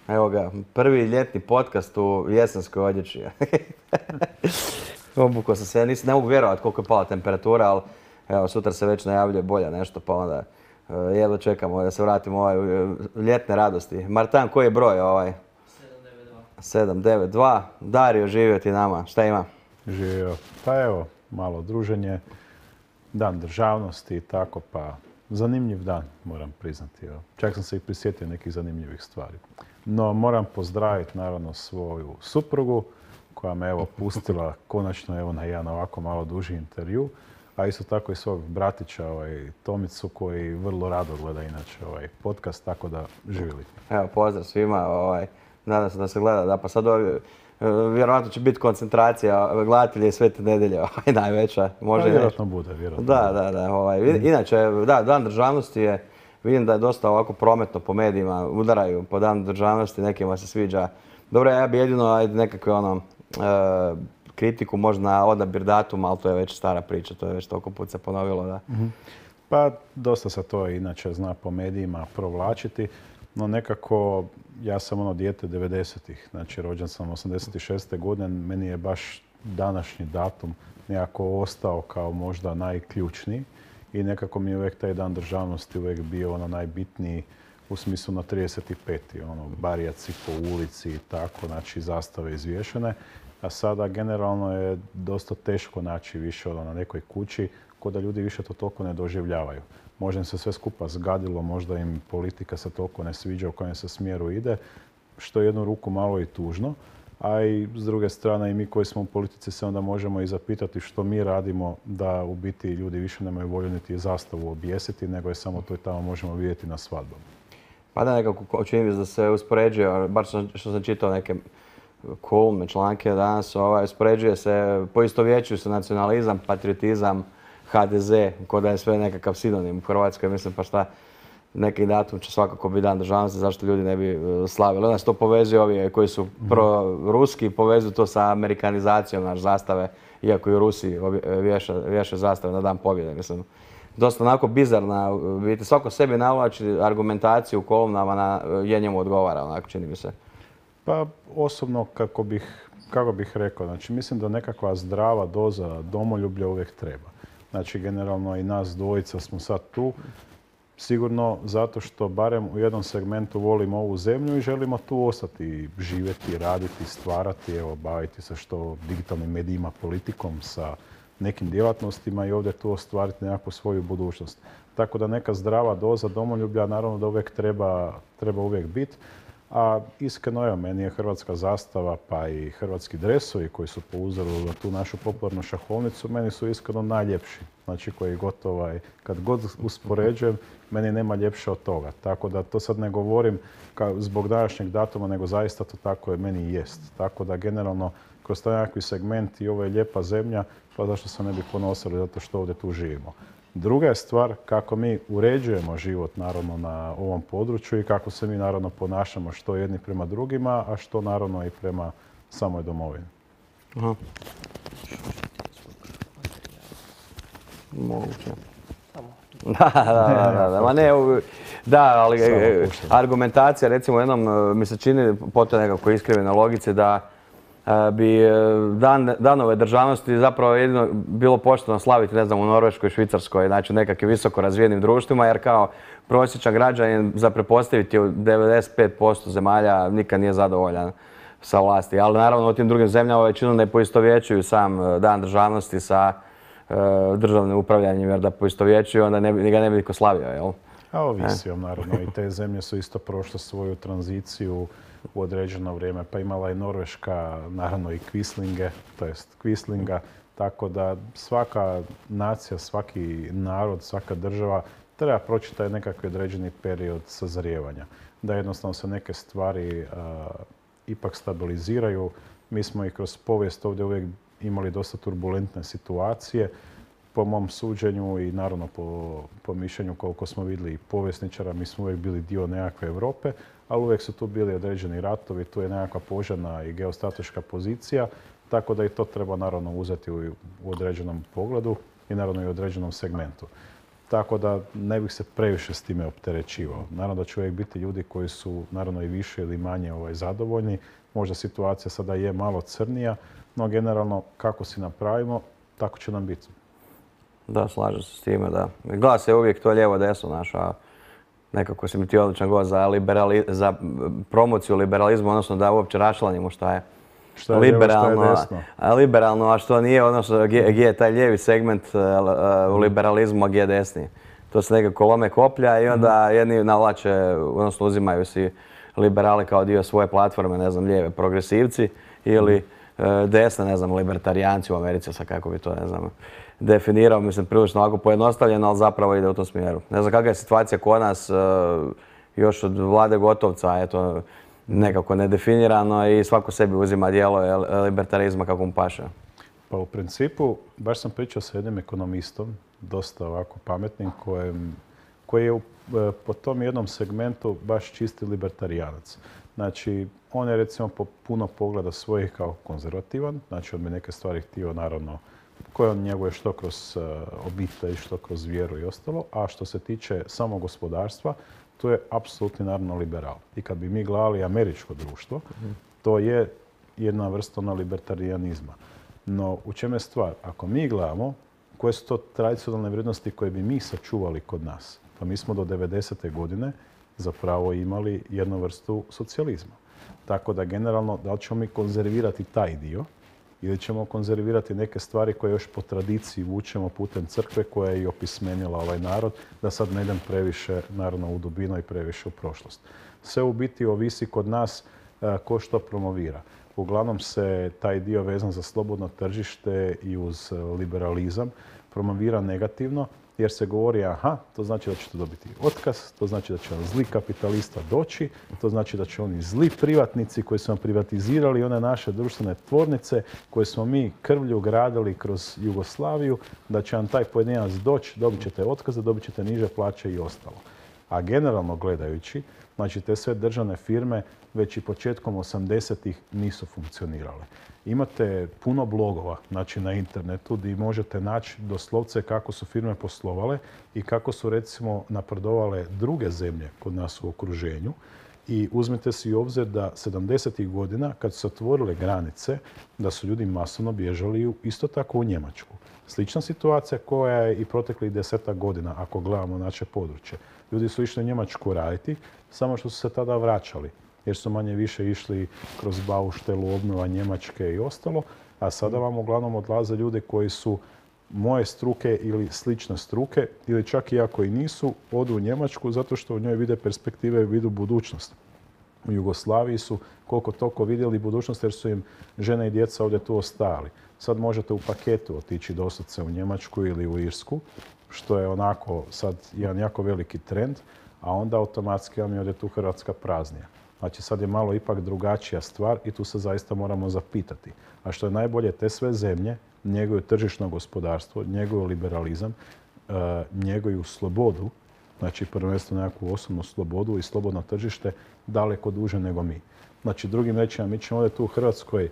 Evo ga, prvi ljetni podcast u jesenskoj odjeći. Obukao sam se, ne mogu vjerovati koliko je pala temperatura, ali evo, sutra se već najavljuje bolja nešto, pa onda jedva čekamo da se vratimo u ljetne radosti. Martan, koji je broj ovaj? 792. Dario, živio ti nama. Šta ima? Živio. Pa evo, malo druženje, dan državnosti i tako, pa zanimljiv dan, moram priznati. Evo. Čak sam se i prisjetio nekih zanimljivih stvari. No, moram pozdraviti naravno svoju suprugu koja me evo pustila konačno evo na jedan ovako malo duži intervju, a isto tako i svog bratića Tomicu koji vrlo rado gleda inače ovaj podcast, tako da živjeli. Evo, pozdrav svima. Nadam se da se gleda. Da, pa sad vjerojatno će biti koncentracija gledatelja i Svete nedjelje najveća. Može vjerojatno bude, vjerojatno. Da. Inače, da, Dan državnosti je, vidim da je dosta ovako prometno po medijima, udaraju po Dan državnosti, nekima se sviđa. Dobro, ja bi jedino nekakve kritiku možda na odabir datuma, ali to je već stara priča, to je već toliko put se ponovilo. Da. Pa dosta se to inače zna po medijima provlačiti, no nekako ja sam dijete 90-ih, znači rođen sam 86. godine, meni je baš današnji datum nekako ostao kao možda najključniji i nekako mi je uvijek taj Dan državnosti uvijek bio najbitniji u smislu na 35. Barijaci po ulici i tako, znači zastave izvješene. A sada generalno je dosta teško naći više na nekoj kući, ko da ljudi više to toliko ne doživljavaju. Možda im se sve skupa zgadilo, možda im politika se toliko ne sviđa u kojem se smjeru ide, što je jednu ruku malo i tužno. A i s druge strane i mi koji smo u politici se onda možemo i zapitati što mi radimo da u biti ljudi više nemaju volju niti zastavu objesiti, nego je samo to i tamo možemo vidjeti na svadbama. Pa da, nekako čini mi se da se uspoređuje, bar što sam čitao neke kolumne, članke danas, uspoređuje se, poistovjećuju se nacionalizam, patriotizam, HDZ, ko da je sve nekakav sinonim u Hrvatskoj, mislim pa šta, neki datum će svakako biti Dan državnosti, zašto ljudi ne bi slavili. Onda se to povezuje ovi koji su pro-ruski, povezuju to sa amerikanizacijom naš zastave, iako i u Rusiji vješa zastave na Dan pobjede, mislim. Dosta onako bizarna, vidite, svako sebi navlači argumentaciju u kolumnama na je njemu odgovara, onako čini mi se. Pa osobno, kako bih rekao, znači mislim da nekakva zdrava doza domoljublja uvijek treba. Znači generalno i nas dvojica smo sad tu, sigurno zato što barem u jednom segmentu volimo ovu zemlju i želimo tu ostati, živjeti, raditi, stvarati, evo, baviti se što digitalnim medijima, politikom, sa nekim djelatnostima i ovdje tu ostvariti nekakvu svoju budućnost. Tako da neka zdrava doza domoljublja naravno da uvijek treba uvijek biti. A iskreno, evo, meni je hrvatska zastava pa i hrvatski dresovi koji su po uzoru na tu našu popularnu šahovnicu, meni su iskreno najljepši. Znači koji gotovo, kad god uspoređujem, meni nema ljepše od toga. Tako da to sad ne govorim zbog današnjeg datuma, nego zaista to tako je meni i jest. Tako da generalno kroz taj nekakvi segment i ovo je lijepa zemlja, pa zašto se ne bi ponosili zato što ovdje tu živimo. Druga je stvar kako mi uređujemo život naravno na ovom području i kako se mi naravno ponašamo što jedni prema drugima, a što naravno i prema samoj domovini. Aha. Moguće. Da, ali argumentacija, recimo jednom mi se čini potpuno nekako iskrivljena logici da bi danove državnosti zapravo jedino bilo pošteno slaviti, ne znam, u Norveškoj, Švicarskoj, znači u nekakvim visoko razvijenim društvima, jer kao prosječan građanin za pretpostaviti u 95% zemalja nikad nije zadovoljan sa vlasti. Ali naravno u tim drugim zemljama većinom ne poistovjećuju sam Dan državnosti sa državnim upravljanjem, jer da poistovjećuju onda ga ne bi niko slavio, jel? A ovisi naravno i te zemlje su isto prošle svoju tranziciju u određeno vrijeme, pa imala je Norveška naravno i Quislinge, to jest Quislinga, tako da svaka nacija, svaki narod, svaka država treba proći taj nekakvi određeni period sazrijevanja. Da jednostavno se neke stvari ipak stabiliziraju. Mi smo i kroz povijest ovdje uvijek imali dosta turbulentne situacije. Po mom suđenju i naravno po mišljenju koliko smo vidjeli i povjesničara, mi smo uvijek bili dio nekakve Europe, ali uvijek su tu bili određeni ratovi, tu je nekakva požarna i geostrateška pozicija, tako da i to treba naravno uzeti u određenom pogledu i naravno i u određenom segmentu. tako da ne bih se previše s time opterećivao. Naravno da će uvijek biti ljudi koji su naravno i više ili manje zadovoljni. Možda situacija sada je malo crnija, no generalno kako si napravimo, tako će nam biti. Da, slažem se s time, da. Glas je uvijek to lijevo-desno, znaš, a nekako si mi ti odličan gost za promociju liberalizma, odnosno da uopće raščlanimo šta je liberalno, a što nije, odnosno gdje je taj lijevi segment u liberalizmu, a gdje je desni. To se nekako lome koplja i onda jedni navlače, odnosno uzimaju si liberali kao dio svoje platforme, ne znam, lijeve progresivci ili desne, ne znam, libertarijanci u Americi, sad kako bi to, ne znam, definirao, mislim, prilično ovako pojednostavljeno, ali zapravo ide u tom smjeru. Ne znam kakva je situacija kod nas, još od Vlade Gotovca, eto, nekako nedefinirano i svako sebi uzima dijelo libertarizma kako mu paše. Pa u principu, baš sam pričao sa jednim ekonomistom, dosta ovako pametnim, koji je po tom jednom segmentu baš čisti libertarijanac. Znači, on je recimo po puno pogleda svojih kao konzervativan, znači on bi neke stvari htio naravno koje on njeguje što kroz obitelj, što kroz vjeru i ostalo, a što se tiče samog gospodarstva, to je apsolutni naravno liberal. I kad bi mi gledali američko društvo, to je jedna vrsta libertarijanizma. No, u čem je stvar? Ako mi gledamo koje su to tradicionalne vrijednosti koje bi mi sačuvali kod nas, pa mi smo do 90. godine zapravo imali jednu vrstu socijalizma. Tako da generalno, da li ćemo mi konzervirati taj dio ili ćemo konzervirati neke stvari koje još po tradiciji vučemo putem crkve koja je i opismenila ovaj narod, da sad ne idem previše naravno u dubinu i previše u prošlost. Sve u biti ovisi kod nas ko što promovira. Uglavnom se taj dio vezan za slobodno tržište i uz liberalizam promovira negativno, jer se govori, aha, to znači da ćete dobiti otkaz, to znači da će vam zli kapitalista doći, to znači da će oni zli privatnici koji su vam privatizirali one naše društvene tvornice koje smo mi krvlju gradili kroz Jugoslaviju, da će vam taj pojedinac doći, dobit ćete otkaze, dobit ćete niže plaće i ostalo. A generalno gledajući, znači te sve državne firme već i početkom 80-ih nisu funkcionirale. Imate puno blogova, znači na internetu, gdje možete naći doslovce kako su firme poslovale i kako su recimo napredovale druge zemlje kod nas u okruženju. I uzmite si u obzir da 70-ih godina, kad su se otvorile granice, da su ljudi masovno bježali isto tako u Njemačku. Slična situacija koja je i proteklih 10 godina, ako gledamo naše područje. Ljudi su išli u Njemačku raditi, samo što su se tada vraćali, jer su manje više išli kroz bauštelu, obnova Njemačke i ostalo, a sada vam uglavnom odlaze ljude koji su moje struke ili slične struke, ili čak i ako i nisu, odu u Njemačku zato što u njoj vide perspektive i vidu budućnost. U Jugoslaviji su koliko toliko vidjeli budućnost jer su im žene i djeca ovdje tu ostajali. Sad možete u paketu otići doslovce u Njemačku ili u Irsku, što je onako sad jedan jako veliki trend, a onda automatski vam je ovdje tu Hrvatska praznija. Znači sad je malo ipak drugačija stvar i tu se zaista moramo zapitati. A što je najbolje, te sve zemlje njeguju tržišno gospodarstvo, njeguju liberalizam, njeguju slobodu, znači prvenstveno nekakvu osobnu slobodu i slobodno tržište daleko duže nego mi. Znači drugim rečima, mi ćemo ovdje tu u Hrvatskoj,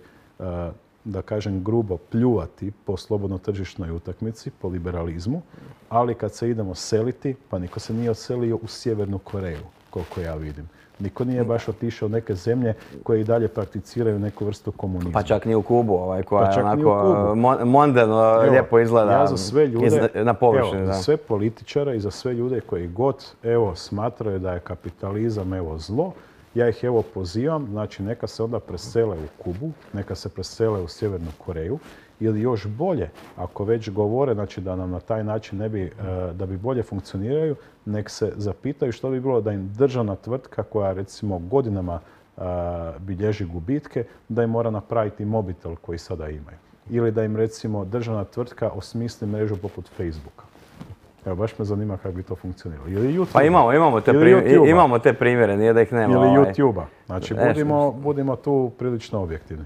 da kažem grubo, pljuvati po slobodno tržišnoj utakmici, po liberalizmu, ali kad se idemo seliti, pa niko se nije odselio u Sjevernu Koreju, koliko ja vidim. Niko nije baš otišao u neke zemlje koje i dalje prakticiraju neku vrstu komunizma. Pa čak ni u Kubu, koja je onako mondeno, lijepo izgleda ja za sve ljude, na površini. Za sve političare i za sve ljude koji god smatraju da je kapitalizam zlo, ja ih pozivam, znači neka se onda presele u Kubu, neka se presele u Sjevernu Koreju, ili još bolje, ako već govore, znači da nam na taj način ne bi, da bi bolje funkcioniraju, nek se zapitaju što bi bilo da im državna tvrtka koja recimo godinama bilježi gubitke, da im mora napraviti mobitel koji sada imaju. Ili da im recimo državna tvrtka osmisli mrežu poput Facebooka. Evo, baš me zanima kako bi to funkcioniralo. Ili YouTube. Pa imamo te primjere, nije da ih nema. Ili YouTube-a. Znači, budimo tu prilično objektivni.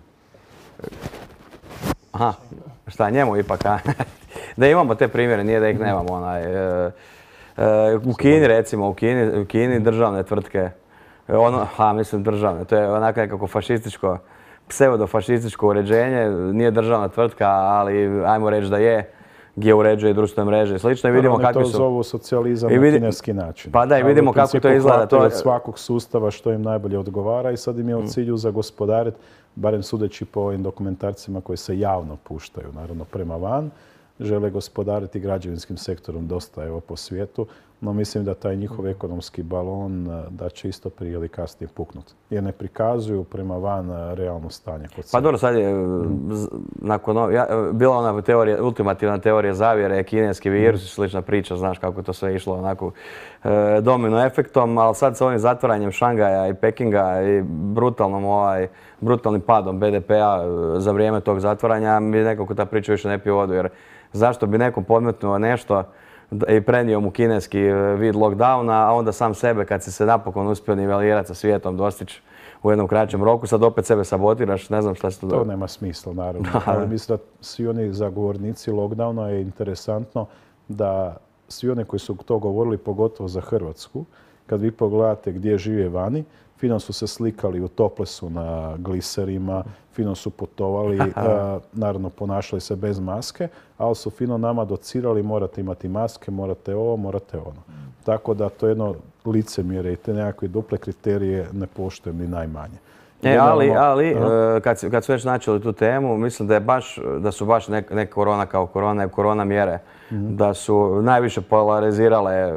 Aha, šta njemu ipak, a? Da imamo te primjere, nije da ih nemamo. U Kini recimo, u Kini državne tvrtke, mislim državne, to je onako nekako fašističko, pseudofašističko uređenje, nije državna tvrtka, ali ajmo reći da je, gdje uređuje društvene mreže i slično. I vidimo Oni kakvi to su... zovu socijalizam na kineski način. Pa da, i Ali vidimo u kako principu to izgleda. hvataju od svakog sustava što im najbolje odgovara i sad im je u cilju zagospodariti, barem sudeći po ovim dokumentarcima koji se javno puštaju, naravno prema van, žele gospodariti građevinskim sektorom dosta evo po svijetu, no mislim da taj njihov ekonomski balon da će isto prije ili kasnije puknuti. Jer ne prikazuju prema van realno stanje kod Pa sebe. dobro, sad je bila ona teorija, ultimativna teorija zavjere, kineski virus i slična priča, znaš kako to sve išlo onako domino efektom, ali sad sa ovim zatvaranjem Šangaja i Pekinga i brutalnim padom BDP-a za vrijeme tog zatvaranja, mi nekako ta priča više ne pije vodu, jer zašto bi nekom podmetnuo nešto i prenio mu kineski vid lockdowna, a onda sam sebe, kad si se napokon uspio nivelirati sa svijetom, dostići u jednom kraćem roku, sad opet sebe sabotiraš, ne znam šta se to... To nema smisla, naravno. Ali mislim da svi oni zagovornici lockdowna je interesantno da svi oni koji su to govorili, pogotovo za Hrvatsku, kad vi pogledate gdje žive vani, fino su se slikali u toplesu na gliserima, fino su putovali, naravno ponašali se bez maske, ali su fino nama docirali morate imati maske, morate ovo, morate ono. Tako da to je jedno licemjerje i te nekakve duple kriterije ne poštujem ni najmanje. Ali kad su već načeli tu temu, mislim da su baš ne korona kao korona, nego korona mjere, da su najviše polarizirale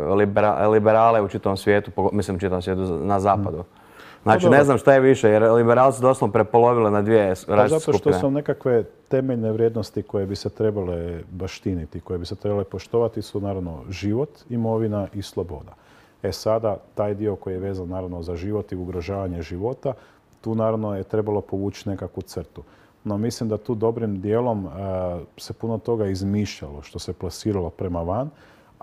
liberale u čitavom svijetu, mislim u čitavom svijetu na zapadu. Znači, ne znam šta je više, jer liberalci su doslovno prepolovile na dvije različite skupine. Zato što su nekakve temeljne vrijednosti koje bi se trebale baštiniti, koje bi se trebale poštovati su naravno život, imovina i sloboda. Sada, taj dio koji je vezan naravno za život i ugrožavanje života, tu naravno je trebalo povući nekakvu crtu. No mislim da tu dobrim dijelom se puno toga izmišljalo što se plasiralo prema van,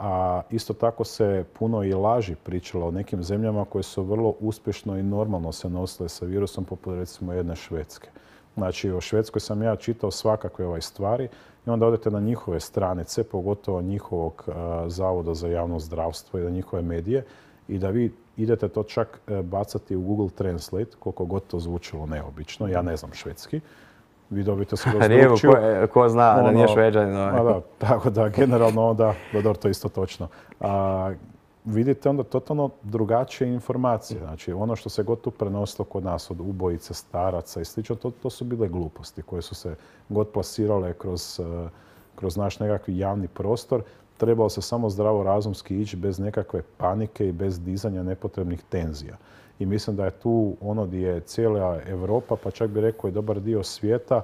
a isto tako se puno i laži pričalo o nekim zemljama koje su vrlo uspješno i normalno se nosile sa virusom, poput recimo jedne Švedske. Znači, o Švedskoj sam ja čitao svakakve stvari i onda odete na njihove stranice, pogotovo njihovog Zavoda za javno zdravstvo i na njihove medije i da vi idete to čak bacati u Google Translate, koliko god to zvučilo neobično, ja ne znam švedski, vi dobite skroz drugčiju. Ko zna da nije Šveđanin. Da, tako da generalno onda, to je isto točno. Vidite onda totalno drugačije informacije. Znači ono što se god tu prenosilo kod nas od ubojice, staraca i slično, to su bile gluposti koje su se god plasirale kroz naš nekakvi javni prostor. Trebalo se samo zdravo razumski ići bez nekakve panike i bez dizanja nepotrebnih tenzija. I mislim da je tu ono gdje je cijela Europa, pa čak bi rekao i dobar dio svijeta,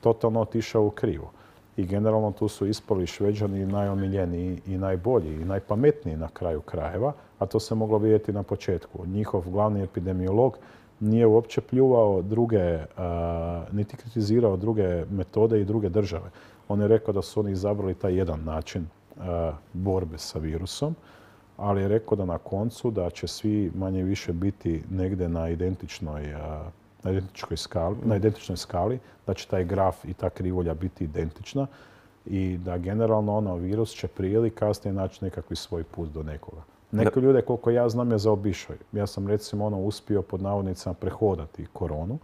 totalno otišao u krivo. I generalno tu su ispali Šveđani najomiljeniji i najbolji i najpametniji na kraju krajeva, a to se moglo vidjeti na početku. Njihov glavni epidemiolog nije uopće pljuvao druge, niti kritizirao druge metode i druge države. On je rekao da su oni izabrali taj jedan način borbe sa virusom, ali je rekao da na koncu da će svi manje više biti negdje na identičnoj skali, da će taj graf i ta krivulja biti identična i da generalno virus će prije ili kasnije naći nekakvi svoj put do nekoga. Neki ljude, koliko ja znam, je zaobišao. Ja sam recimo uspio pod navodnicama prehodati koronu,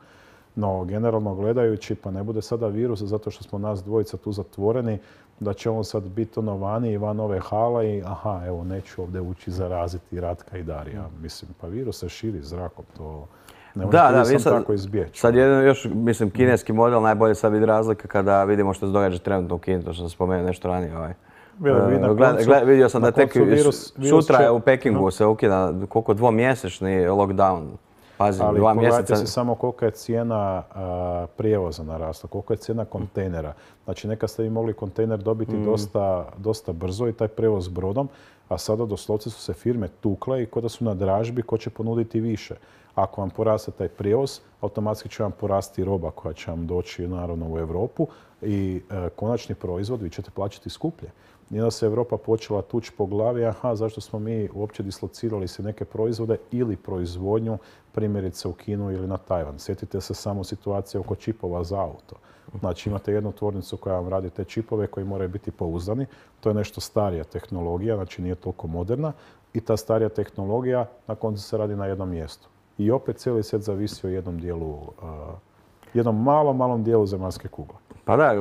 no generalno gledajući, pa ne bude sada virus zato što smo nas dvojica tu zatvoreni, da će on sad biti vani i van ove hale i evo neću ovdje ući zaraziti Ratka i Darija. Mislim, pa virus se širi zrakom, to ne može tako izbjeći. Sad jedan još, mislim, kineski model najbolje sad vidi razlika kada vidimo što se događa trenutno u Kini, to što sam spomenuo nešto ranije. Vidio sam da tek sutra u Pekingu se ukida koliko dvomjesečni lockdown. Pazi, ali pogledajte si samo kolika je cijena prijevoza narasla, koliko je cijena kontejnera. Znači nekad ste vi mogli kontejner dobiti dosta brzo i taj prevoz brodom, a sada doslovce su se firme tukle i ko da su na dražbi ko će ponuditi više. Ako vam poraste taj prijevoz, automatski će vam porasti roba koja će vam doći naravno u Europu i konačni proizvod vi ćete plaćati skuplje. I onda se Europa počela tući po glavi, zašto smo mi uopće dislocirali se neke proizvode ili proizvodnju, primjerice u Kinu ili na Tajvan. Sjetite se samo situacije oko čipova za auto. Znači imate jednu tvornicu koja vam radi te čipove koji moraju biti pouzdani. To je nešto starija tehnologija, znači nije toliko moderna. I ta starija tehnologija na koncu se radi na jednom mjestu. I opet cijeli svijet zavisi o jednom dijelu jednom malom dijelu zemaljske kugle. Pa da,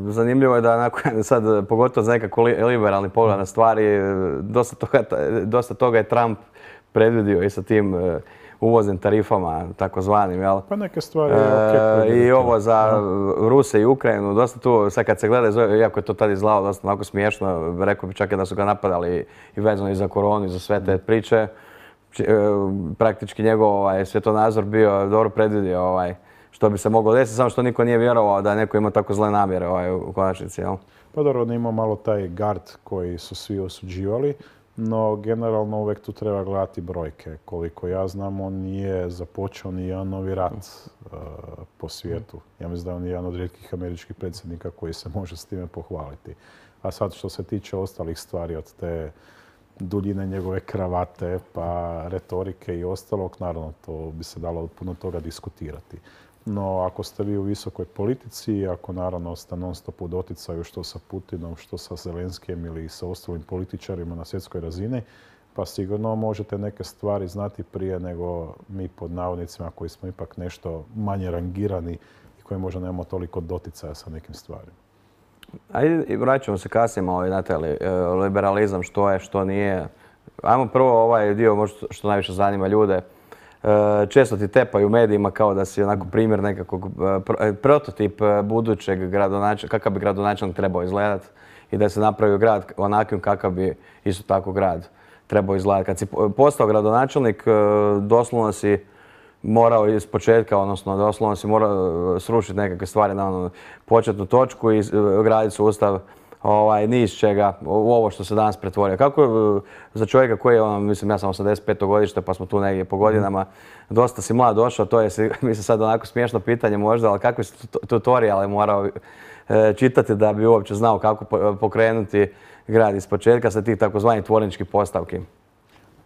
zanimljivo je da sad, pogotovo za nekako liberalni pogled na stvari, dosta toga je Trump predvidio i sa tim uvoznim tarifama, takozvanim, jel? Pa neke stvari je I ovo za Ruse i Ukrajinu, dosta tu, sad kad se gleda, iako je to tad izgledalo dosta onako smiješno, rekao bi čak i da su ga napadali i vezano i za koronu i za sve te priče, praktički njegov svjetonazor bio dobro predvidio što bi se moglo desiti, samo što niko nije vjerovao da neko ima tako zle namjere u konačnici, jel? Pa dobro, on ima malo taj gard koji su svi osuđivali, no generalno uvijek tu treba gledati brojke. Koliko ja znam, on nije započeo ni jedan novi rat po svijetu. Ja mislim da je on jedan od rijetkih američkih predsjednika koji se može s time pohvaliti. A sad što se tiče ostalih stvari od te duljine njegove kravate, pa retorike i ostalog, naravno to bi se dalo puno toga diskutirati. No, ako ste vi u visokoj politici, ako naravno ste non stop u doticaju što sa Putinom, što sa Zelenskijem ili sa ostalim političarima na svjetskoj razini, pa sigurno možete neke stvari znati prije nego mi pod navodnicima koji smo ipak nešto manje rangirani i koji možda nemamo toliko doticaja sa nekim stvarima. Ajde, vraćamo se kasnije malo na taj liberalizam, što je, što nije. Ajmo prvo ovaj dio možda što najviše zanima ljude. Često ti tepaju u medijima kao da si onako primjer nekakvog prototip budućeg gradonačelnika, kakav bi gradonačelnik trebao izgledati i da se napravi grad onakvim kakav bi isto tako grad trebao izgledati. Kad si postao gradonačelnik, doslovno si morao iz početka, odnosno doslovno si morao srušiti nekakve stvari na onu početnu točku i graditi sustav ni iz čega, u ovo što se danas pretvorio. Kako za čovjeka koji je, mislim, ja sam 85. godište, pa smo tu negdje po godinama, dosta si mlad došao, to je, mislim, sad onako smiješno pitanje možda, ali kakve si tutoriale morao čitati da bi uopće znao kako pokrenuti grad iz početka sa tih takozvanih tvorničkih postavki?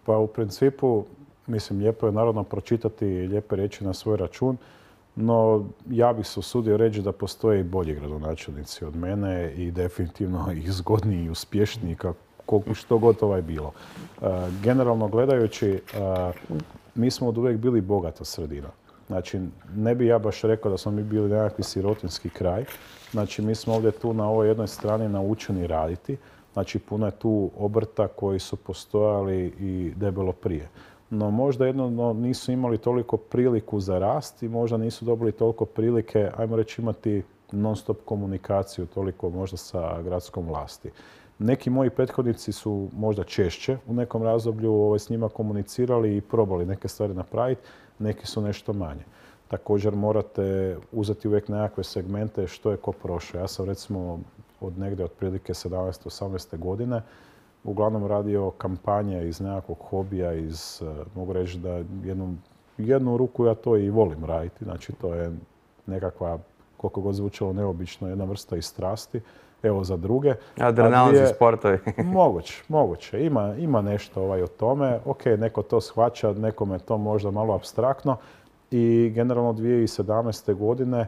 Pa u principu, mislim, lijepo je naravno pročitati lijepe riječi na svoj račun, no ja bih se usudio reći da postoje i bolji gradonačelnici od mene i definitivno i zgodniji i uspješniji, što god ovaj bilo. Generalno gledajući, mi smo od uvijek bili bogata sredina. Znači, ne bi ja baš rekao da smo mi bili nekakvi sirotinski kraj. Znači, mi smo ovdje tu na ovoj jednoj strani naučeni raditi. Znači, puno je tu obrta koji su postojali i debelo prije. No možda jedno nisu imali toliko priliku za rast i možda nisu dobili toliko prilike, ajmo reći, imati non-stop komunikaciju toliko možda sa gradskom vlasti. Neki moji prethodnici su možda češće u nekom razdoblju s njima komunicirali i probali neke stvari napraviti, neki su nešto manje. Također morate uzeti uvijek nekakve segmente što je ko prošao. Ja sam recimo od negdje otprilike 17-18. godine uglavnom radio kampanje iz nekakvog hobija, mogu reći da jednu ruku ja to i volim raditi. Znači to je nekakva, koliko god zvučalo neobično, jedna vrsta i strasti. Evo za druge. Adrenalni sportovi. Moguće. Ima nešto o tome. Ok, neko to shvaća, nekome to možda malo apstraktno. I generalno 2017. godine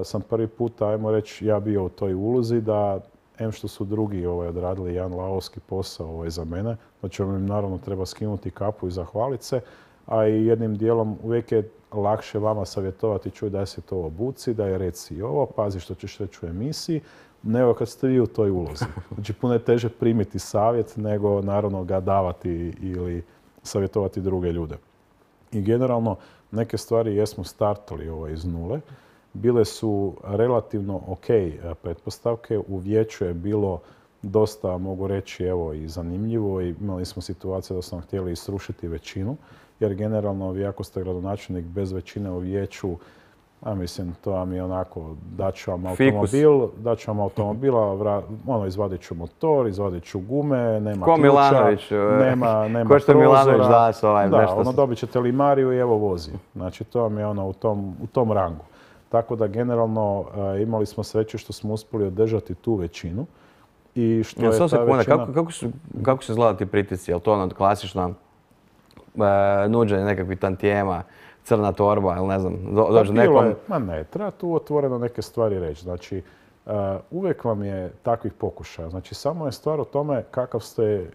sam prvi puta, ajmo reći, ja bio u toj ulozi da što su drugi odradili jedan lavovski posao za mene, znači im naravno treba skinuti kapu i zahvaliti se, a i jednim dijelom uvijek je lakše vama savjetovati, čuj daj se to obuci, daj reci ovo, pazi što ćeš reći u emisiji, nego kad ste vi u toj ulozi. Znači puno je teže primiti savjet nego naravno ga davati ili savjetovati druge ljude. I generalno neke stvari jesmo startali iz nule. Bile su relativno ok pretpostavke. U vijeću je bilo dosta, mogu reći, evo i zanimljivo i imali smo situaciju da smo htjeli srušiti većinu, jer generalno vi ako ste gradonačelnik bez većine u vijeću, a mislim, to vam je onako, daću vam automobila, izvadit ću motor, izvadit ću gume, nema ko ključa, Milanović, nema ko što Milanović prozora. nešto. Dobit ćete limariju i evo vozi. Znači, to vam je u tom rangu. Tako da generalno imali smo sreće što smo uspjeli održati tu većinu. I što je ta većina... Kako su izgledali ti pritisci? Je li to klasično nuđenje nekakvih tantijema, crna torba ili ne znam, dođe nekom... Ne, treba tu otvoreno neke stvari reći. Znači, uvijek vam je takvih pokušaja. Znači, samo je stvar o tome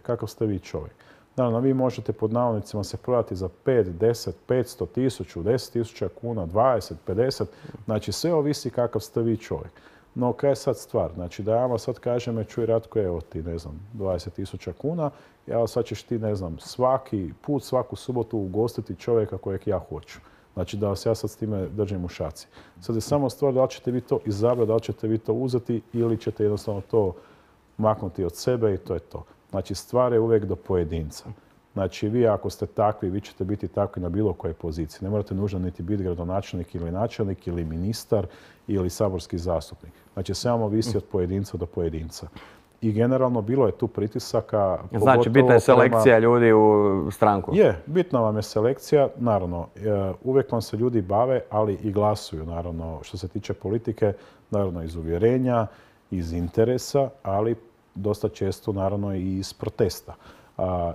kakav ste vi čovjek. Naravno, vi možete pod navodnicima se prodati za 5, 10, 500, 1000, 10.000 kuna, 20, 50, znači sve ovisi kakav ste vi čovjek. No, kaj je sad stvar? Znači, da ja vam sad kažem, čuj Ratko, evo ti, ne znam, 20.000 kuna, evo sad ćeš ti, ne znam, svaki put, svaku subotu ugostiti čovjeka kojeg ja hoću. Znači, da vas ja sad s time držim u šaci. Sad je samo stvar da li ćete vi to izabrati, da li ćete vi to uzeti ili ćete jednostavno to maknuti od sebe i to je to. Znači, stvar je uvijek do pojedinca. Znači, vi ako ste takvi, vi ćete biti takvi na bilo kojoj poziciji. Ne morate nužno niti biti gradonačelnik ili načelnik ili ministar ili saborski zastupnik. Znači, samo visi od pojedinca do pojedinca. I generalno bilo je tu pritisaka. Znači, bitna je selekcija ljudi u stranku. Je, bitna vam je selekcija. Naravno, uvijek vam se ljudi bave, ali i glasuju. Naravno, što se tiče politike, naravno iz uvjerenja, iz interesa, ali dosta često naravno i iz protesta.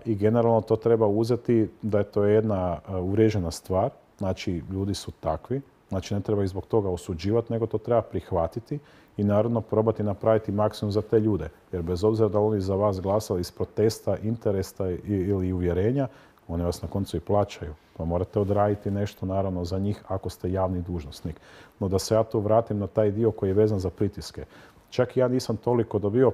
I generalno to treba uzeti da je to jedna uvriježena stvar. Znači, ljudi su takvi. Znači, ne treba ih zbog toga osuđivati, nego to treba prihvatiti i naravno probati napraviti maksimum za te ljude. Jer bez obzira da oni za vas glasali iz protesta, interesa ili uvjerenja, oni vas na koncu i plaćaju. Pa morate odraditi nešto naravno za njih ako ste javni dužnosnik. No da se ja tu vratim na taj dio koji je vezan za pritiske. Čak i ja nisam toliko dobio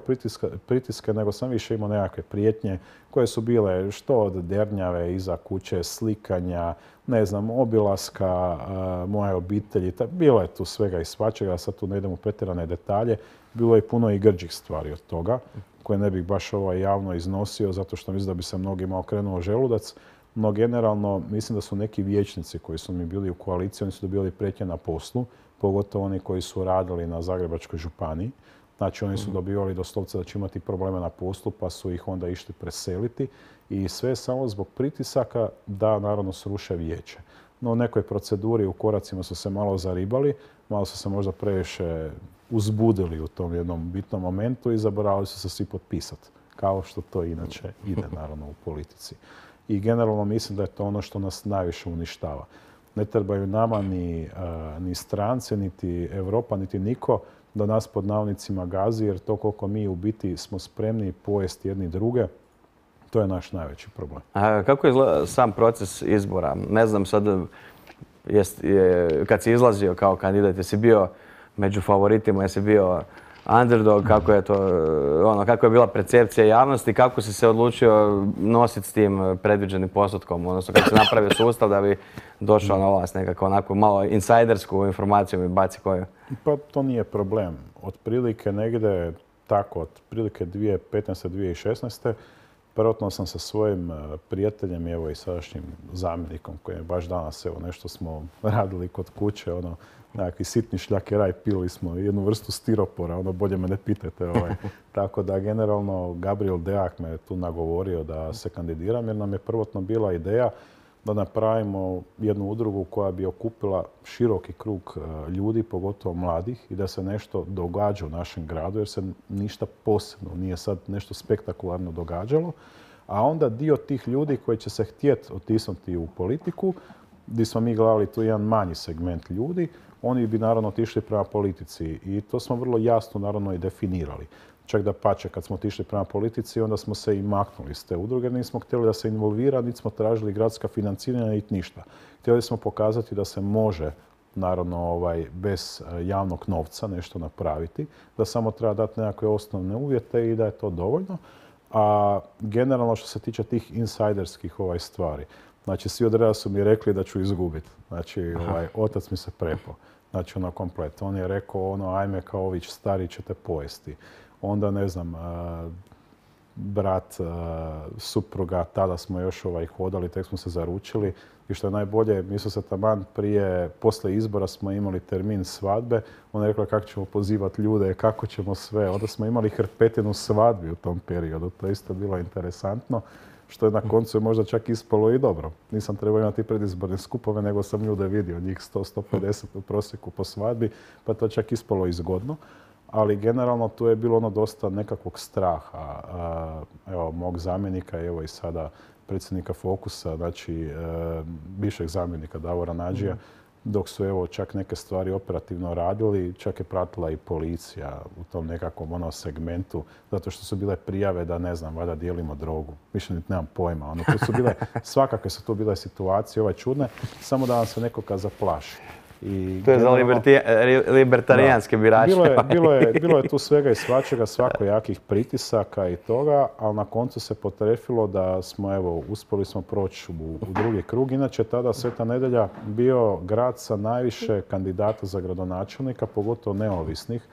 pritiske, nego sam više imao nekakve prijetnje koje su bile što od dernjave iza kuće, slikanja, ne znam, obilaska moje obitelji. Bilo je tu svega i svačega, sad tu ne idem u pretjerane detalje. Bilo je puno i grđih stvari od toga, koje ne bih baš javno iznosio, zato što mislim da bi se mnogima okrenuo želudac. No generalno mislim da su neki vijećnici koji su mi bili u koaliciji, oni su dobili prijetnje na poslu, pogotovo oni koji su radili na Zagrebačkoj županiji. Znači, oni su dobivali doslovce da će imati probleme na poslu, pa su ih onda išli preseliti. I sve samo zbog pritisaka da, naravno, sruše vijeće. No, u nekoj proceduri u koracima su se malo zaribali, malo su se možda previše uzbudili u tom jednom bitnom momentu i zaboravili su se svi potpisati. Kao što to inače ide, naravno, u politici. I generalno mislim da je to ono što nas najviše uništava. Ne trebaju nama ni stranci, niti Europa, niti niko da nas pod navodnicima gazi, jer to koliko mi u biti smo spremni pojesti jedni druge, to je naš najveći problem. A kako izgleda sam proces izbora? Ne znam sad, kad si izlazio kao kandidat, jesi bio među favoritima, jesi bio underdog, kako je bila percepcija javnosti, kako si se odlučio nositi s tim predviđenim postotkom, odnosno kako si napravio sustav da bi došao na vlast, nekako onako malo insajdersku informaciju mi baci koju? Pa to nije problem. Otprilike negdje tako, otprilike 2015. 2016. prvotno sam sa svojim prijateljem, evo i sadašnjim zamjenikom, koji je baš danas, evo nešto smo radili kod kuće, nekakvi sitni šljakeraj, pili smo jednu vrstu stiropora, bolje me ne pitajte. Tako da generalno Gabriel Deak me tu nagovorio da se kandidiram, jer nam je prvotno bila ideja da napravimo jednu udrugu koja bi okupila široki krug ljudi, pogotovo mladih, i da se nešto događa u našem gradu, jer se ništa posebno nije sad nešto spektakularno događalo. A onda dio tih ljudi koji će se htjeti otisnuti u politiku, gdje smo mi gledali tu jedan manji segment ljudi, oni bi naravno otišli prema politici i to smo vrlo jasno naravno i definirali. Čak da pače, kad smo otišli prema politici, onda smo se i maknuli iz te udruge. Nismo htjeli da se involvira, niti smo tražili gradska financiranja, niti ništa. Htjeli smo pokazati da se može, naravno, bez javnog novca nešto napraviti, da samo treba dati nekakve osnovne uvjete i da je to dovoljno. A generalno što se tiče tih insajderskih stvari, znači svi od reda su mi rekli da ću izgubiti. Znači, otac mi se prepao. Znači, komplet. On je rekao, ajme kao ović stari ćete pojesti. Onda, ne znam, brat, supruga, tada smo još hodali, tek smo se zaručili. I što je najbolje, mi su se taman poslije izbora smo imali termin svadbe. On je rekla kako ćemo pozivati ljude, kako ćemo sve. Onda smo imali hrpetinu svadbi u tom periodu. To je isto bilo interesantno. Što je na koncu možda čak ispalo i dobro. Nisam trebao imati predizborne skupove, nego sam ljude vidio, njih 100-150 u prosjeku po svadbi, pa to čak ispalo i zgodno. Ali generalno tu je bilo dosta nekakvog straha. Evo, mog zamjenika, evo i sada predsjednika Fokusa, znači bivšeg zamjenika Davora Nađija, dok su evo čak neke stvari operativno radili, čak je pratila i policija u tom nekakvom segmentu, zato što su bile prijave da, ne znam, valjda dijelimo drogu. Više niti nemam pojma. Tu su bile, svakakve su tu bile situacije čudne, samo da vam se nekoga zaplaši. To je za libertarijanske birače. Bilo je tu svega i svačega, svakojakih pritisaka i toga, ali na koncu se potrefilo da smo, evo, uspjeli smo proći u drugi krug. Inače, tada Sveta Nedjelja bio grad sa najviše kandidata za gradonačelnika, pogotovo neovisnih,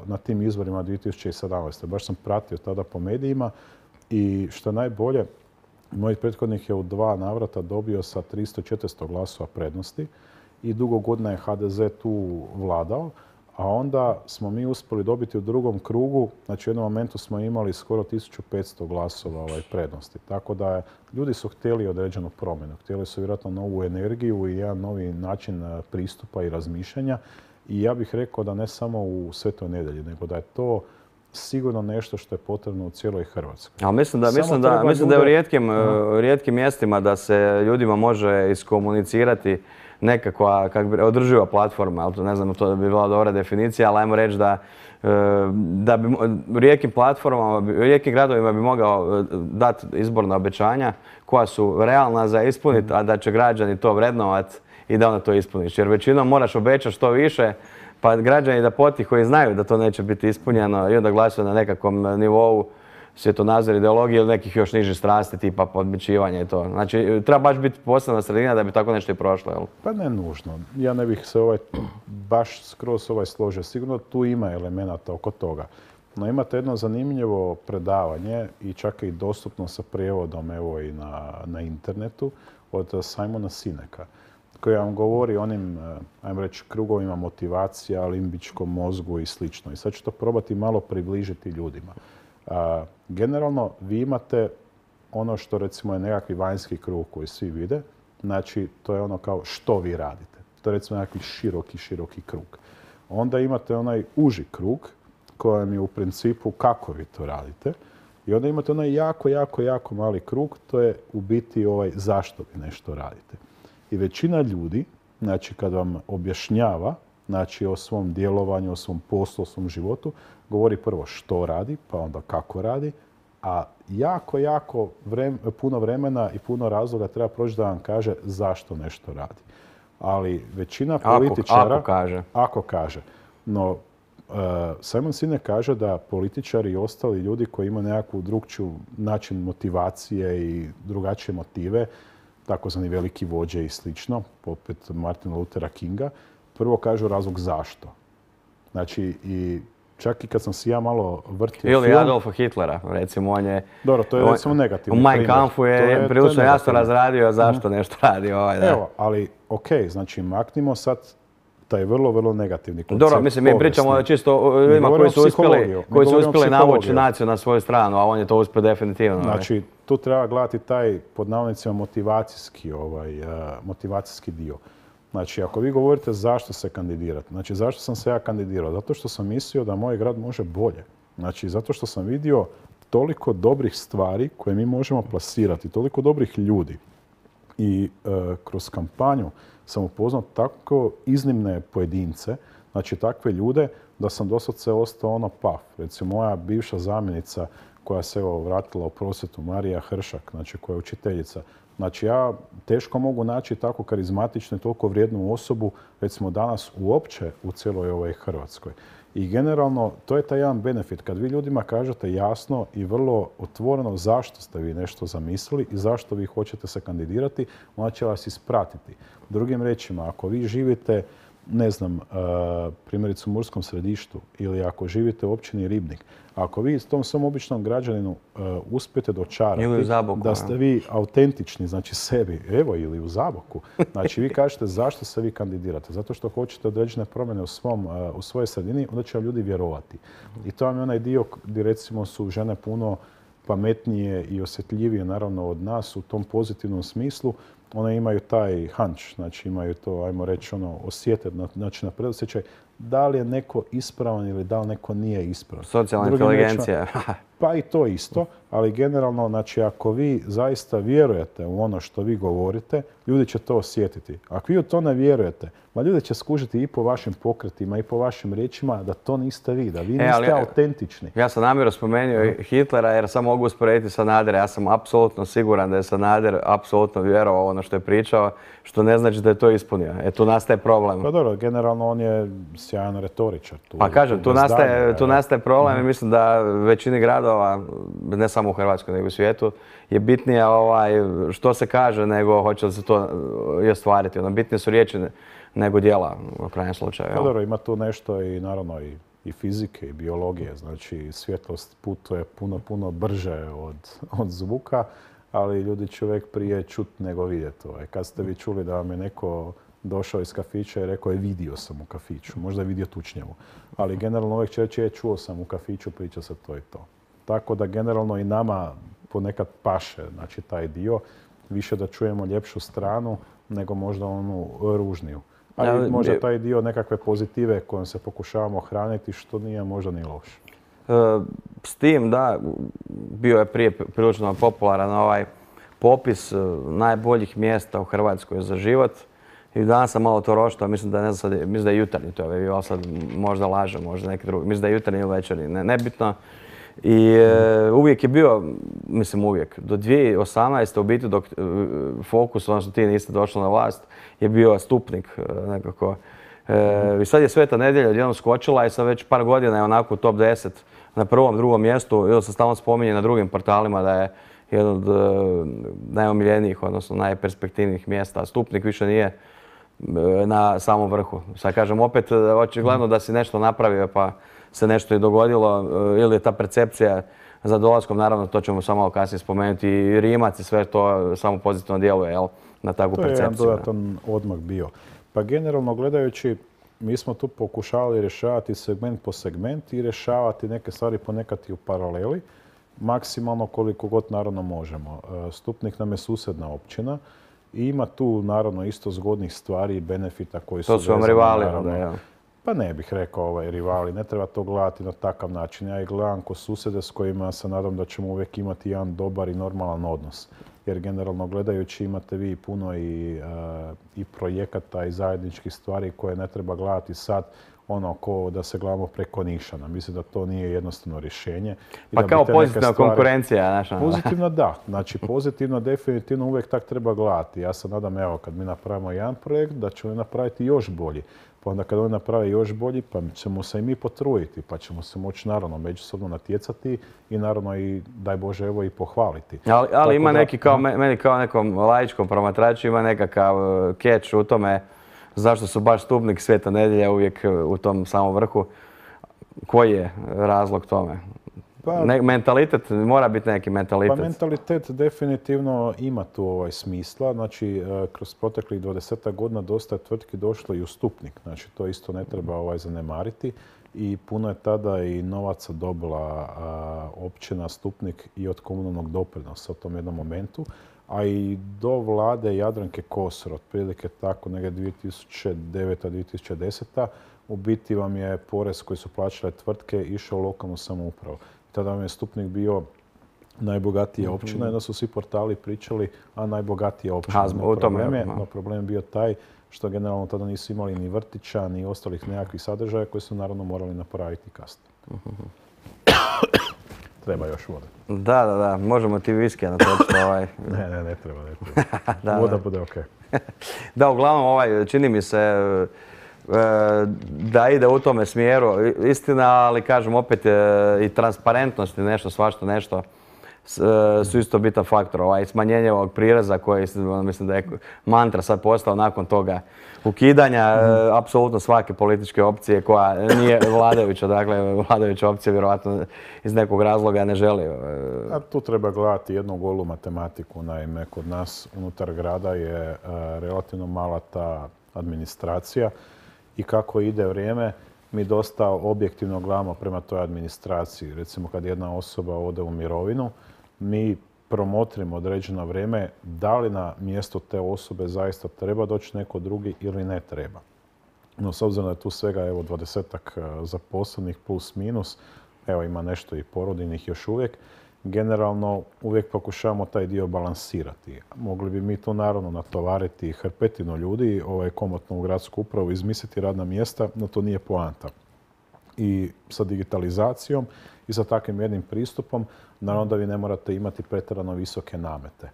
na tim izborima 2017. Baš sam pratio tada po medijima i što najbolje, moj prethodnik je u 2 navrata dobio sa 300-400 glasova prednosti i dugo godina je HDZ tu vladao, a onda smo mi uspjeli dobiti u drugom krugu, znači u jednom momentu smo imali skoro 1500 glasova prednosti. Tako da ljudi su htjeli određenu promjenu, htjeli su vjerojatno novu energiju i jedan novi način pristupa i razmišljanja. I ja bih rekao da ne samo u Svetoj Nedjelji, nego da je to sigurno nešto što je potrebno u cijeloj Hrvatskoj. Ali mislim da je u rijetkim mjestima da se ljudima može iskomunicirati nekakva održiva platforma, ali to ne znam, to bi bila dobra definicija, ali ajmo reći da bi rijetkim platformama, rijetkim gradovima bi mogao dati izborna obećanja koja su realna za ispuniti, a da će građani to vrednovati i da onda to ispuniš. Jer većinom moraš obećati što više, pa građani da potiho i znaju da to neće biti ispunjeno i onda glasuju na nekakvom nivou svjetonazor, ideologije ili nekih još nižih strasti tipa podmićivanja i to. Znači, treba baš biti posebna sredina da bi tako nešto i prošlo, jel? Pa ne nužno. Ja ne bih se baš skroz složio. Sigurno tu ima elemenata oko toga. No imate jedno zanimljivo predavanje i čak i dostupno sa prijevodom evo i na internetu od Simona Sineka, koji vam govori o onim, ajmo reći, krugovima motivacija, limbičkom mozgu i slično. I sad ću to probati malo približiti ljudima. Generalno, vi imate ono što recimo je nekakvi vanjski krug koji svi vide. Znači, to je ono kao što vi radite. To je recimo nekakvi široki krug. Onda imate onaj uži krug kojem je u principu kako vi to radite. I onda imate onaj jako mali krug, to je u biti zašto vi nešto radite. I većina ljudi, znači kad vam objašnjava, znači o svom djelovanju, o svom poslu, o svom životu, govori prvo što radi, pa onda kako radi, a jako puno vremena i puno razloga treba proći da vam kaže zašto nešto radi. Ali većina političara... Ako kaže. No, Simon Sinek kaže da političari i ostali ljudi koji imaju nekakvu drugčiju način motivacije i drugačije motive, takozvani veliki vođe i slično, poput Martina Luthera Kinga, prvo kažu razlog zašto. Znači, i čak i kad sam si ja malo vrtio film... Ili Adolfa Hitlera, recimo, on je... Dobro, to je recimo negativni primjer. U Mein Kampfu je prilično jasno razradio zašto nešto radi. Evo, ali okej, znači maknimo sad taj vrlo negativni koncept. Dobro, mislim, mi pričamo čisto o ljudima koji su uspjeli navući naciju na svoju stranu, a on je to uspio definitivno. Znači, tu treba gledati taj, pod navodnicima, motivacijski dio. Znači, ako vi govorite zašto se kandidirate, znači zašto sam se ja kandidirao? Zato što sam mislio da moj grad može bolje. Znači, zato što sam vidio toliko dobrih stvari koje mi možemo plasirati, toliko dobrih ljudi. I kroz kampanju sam upoznao tako iznimne pojedince, znači takve ljude, da sam doslovce ostao paf. Recimo, moja bivša zamjenica koja se vratila u prosvjetu, Marija Hršak, znači koja je učiteljica. Znači, ja teško mogu naći tako karizmatičnu i toliko vrijednu osobu, recimo danas uopće u cijeloj ovoj Hrvatskoj. I generalno, to je taj jedan benefit. Kad vi ljudima kažete jasno i vrlo otvoreno zašto ste vi nešto zamislili i zašto vi hoćete se kandidirati, onda će vas ispratiti. Drugim riječima, ako vi živite, ne znam, primjerice u Murskom Središtu ili ako živite u općini Ribnik, ako vi tom svom običnom građaninu uspijete dočarati da ste vi autentični, znači sebi, evo ili u Zaboku, znači vi kažete zašto se vi kandidirate, zato što hoćete određene promjene u svojoj sredini, onda će vam ljudi vjerovati. I to vam je onaj dio gdje recimo su žene puno pametnije i osjetljivije naravno od nas u tom pozitivnom smislu, one imaju taj hunch, znači imaju to, ajmo reći, osjete, znači na predosjećaj, da li je neko ispravan ili da li neko nije ispravan. Socijalna inteligencija. Pa i to isto, ali generalno, znači ako vi zaista vjerujete u ono što vi govorite, ljudi će to osjetiti. Ako vi u to ne vjerujete, ljudi će skužiti i po vašim pokretima i po vašim riječima da to niste vi, da vi niste autentični. Ja sam namjerno spomenuo Hitlera jer sam mogu usporediti Sanadera. Ja sam apsolutno siguran da je Sanader apsolutno vjerovao ono što je pričao, što ne znači da je to ispunio. Tu nastaje problem. Pa dobro, generalno on je sjajan retoričar. Pa kažem, tu nastaje problem i mislim da većini gradova, ne samo u Hrvatskoj nego u svijetu, je bitnije što se kaže nego hoće li se to i ostvariti. Bitnije su riječi nego djela u krajnjem slučaju. Pa dobro, ima tu nešto i naravno i fizike i biologije. Znači svjetlost putuje puno brže od zvuka, ali ljudi će uvijek prije čuti nego vidjeti. Kad ste vi čuli da vam je neko došao iz kafića i rekao je vidio sam u kafiću, možda je vidio tučnjavu. Ali generalno uvijek će reći čuo sam u kafiću, priča se to i to. Tako da generalno i nama ponekad paše, znači taj dio, više da čujemo ljepšu stranu nego možda onu ružniju. Ali možda taj dio nekakve pozitive kojom se pokušavamo hraniti, što nije možda ni loše. S tim, da, bio je prije prilično popularan ovaj popis najboljih mjesta u Hrvatskoj za život. I danas sam malo to roštao, mislim da je Jutarnji to je, ali sad možda lažem, možda neki drugi. Mislim da je Jutarnji ili Večernji, nebitno. I uvijek je bio, mislim uvijek, do 2018. u biti dok Fokus, odnosno ti niste došli na vlast, je bio Stupnik nekako. I sad je Sveta nedjelja odjednom skočila i sad već par godina je onako u top 10 na prvom, drugom mjestu. Ili se stalno spominje na drugim portalima da je jedan od najomiljenijih, odnosno najperspektivnijih mjesta. Stupnik više nije na samom vrhu. Sad kažem, opet očigledno da si nešto napravio pa se nešto i dogodilo, ili je ta percepcija za dolaskom, naravno to ćemo samo malo kasnije spomenuti, i Rimac i sve to samo pozitivno djeluje na takvu percepciju. To je jedan dodatan odmak bio. Pa generalno gledajući, mi smo tu pokušavali rješavati segment po segment i rješavati neke stvari ponekad i u paraleli, maksimalno koliko god naravno možemo. Stupnik nam je susjedna općina i ima tu naravno isto zgodnih stvari i benefita koji su... To su vam rivali, onda, ja. Pa ne bih rekao rivali, ne treba to gledati na takav način. Ja ih gledam ko susjede s kojima se nadam da ćemo uvijek imati jedan dobar i normalan odnos. Jer generalno gledajući imate vi puno i projekata i zajedničkih stvari koje ne treba gledati sad ko da se gledamo preko nišana. Mislim da to nije jednostavno rješenje. Pa kao pozitivna konkurencija, naša. Pozitivno da. Znači pozitivno definitivno uvijek tak treba gledati. Ja se nadam, evo, kad mi napravimo jedan projekt, da ćemo napraviti još bolji. Pa onda kad oni naprave još bolji, pa ćemo se i mi potruditi, pa ćemo se moći naravno međusobno natjecati i naravno i, daj Bože, evo i pohvaliti. Ali ima neki, meni kao nekom laičkom promatraču, ima nekakav catch u tome zašto su baš Stupnik, Sveta nedjelja uvijek u tom samom vrhu. Koji je razlog tome? Mentalitet, mora biti neki mentalitet. Pa mentalitet definitivno ima tu smisla. Znači, kroz proteklih 20 godina dosta je tvrtki došlo i u Stupnik. Znači, to isto ne treba zanemariti. I puno je tada i novaca dobila općina Stupnik i od komunalnog doprinosa u tom jednom momentu. A i do vlade Jadranke Kosor, otprilike tako negdje 2009-2010. U biti vam je porez koji su plaćale tvrtke išao u lokalnu samoupravu. Tada vam je Stupnik bio najbogatija općina i onda su svi portali pričali, a najbogatija općina. No problem je bio taj što generalno tada nisu imali ni vrtića, ni ostalih nekakvih sadržaja koji su naravno morali napraviti kasnije. Treba još voda. Da. Možemo ti viskija natočiti. Ne treba. Voda bude okej. Da, uglavnom čini mi se da ide u tome smjeru. Istina, ali kažem opet i transparentnost i nešto, svašta nešto su isto bitan faktor. Smanjenje ovog prireza koji mislim da je mantra sad postao nakon toga ukidanja apsolutno svake političke opcije koja nije vladajuća. Dakle, vladajuća opcija vjerojatno iz nekog razloga ne želi. A tu treba gledati jednu golu matematiku. Naime, kod nas unutar grada je relativno mala ta administracija i kako ide vrijeme, mi dosta objektivno gledamo prema toj administraciji. Recimo, kad jedna osoba ode u mirovinu, mi promotrimo određeno vrijeme da li na mjesto te osobe zaista treba doći neko drugi ili ne treba. No, s obzirom da je tu svega 20-ak zaposlenih plus minus, evo ima nešto i porodiljnih još uvijek, generalno uvijek pokušavamo taj dio balansirati. Mogli bi mi tu naravno natovariti hrpetinu ljudi, komotno u gradsku upravu, izmisliti radna mjesta, no to nije poanta. I sa digitalizacijom i sa takvim jednim pristupom, naravno da vi ne morate imati pretjerano visoke namete.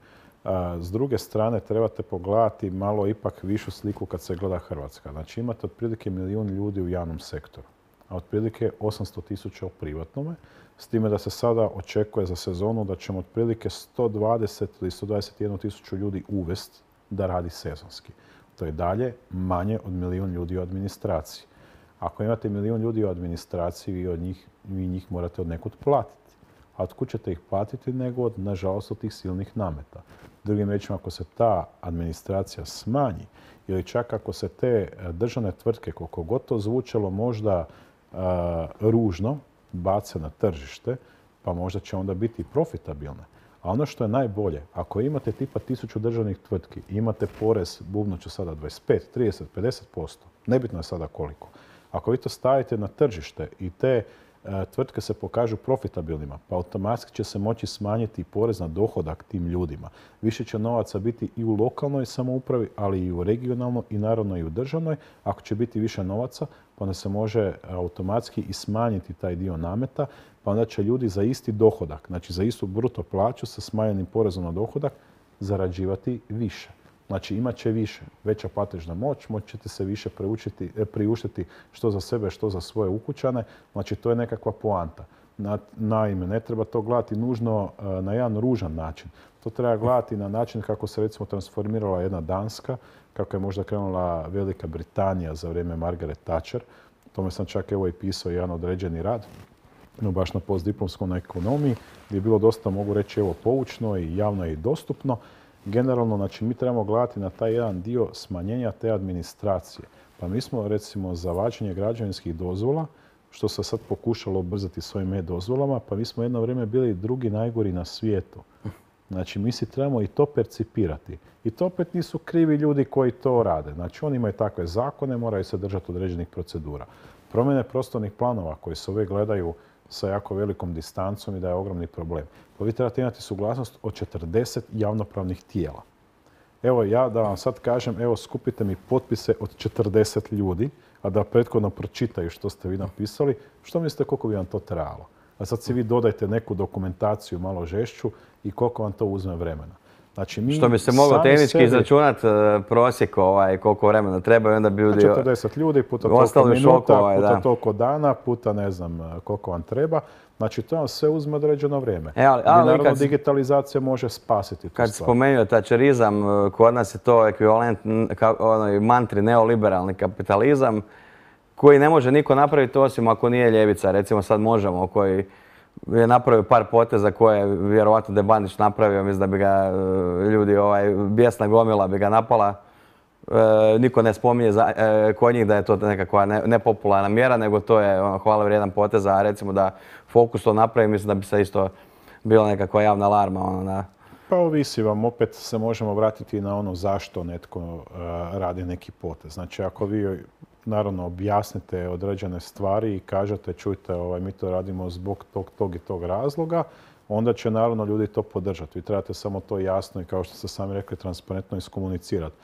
S druge strane, trebate pogledati malo ipak višu sliku kad se gleda Hrvatska. Znači, imate otprilike 1 milijun ljudi u javnom sektoru, a otprilike 800.000 u privatnome, s time da se sada očekuje za sezonu da ćemo otprilike 120 ili 121.000 ljudi uvesti da radi sezonski. To je dalje manje od 1 milijun ljudi u administraciji. Ako imate 1 milijun ljudi u administraciji, vi njih morate od nekud platiti. A otkud ćete ih platiti nego nažalost, od tih silnih nameta. Drugim riječima, ako se ta administracija smanji ili čak ako se te državne tvrtke, koliko god to zvučalo možda ružno, bace na tržište, pa možda će onda biti profitabilne. A ono što je najbolje, ako imate tipa 1000 državnih tvrtki, imate porez, bubnut ću sada 25, 30, 50%, nebitno je sada koliko. Ako vi to stavite na tržište i te tvrtke se pokažu profitabilnima, pa automatski će se moći smanjiti porez na dohodak tim ljudima. Više će novaca biti i u lokalnoj samoupravi, ali i u regionalnoj i naravno i u državnoj. Ako će biti više novaca, pa onda se može automatski i smanjiti taj dio nameta, pa onda će ljudi za isti dohodak, znači za istu bruto plaću sa smanjenim porezom na dohodak, zarađivati više. Znači imat će više, veća platežna moć, moći ćete se više priuštiti što za sebe, što za svoje ukućane. Znači to je nekakva poanta. Naime, ne treba to gledati nužno na jedan ružan način. To treba gledati na način kako se recimo transformirala jedna Danska, kako je možda krenula Velika Britanija za vrijeme Margaret Thatcher. Tome sam čak i pisao jedan određeni rad, no baš na postdiplomskom na ekonomiji, gdje je bilo dosta, mogu reći, poučno i javno i dostupno. Generalno, znači, mi trebamo gledati na taj jedan dio smanjenja te administracije. Pa mi smo, recimo, za vađenje građevinskih dozvola, što se sad pokušalo ubrzati s ovim e-dozvolama, pa mi smo jedno vrijeme bili drugi najgori na svijetu. Znači, mi si trebamo i to percipirati. I to opet nisu krivi ljudi koji to rade. Znači, oni imaju takve zakone, moraju se držati određenih procedura. Promjene prostornih planova koji se uvijek gledaju sa jako velikom distancom i da je ogromni problem. Pa vi trebate imati suglasnost od 40 javnopravnih tijela. Evo ja da vam sad kažem, evo skupite mi potpise od 40 ljudi, a da prethodno pročitaju što ste vi napisali, što mislite koliko bi vam to trebalo? A sad si vi dodajte neku dokumentaciju malo žešću i koliko vam to uzme vremena. Znači, mi što bi se moglo tehnički izračunati prosjek koliko vremena treba i onda bi ljudi... 40 ljudi puta toliko minuta, puta toliko dana, puta ne znam koliko vam treba. Znači, to vam sve uzme određeno vrijeme. Naravno, digitalizacija može spasiti tu stvar. Kad spomenuo thatcherizam, kod nas je to ekvivalent mantri neoliberalni kapitalizam, koji ne može niko napraviti osim ako nije ljevica. Recimo sad Možemo, koji je napravio par poteza koje je vjerovatno da je Bandić napravio. Mislim da bi ga ljudi, bijesna gomila bi ga napala. Niko ne spominje kod njih da je to nekakva nepopularna mjera, nego to je hvale vrijedan potez, a recimo da Fokus to napravi, mislim da bi se isto bila nekakva javna alarma. Pa ovisi vam, opet se možemo vratiti na ono zašto netko radi neki potez. Znači, ako vi naravno objasnite određene stvari i kažete, čujte, mi to radimo zbog tog i tog razloga, onda će naravno ljudi to podržati. Vi trebate samo to jasno i, kao što ste sami rekli, transparentno iskomunicirati.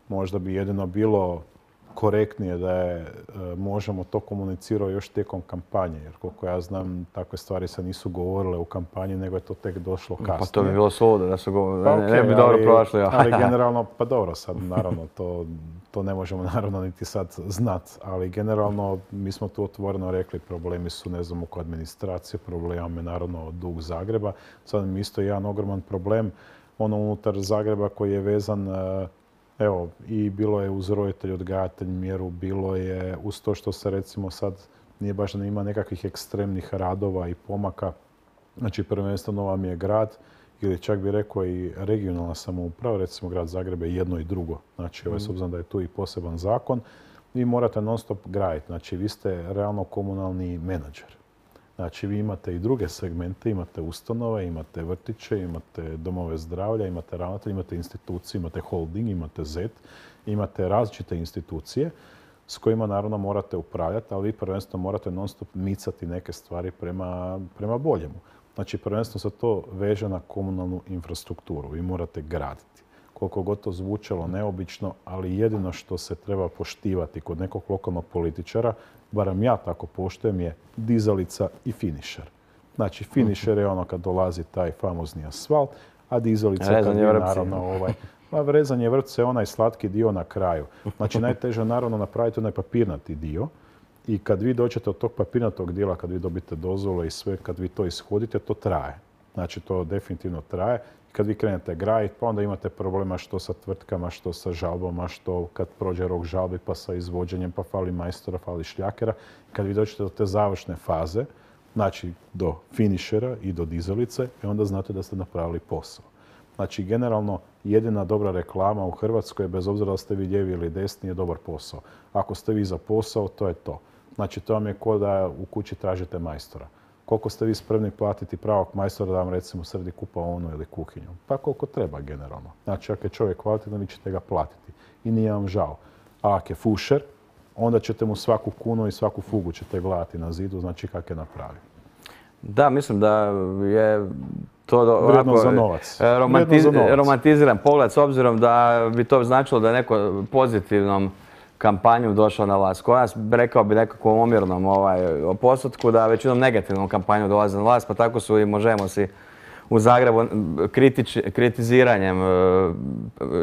Možda bi jedino bilo korektnije da je Možemo to komunicirao još tijekom kampanje, jer koliko ja znam, takve stvari se nisu govorile u kampanji, nego je to tek došlo kasnije. Pa to bi bilo suludo da su govorili, ne bi dobro prošli. Ali generalno, pa dobro, sad naravno to ne možemo naravno niti sad znati, ali generalno mi smo tu otvoreno rekli, problemi su, ne znam, oko administracije, problem je naravno dug Zagreba. Sad mi isto jedan ogroman problem unutar Zagreba koji je vezan. Evo, i bilo je uz roditelj odgajatelj mjeru, bilo je uz to što se recimo sad nije baš da ima nekakvih ekstremnih radova i pomaka. Znači, prvenstveno vam je grad ili čak bi rekao i regionalna samouprava, recimo grad Zagreb je jedno i drugo. Znači, s obzirom da je tu i poseban zakon, vi morate non stop graditi. Znači, vi ste realno komunalni menadžer. Znači, vi imate i druge segmente, imate ustanove, imate vrtiće, imate domove zdravlja, imate ravnatelje, imate institucije, imate holding, imate Z, imate različite institucije s kojima naravno morate upravljati, ali vi prvenstveno morate non stop micati neke stvari prema boljemu. Znači, prvenstveno se to veže na komunalnu infrastrukturu. Vi morate graditi. Koliko god to zvučalo neobično, ali jedino što se treba poštivati kod nekog lokalnog političara, barem ja tako poštujem, je dizalica i finišer. Znači, finišer je ono kad dolazi taj famozni asfalt, a dizalica kad je naravno rezanje vrpca je onaj slatki dio na kraju. Znači, najteže je naravno napraviti onaj papirnati dio. I kad vi dođete od tog papirnatog dijela, kad vi dobite dozvole i sve, kad vi to ishodite, to traje. Znači, to definitivno traje. I kad vi krenete graditi, pa onda imate problema što sa tvrtkama, što sa žalbama, što kad prođe rok žalbi, pa sa izvođenjem, pa fali majstora, fali šljakera. Kad vi dođete do te završne faze, znači do finišera i do dizalice, onda znate da ste napravili posao. Znači, generalno, jedina dobra reklama u Hrvatskoj, bez obzira da ste vi lijevi ili desni, je dobar posao. Ako ste vi za posao, to je to. Znači, to vam je kao da u kući tražite majstora. Koliko ste vi spremni platiti pravog majstora da vam recimo sredi kupaonu ili kuhinju? Pa koliko treba generalno. Znači, ako je čovjek kvalitetan, vi ćete ga platiti. I nije vam žao. A ako je fušer, onda ćete mu svaku kunu i svaku fugu ćete gledati na zidu, znači kako je napravio. Da, mislim da je to vrijedno za novac. Romantiziran pogled, s obzirom da bi to značilo da je neko pozitivnom kampanjom došao na vlast. Kod nas, rekao bi nekakvom omjernom postotku, da većinom negativnom kampanjom dolaze na vlast, pa tako su i Možemo si u Zagrebu kritiziranjem,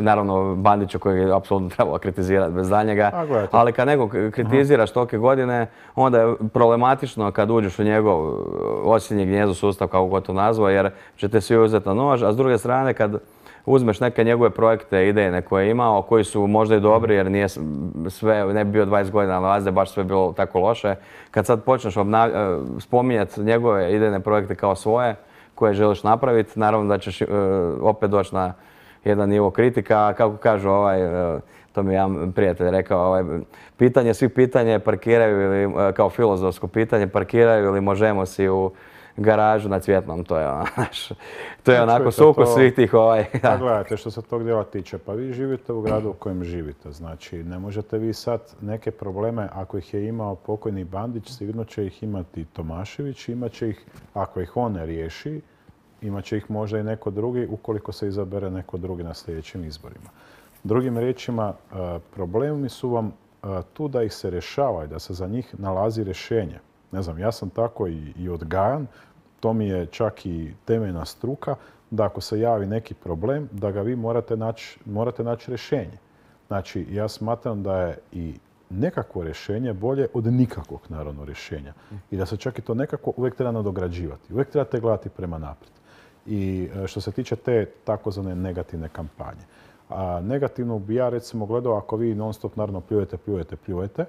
naravno Bandića kojeg je apsolutno trebalo kritizirati bez daljnjega, ali kad nekog kritiziraš tolike godine, onda je problematično kad uđeš u njegov osinji gnijezdo sustav, kako god to nazvao, jer ćete svi uzeti na nož, a s druge strane kad uzmeš neke njegove projekte, idejne koje je imao, koji su možda i dobri jer nije sve, ne bi bio 20 godina na vlasti, baš sve bilo tako loše. Kad sad počneš spominjati njegove idejne projekte kao svoje, koje želiš napraviti, naravno da ćeš opet doći na jedan nivo kritika. Kako kažu, to mi je jedan prijatelj rekao, pitanje svih pitanja parkiraju ili, kao filozofsko pitanje, parkiraju ili Možemo si u garažu na Cvjetnom. To je onako sukus svih tih Pa gledajte, što se tog dijela tiče, pa vi živite u gradu u kojem živite. Znači, ne možete vi sad neke probleme, ako ih je imao pokojni Bandić, sigurno će ih imati Tomašević, imat će ih, ako ih on ne riješi, imat će ih možda i neko drugi, ukoliko se izabere neko drugi na sljedećim izborima. Drugim riječima, problemi su vam tu da ih se rješava i da se za njih nalazi rješenje. Ne znam, ja sam tako i odgajan, to mi je čak i temeljna struka, da ako se javi neki problem, da ga vi morate naći rješenje. Znači, ja smatram da je i nekakvo rješenje bolje od nikakvog, naravno, rješenja. I da se čak i to nekako uvijek treba nadograđivati. Uvijek trebate gledati prema naprijed. I što se tiče te takozvane negativne kampanje. A negativno bi ja recimo gledao ako vi non stop naravno pljujete,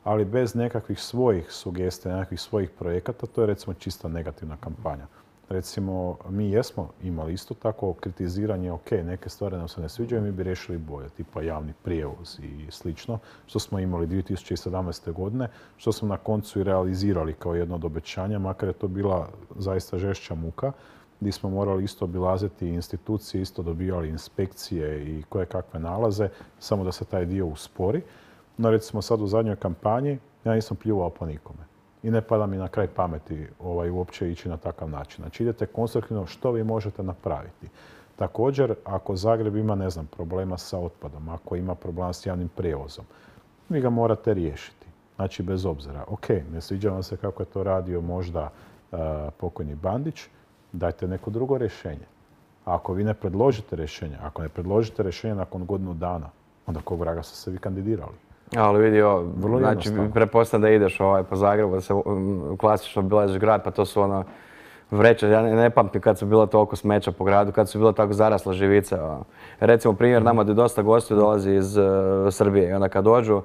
ali bez nekakvih svojih sugestija, nekakvih svojih projekata, to je recimo čista negativna kampanja. Recimo, mi jesmo imali isto tako kritiziranje, ok, neke stvari nam se ne sviđaju, mi bi riješili bolje, tipa javni prijevoz i slično, što smo imali 2017. godine, što smo na koncu i realizirali kao jedno od obećanja, makar je to bila zaista žešća muka, gdje smo morali isto obilaziti institucije, isto dobivali inspekcije i koje kakve nalaze, samo da se taj dio uspori. No recimo sad u zadnjoj kampanji ja nisam pljuvao po nikome. I ne pada mi na kraj pameti uopće ići na takav način. Znači idete konstruktivno što vi možete napraviti. Također, ako Zagreb ima, ne znam, problema sa otpadom, ako ima problema s javnim prijevozom, vi ga morate riješiti. Znači bez obzira. Ok, ne sviđa vam se kako je to radio možda pokojni Bandić, dajte neko drugo rješenje. A ako vi ne predložite rješenje, ako ne predložite rješenje nakon godinu dana, onda kog vraga ste se vi kandidirali? Ali vidi, znači, pretpostavljam da ideš po Zagrebu, da se klasično obilaziš grad, pa to su vreće. Ja ne pamtim kad su bila toliko smeća po gradu, kad su bila tako zarasla živica. Recimo, primjer, nama da dosta gostiju dolazi iz Srbije i onda kad dođu,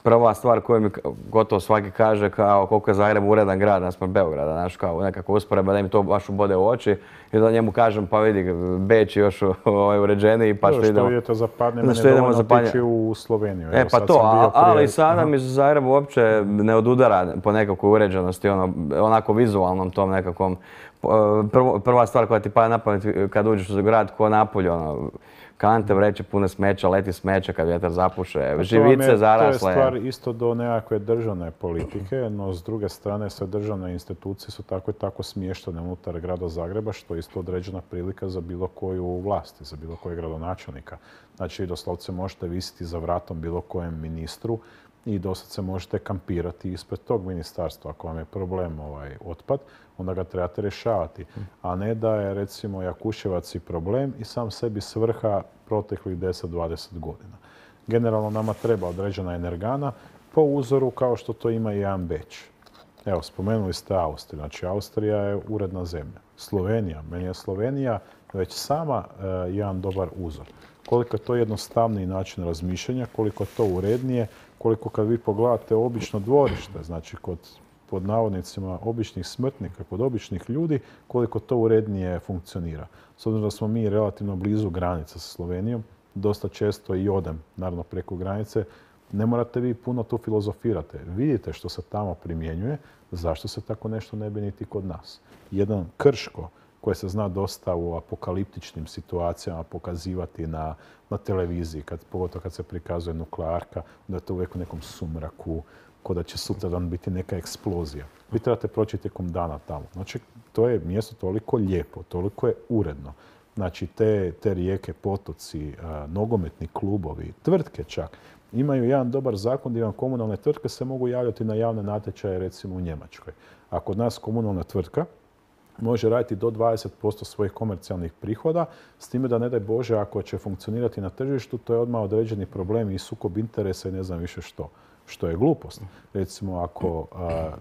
prva stvar koju mi gotovo svaki kaže kao koliko je Zagreb uredan grad naspram Beograda, znaš, kao nekako usporedba da im to baš ubode u oči i da njemu kažem pa vidi Beč je još uređeniji pa što idemo. Što vidite zapadne, meni je dovoljno otići u Sloveniju. E pa to, ali sada mi Zagreb uopće ne odudara po nekakvoj uređenosti, onako vizualnom tom nekakvom. Prva stvar koja ti pada na pamet kad uđeš u grad ko Napolje, kante vreće pune smeća, leti smeća kad vjetar zapuše, živice zarasle. To je stvar isto do nekakve državne politike, no s druge strane sve državne institucije su tako i tako smještene unutar grada Zagreba, što je isto određena prilika za bilo koju vlast, za bilo kojeg gradonačelnika. Znači, vi doslovce možete visiti za vratom bilo kojem ministru i doslovce možete kampirati ispred tog ministarstva. Ako vam je problem otpad, onda ga trebate rješavati. A ne da je, recimo, Jakuševac i problem i sam sebi svrha proteklih 10-20 godina. Generalno nama treba određena energana po uzoru kao što to ima i jedan Beč. Evo, spomenuli ste Austriju. Znači, Austrija je uredna zemlja. Slovenija, meni je Slovenija već sama jedan dobar uzor. Koliko je to jednostavniji način razmišljanja, koliko je to urednije, koliko kad vi pogledate obično dvorište, znači kod pod navodnicima običnih smrtnika, kod običnih ljudi, koliko to urednije funkcionira. S obzirom da smo mi relativno blizu granice sa Slovenijom, dosta često i odem, naravno preko granice, ne morate vi puno tu filozofirate. Vidite što se tamo primjenjuje, zašto se tako nešto ne bi niti kod nas. Jedan Krško, koje se zna dosta u apokaliptičnim situacijama pokazivati na televiziji, pogotovo kad se prikazuje nuklearka, da je to uvijek u nekom sumraku, ko da će sutradan biti neka eksplozija. Vi trebate proći tijekom dana tamo. Znači, to je mjesto toliko lijepo, toliko je uredno. Znači, te rijeke, potoci, nogometni klubovi, tvrtke čak, imaju jedan dobar zakon gdje vam komunalne tvrtke se mogu javljati na javne natječaje, recimo u Njemačkoj. A kod nas komunalna tvrtka može raditi do 20% svojih komercijalnih prihoda, s time da ne daj Bože ako će funkcionirati na tržištu, to je odmah određeni problem i sukob interesa i ne znam više što je glupost. Recimo, ako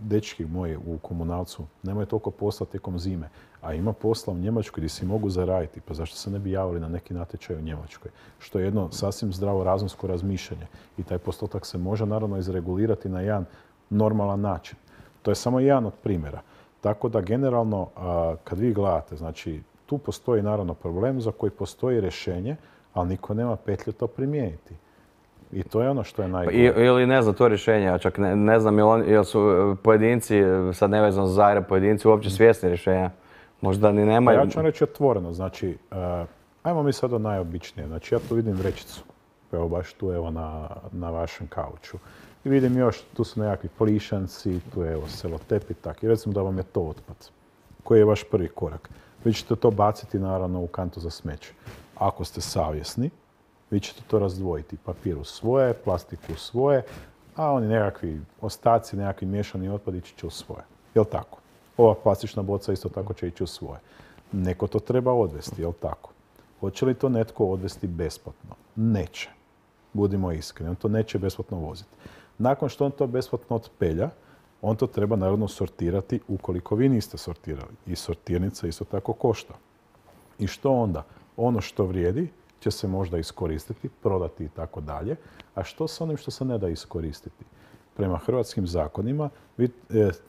dečki moji u komunalcu nemaju toliko posla tijekom zime, a ima posla u Njemačkoj gdje si mogu zaraditi, pa zašto se ne bi javili na neki natječaj u Njemačkoj? Što je jedno sasvim zdravo razumsko razmišljanje. I taj postotak se može naravno izregulirati na jedan normalan način. To je samo jedan od primjera. Tako da generalno, kad vi gledate, znači, tu postoji naravno problem za koji postoji rješenje, ali niko nema petlje to primijeniti. I to je ono što je najgore. Ili ne znam to rješenje, a čak ne znam jel su pojedinci, sad nevezano za Zagreb, pojedinci uopće svjesni rješenja. Možda ni nemaju. Ja ću vam reći otvoreno, znači, ajmo mi sad o najobičnije. Znači, ja tu vidim vrećicu, evo baš tu evo na vašem kauču. I vidim još, tu su nekakvi plišanci, tu je evo selotep i tako. I recimo da vam je to otpad, koji je vaš prvi korak. Vi ćete to baciti naravno u kantu za smeće. Ako ste savjesni, vi ćete to razdvojiti. Papir u svoje, plastiku u svoje, a oni nekakvi ostaci, nekakvi miješani otpad ići će u svoje. Jel' tako? Ova plastična boca isto tako će ići u svoje. Neko to treba odvesti, jel' tako? Hoće li to netko odvesti besplatno? Neće. Budimo iskreni, on to neće besplatno voziti. Nakon što on to besplatno otpelja, on to treba naravno sortirati ukoliko vi niste sortirali. I sortirnica isto tako košta. I što onda? Ono što vrijedi će se možda iskoristiti, prodati i tako dalje. A što sa onim što se ne da iskoristiti? Prema hrvatskim zakonima vi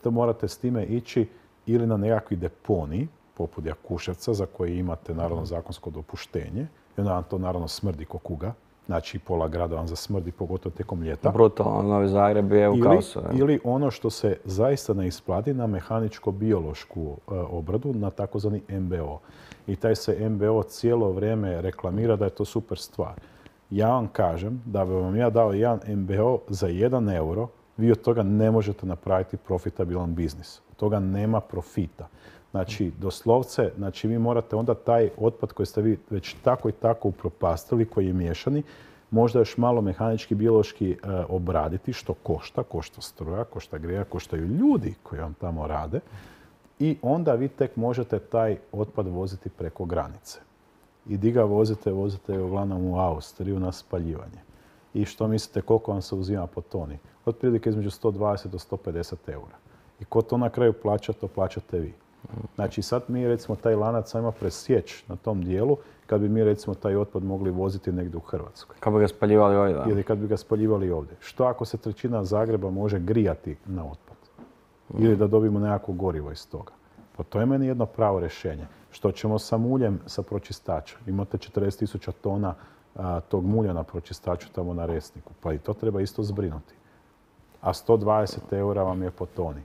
to morate s time ići ili na nekakvi deponiji, poput Jakuševca, za koji imate naravno zakonsko dopuštenje. I onda vam to naravno smrdi ko kuga. Znači, pola grada vam zasmrdi, pogotovo tijekom ljeta. Brutalno, Novi Zagreb je u kaosu. Ili ono što se zaista ne isplati na mehaničko-biološku obradu, na takozvani MBO. I taj se MBO cijelo vrijeme reklamira da je to super stvar. Ja vam kažem da bi vam ja dao jedan MBO za 1 euro, vi od toga ne možete napraviti profitabilan biznis. Od toga nema profita. Znači, doslovce, znači vi morate onda taj otpad koji ste vi već tako i tako upropastili, koji je miješani, možda još malo mehanički, biološki obraditi, što košta struja, košta grija, koštaju ljudi koji vam tamo rade. I onda vi tek možete taj otpad voziti preko granice. I di ga vozite uglavnom u Austriju na spaljivanje. I što mislite koliko vam se uzima po toni? Otprilike između 120 do 150 eura. I ko to na kraju plaća, to plaćate vi. Znači sad mi recimo taj lanac ajmo presjeći na tom dijelu kad bi mi recimo taj otpad mogli voziti negdje u Hrvatskoj. Kako bi ga spaljivali ovdje, da. Ili kad bi ga spaljivali ovdje. Što ako se trećina Zagreba može grijati na otpad? Ili da dobijemo nekako gorivo iz toga? Pa to je meni jedno pravo rješenje. Što ćemo sa muljem sa pročistača? Imate 40.000 tona tog mulja na pročistaču tamo na Resniku. Pa i to treba isto zbrinuti. A 120 eura vam je po toni.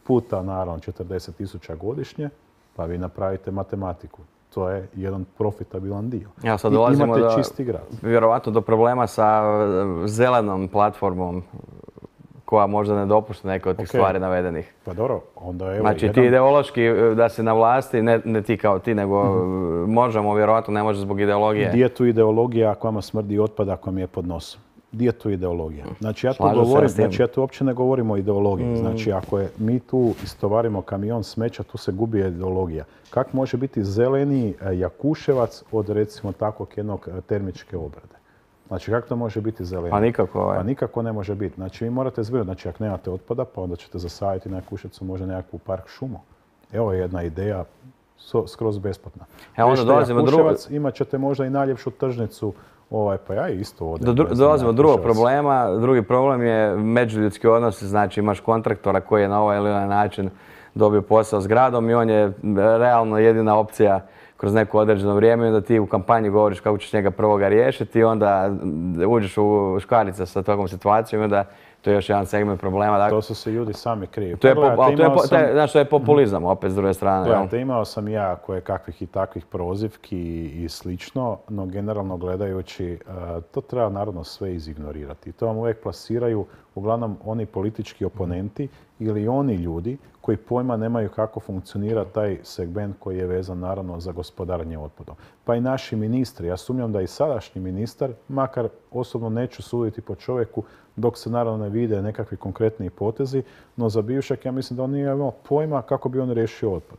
Puta naravno 40.000 godišnje, pa vi napravite matematiku. To je jedan profitabilan dio. Ja, sad dolazimo imate čisti grad. Vjerovatno do problema sa zelenom platformom koja možda ne dopušta neke od tih stvari navedenih. Pa dobro, onda evo znači ti ideološki da si na vlasti, ne ti kao ti, nego možemo, vjerovatno ne može zbog ideologije. Gdje je tu ideologija ako vama smrdi otpad, ako vam je pod nosom? Gdje je tu ideologija? Znači ja tu uopće ne govorim o ideologiji. Znači ako mi tu istovarimo kamion smeća, tu se gubi ideologija. Kako može biti zeleni Jakuševac od recimo takvog jednog termičke obrade? Znači kako to može biti zeleni? Pa nikako. Pa nikako ne može biti. Znači vi morate zbrinuti. Znači ako nemate otpada, pa onda ćete zasaditi na Jakuševcu možda nekakvu park šumu. Evo je jedna ideja skroz besplatna. Onda dolazimo do drugog. Imat ćete možda i najljepšu tržnicu. Pa ja isto odem. Dolazimo do drugog problema. Drugi problem je međuljudski odnos. Znači imaš kontraktora koji je na ovaj ili onaj način dobio posao s gradom i on je realno jedina opcija kroz neko određeno vrijeme i onda ti u kampanji govoriš kako ćeš njega prvoga riješiti i onda uđeš u škarice sa takvom situacijom i onda to je još jedan segment problema. Dakle, to su se ljudi sami krivi. Znaš, to je populizam opet s druge strane. Gledajte, imao sam ja koje kakvih i takvih prozivki i slično, no generalno gledajući to treba naravno sve izignorirati. To vam uvijek plasiraju uglavnom oni politički oponenti ili oni ljudi koji pojma nemaju kako funkcionira taj segment koji je vezan naravno za gospodarenje otpadom. Pa i naši ministri, ja sumnjam da i sadašnji ministar, makar osobno neću suditi po čovjeku dok se naravno ne vide nekakvi konkretni potezi, no za bivšeg ja mislim da on nije imao pojma kako bi on riješio otpad.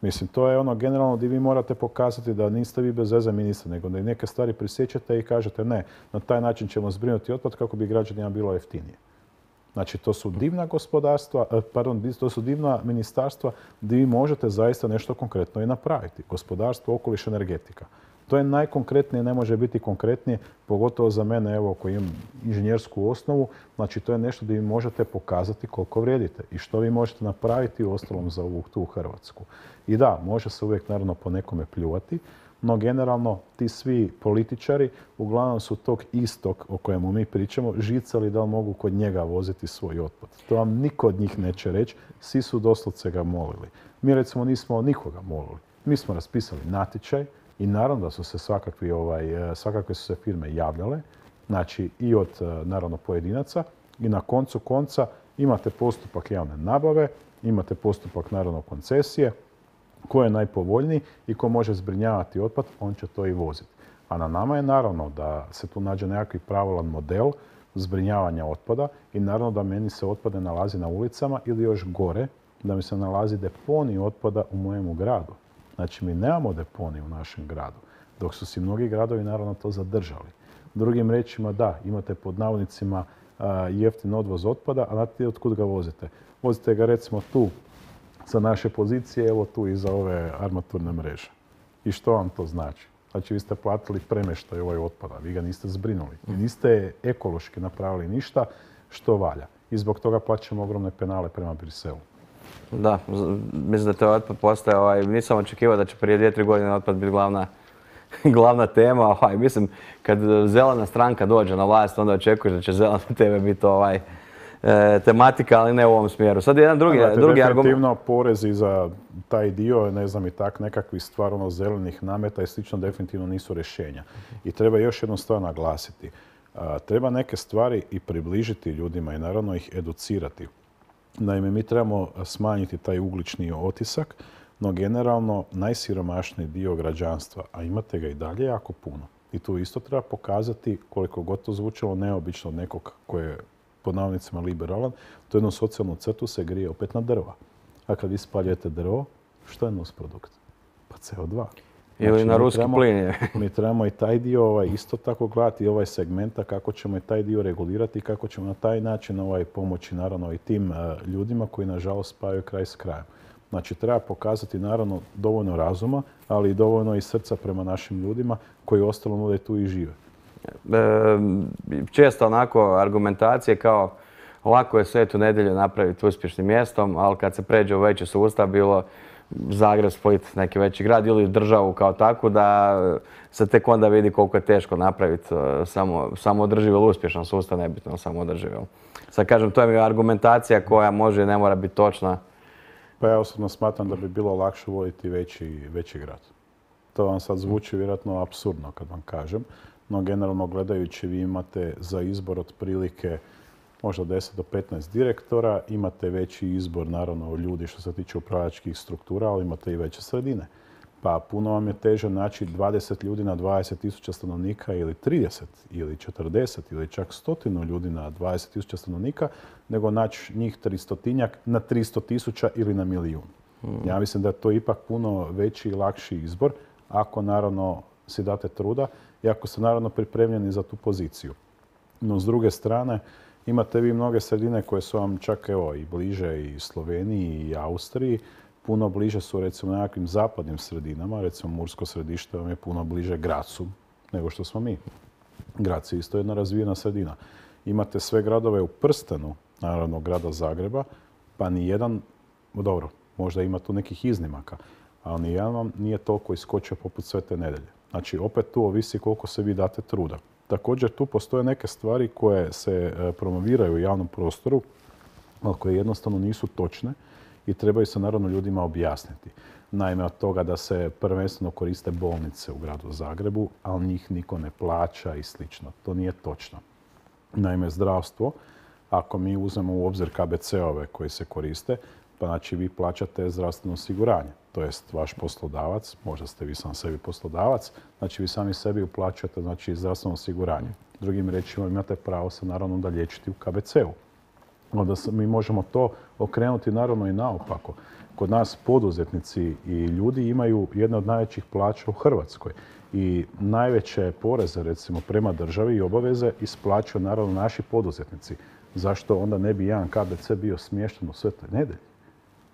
Mislim, to je ono generalno gdje vi morate pokazati da niste vi bez veze ministar, nego da i neke stvari prisjećate i kažete ne, na taj način ćemo zbrinuti otpad kako bi građanima bilo jeftinije. Znači, to su divna gospodarstva, to su divna ministarstva gdje vi možete zaista nešto konkretno i napraviti. Gospodarstvo, okoliš, energetika. To je najkonkretnije, ne može biti konkretnije, pogotovo za mene, evo, koji imam inženjersku osnovu. Znači, to je nešto gdje vi možete pokazati koliko vrijedite i što vi možete napraviti u ostalom za ovu tu Hrvatsku. I da, može se uvijek naravno po nekome pljuvati, no generalno ti svi političari uglavnom su tog istog o kojemu mi pričamo žicali da li mogu kod njega voziti svoj otpad. To vam niko od njih neće reći, svi su doslovce ga molili. Mi recimo nismo nikoga molili. Mi smo raspisali natječaj i naravno da su se svakakve su se firme javljale, znači i od naravno pojedinaca i na koncu konca imate postupak javne nabave, imate postupak naravno koncesije, ko je najpovoljniji i ko može zbrinjavati otpad, on će to i voziti. A na nama je naravno da se tu nađe nekakvi pravilan model zbrinjavanja otpada i naravno da meni se otpad ne nalazi na ulicama ili još gore, da mi se nalazi deponij otpada u mojemu gradu. Znači, mi nemamo deponij u našem gradu, dok su si mnogi gradovi naravno to zadržali. Drugim riječima, da, imate pod navodnicima jeftin odvoz otpada, a znate otkud ga vozite? Vozite ga recimo tu sa naše pozicije, evo tu iza ove armaturne mreže. I što vam to znači? Znači, vi ste platili premještaj ovaj otpada, vi ga niste zbrinuli. I niste ekološki napravili ništa što valja. I zbog toga plaćamo ogromne penale prema Briselu. Da, mislim da to otpad postaje, nisam očekivao da će prije 2-3 godine otpad biti glavna tema. Mislim, kad zelena stranka dođe na vlast, onda očekuješ da će zelene teme biti tematika, ali ne u ovom smjeru. Sad je jedan drugi argument. Definitivno porezi za taj dio, ne znam i tak, nekakvih stvarno zelenih nameta i slično definitivno nisu rješenja. I treba još jednu stvar naglasiti. Treba neke stvari i približiti ljudima i naravno ih educirati. Naime, mi trebamo smanjiti taj ugljični otisak, no generalno najsiromašniji dio građanstva, a imate ga i dalje jako puno. I tu isto treba pokazati, koliko god to zvučalo neobično od nekog koji je pod navodnicima liberalan, to jednu socijalnu crtu se grije opet na drva. A kad vi spaljujete drvo, što je nusprodukt? Pa CO2. Ili na ruski plin. Mi trebamo i taj dio isto tako gledati, ovaj segmenta, kako ćemo i taj dio regulirati i kako ćemo na taj način pomoći naravno i tim ljudima koji nažalost spajaju kraj s krajem. Znači, treba pokazati naravno dovoljno razuma, ali i dovoljno i srca prema našim ljudima koji ostalo nude tu i žive. Često onako argumentacije kao lako je Svetu Nedjelju napraviti uspješnim mjestom, ali kad se pređe u veći sustav, bilo Zagreb, Split, neki veći grad ili državu kao takvu, da se tek onda vidi koliko je teško napraviti samo održiv ili uspješan sustav, nebitno samo održiv. Sad kažem, to je argumentacija koja može i ne mora biti točna. Pa ja osobno smatram da bi bilo lakše voditi veći grad. To vam sad zvuči vjerojatno apsurdno kad vam kažem, no generalno gledajući vi imate za izbor otprilike možda 10 do 15 direktora, imate veći izbor naravno ljudi što se tiče upravljačkih struktura, ali imate i veće sredine. Pa puno vam je teže naći 20 ljudi na 20.000 stanovnika ili 30 ili 40 ili čak 100 ljudi na 20.000 stanovnika, nego naći njih 300-tinjak na 300.000 ili na milijun. Ja mislim da je to ipak puno veći i lakši izbor, ako naravno si date truda i ako ste naravno pripremljeni za tu poziciju. No s druge strane, imate vi mnoge sredine koje su vam čak evo i bliže i Sloveniji i Austriji, puno bliže su recimo nekakvim zapadnim sredinama, recimo Mursko Središte vam je puno bliže Grazu nego što smo mi. Graz je isto jedna razvijena sredina. Imate sve gradove u prstenu, naravno grada Zagreba, pa nijedan, dobro, možda ima tu nekih iznimaka, ali nijedan vam nije toliko iskočio poput Svete Nedjelje. Znači, opet tu ovisi koliko se vi date truda. Također, tu postoje neke stvari koje se promoviraju u javnom prostoru, ali koje jednostavno nisu točne i trebaju se naravno ljudima objasniti. Naime, od toga da se prvenstveno koriste bolnice u gradu Zagrebu, ali njih niko ne plaća i slično. To nije točno. Naime, zdravstvo, ako mi uzmemo u obzir KBC-ove koji se koriste, pa znači vi plaćate zdravstveno osiguranje. To jest vaš poslodavac, možda ste vi sam sebi poslodavac, znači vi sami sebi uplaćujete znači, zdravstveno osiguranje. Drugim riječima imate pravo se naravno da liječiti u KBC-u. Onda mi možemo to okrenuti naravno i naopako. Kod nas poduzetnici i ljudi imaju jedne od najvećih plaća u Hrvatskoj. I najveće poreze recimo prema državi i obaveze isplaćuju naravno naši poduzetnici. Zašto onda ne bi jedan KBC bio smješten u Svetoj Nedjelji?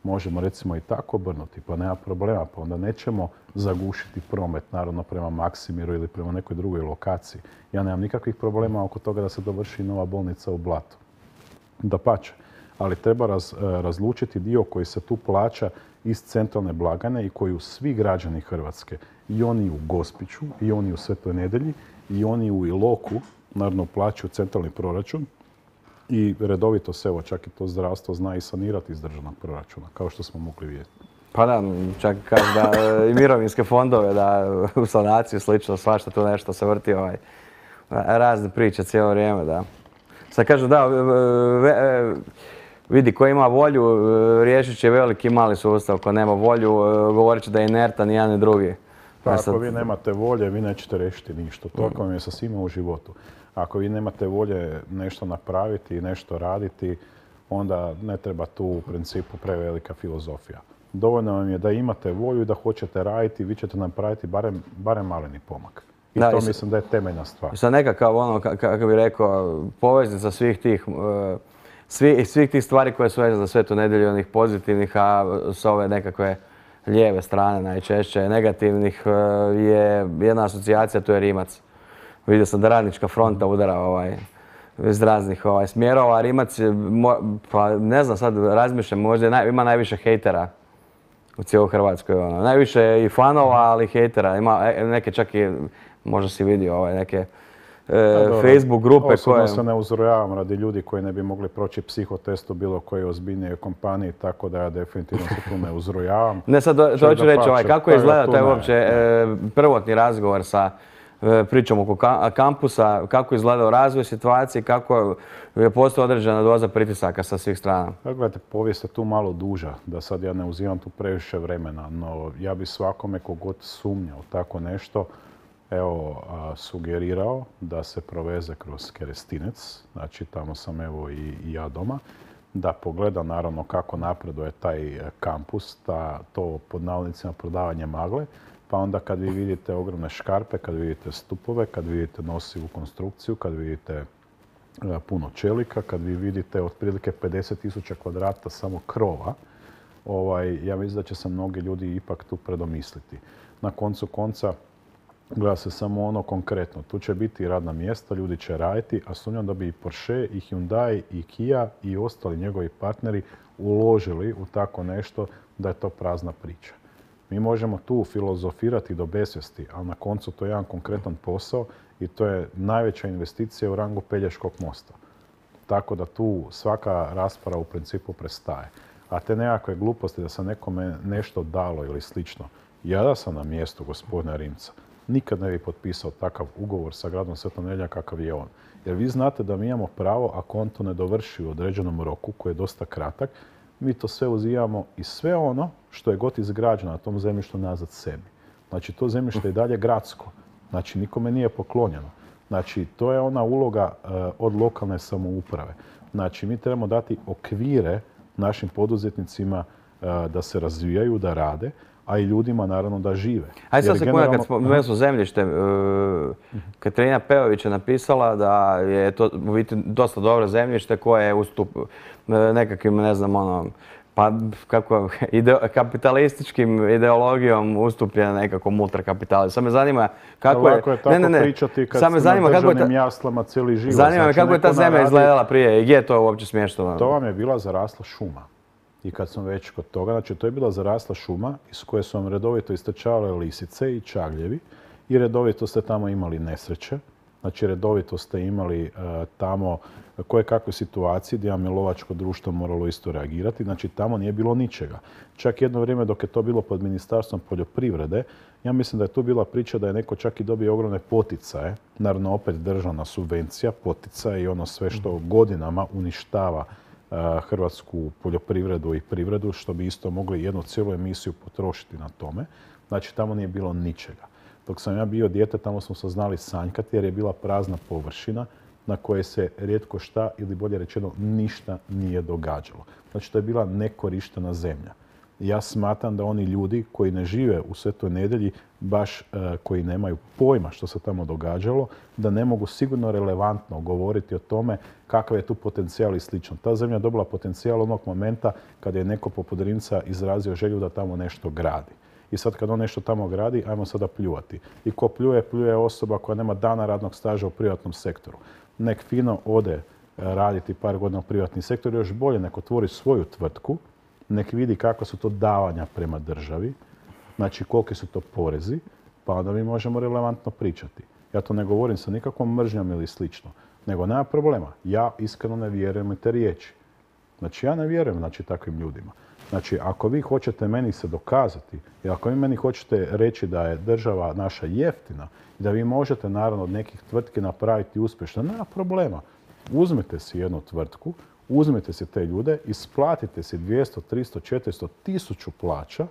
Možemo recimo i tako obrnuti, pa nema problema, pa onda nećemo zagušiti promet, naravno prema Maksimiru ili prema nekoj drugoj lokaciji. Ja nemam nikakvih problema oko toga da se dovrši nova bolnica u Blatu. Dapače, ali treba razlučiti dio koji se tu plaća iz centralne blagajne i koju svi građani Hrvatske, i oni u Gospiću, i oni u Svetoj Nedjelji, i oni u Iloku, naravno plaćaju centralni proračun, i redovito se, evo, čak i to zdravstvo zna i sanirati iz državnog proračuna, kao što smo mogli vidjeti. Pa da, čak kažu da i mirovinske fondove, da u sanaciju slično, svašta tu nešto se vrti, razne priče cijelo vrijeme, da. Sad kažu da, vidi, ko ima volju, riješit će veliki i mali sustav, ko nema volju, govorit će da je inertan i jedan i drugi. Pa ako vi nemate volje, vi nećete riješiti ništa. To vam je sa svima u životu. Ako vi nemate volje nešto napraviti i nešto raditi, onda ne treba tu u principu prevelika filozofija. Dovoljno vam je da imate volju i da hoćete raditi, vi ćete napraviti barem maleni pomak. I to mislim da je temeljna stvar. Sad nekakav, kako bih rekao, poveznica svih tih stvari koje su vezane za Svetu Nedjelju, onih pozitivnih, a s ove nekakve lijeve strane najčešće negativnih je jedna asocijacija, to je Rimac. Vidio sam da Radnička fronta udara iz raznih smjerova. Rimac, pa ne znam, sad razmišljam, možda ima najviše hejtera u cijeloj Hrvatskoj. Najviše i fanova, ali hejtera. Ima neke čak i, možda si vidio, neke Facebook grupe koje... Osobno se ne uzrojavam radi ljudi koji ne bi mogli proći psihotest u bilo kojoj ozbiljnijoj kompaniji, tako da ja definitivno se tu ne uzrojavam. Ne, sad to hoću reći, kako je izgledao taj uopće prvotni razgovor sa pričom oko kampusa, kako je izgledao razvoj situacije, kako je postala određena doza pritisaka sa svih strana? Gledajte, povijest je tu malo duža, da sad ja ne uzimam tu previše vremena, no ja bi svakome kogod sumnjao tako nešto, evo, sugerirao da se proveze kroz Kerestinec, znači tamo sam evo i ja doma, da pogleda naravno kako napreduje taj kampus, to pod navodnicima prodavanje magle, pa onda kad vi vidite ogromne škarpe, kad vidite stupove, kad vidite nosivu konstrukciju, kad vidite puno čelika, kad vi vidite otprilike 50.000 kvadrata samo krova, ja mislim da će se mnogi ljudi ipak tu predomisliti. Na koncu konca, gleda se samo ono konkretno. Tu će biti radna mjesta, ljudi će raditi, a sumnjam da bi i Porsche, i Hyundai, i Kia i ostali njegovi partneri uložili u tako nešto da je to prazna priča. Mi možemo tu filozofirati do besvijesti, ali na koncu to je jedan konkretan posao i to je najveća investicija u rangu Pelješkog mosta. Tako da tu svaka rasprava u principu prestaje. A te nekakve gluposti da se nekome nešto dalo ili slično, ja da sam na mjestu gospodina Rimca, nikad ne bi potpisao takav ugovor sa gradom Svetom Nedeljom kakav je on. Jer vi znate da mi imamo pravo, ako on to ne dovrši u određenom roku, koji je dosta kratak, mi to sve uzimamo i sve ono što je god izgrađeno na tom zemljištu nazad sebi. Znači, to zemljište je dalje gradsko. Znači, nikome nije poklonjeno. Znači, to je ona uloga od lokalne samouprave. Znači, mi trebamo dati okvire našim poduzetnicima da se razvijaju, da rade, a i ljudima naravno da žive. Ajde sad sekunda, kad spomenuli smo zemljište, Katarina Peović je napisala da je to u biti dosta dobro zemljište koje je ustup nekakvim, ne znam, pa kako, kapitalističkim ideologijom ustupljena nekakvom ultrakapitalu. Sad me zanima kako je... Lako je tako pričati kad si na državnim jaslama cijeli život. Zanima me kako je ta zemlja izgledala prije i gdje je to uopće smješteno? To vam je bila zarasla šuma. I kad smo već kod toga, znači to je bila zarasla šuma iz koje su vam redovito istrčavale lisice i čagljevi i redovito ste tamo imali nesreće. Znači redovito ste imali tamo kojekakve situacije gdje vam je lovačko društvo moralo isto reagirati. Znači tamo nije bilo ničega. Čak jedno vrijeme dok je to bilo pod Ministarstvom poljoprivrede, ja mislim da je tu bila priča da je neko čak i dobio ogromne poticaje. Naravno opet državna subvencija, poticaje i ono sve što godinama uništava hrvatsku poljoprivredu i privredu, što bi isto mogli jednu cijelu emisiju potrošiti na tome. Znači, tamo nije bilo ničega. Dok sam ja bio dijete, tamo smo se znali sanjkati jer je bila prazna površina na kojoj se rijetko šta, ili bolje rečeno, ništa nije događalo. Znači, to je bila nekorištena zemlja. Ja smatram da oni ljudi koji ne žive u Svetoj Nedelji, baš koji nemaju pojma što se tamo događalo, da ne mogu sigurno relevantno govoriti o tome kakav je tu potencijal i slično. Ta zemlja je dobila potencijal onog momenta kada je neko poput Rimca izrazio želju da tamo nešto gradi. I sad kad on nešto tamo gradi, ajmo sada pljuvati. I ko pljuje, pljuje osoba koja nema dana radnog staža u privatnom sektoru. Nek fino ode raditi par godina u privatni sektor, još bolje nek otvori svoju tvrtku, nek vidi kakva su to davanja prema državi, znači koliki su to porezi, pa onda mi možemo relevantno pričati. Ja to ne govorim sa nikakvom mržnjom ili slično, nego nema problema. Ja iskreno ne vjerujem u te riječi. Znači ja ne vjerujem takvim ljudima. Znači ako vi hoćete meni se dokazati i ako vi meni hoćete reći da je država naša jeftina i da vi možete naravno od nekih tvrtki napraviti uspješno, nema problema. Uzmite si jednu tvrtku, uzmite si te ljude, isplatite si 200, 300, 400, 1000 plaća,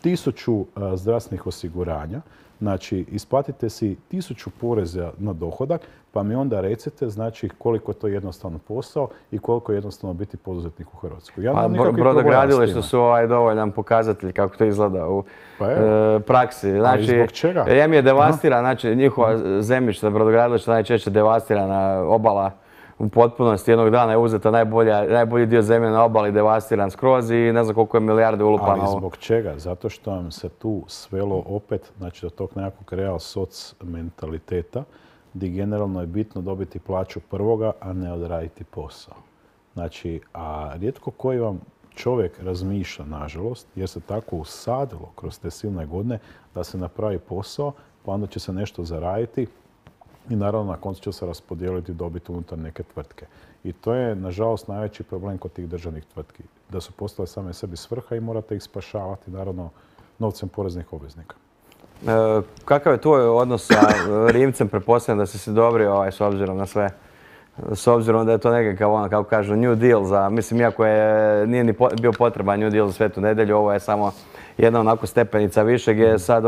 1000 zdravstvenih osiguranja, znači isplatite si 1000 poreza na dohodak, pa mi onda recite znači koliko je to jednostavno posao i koliko je jednostavno biti poduzetnik u Hrvatskoj. Ja brodogradilišta su dovoljan pokazatelj kako to izgleda u praksi. Znači, zbog čega? Em je devastira, znači njihova zemljišta, brodogradilišta najčešće devastirana obala u potpunosti. Jednog dana je uzeta najbolji dio zemlje na obali, devastiran skroz i ne znam koliko je milijarde ulupano. Ali zbog čega? Zato što vam se tu svelo opet, znači do tog nekakvog real soc mentaliteta, gdje generalno je bitno dobiti plaću prvoga, a ne odraditi posao. Znači, a rijetko koji vam čovjek razmišlja, nažalost, jer se tako usadilo kroz te silne godine da se napravi posao, pa onda će se nešto zaraditi i naravno na koncu će se raspodijeliti dobit unutar neke tvrtke. I to je, nažalost, najveći problem kod tih državnih tvrtki. Da su postale same sebi svrha i morate ih spašavati, naravno, novcem poreznih obveznika. Kakav je tvoj odnos sa Rimcem? Pretpostavljam da si se dobrio s obzirom na sve. S obzirom da je to nekakav, kako kažu, New Deal za, mislim, iako nije ni bio potreban New Deal za Svetu Nedelju, ovo je samo jedna onako stepenica više gdje je sad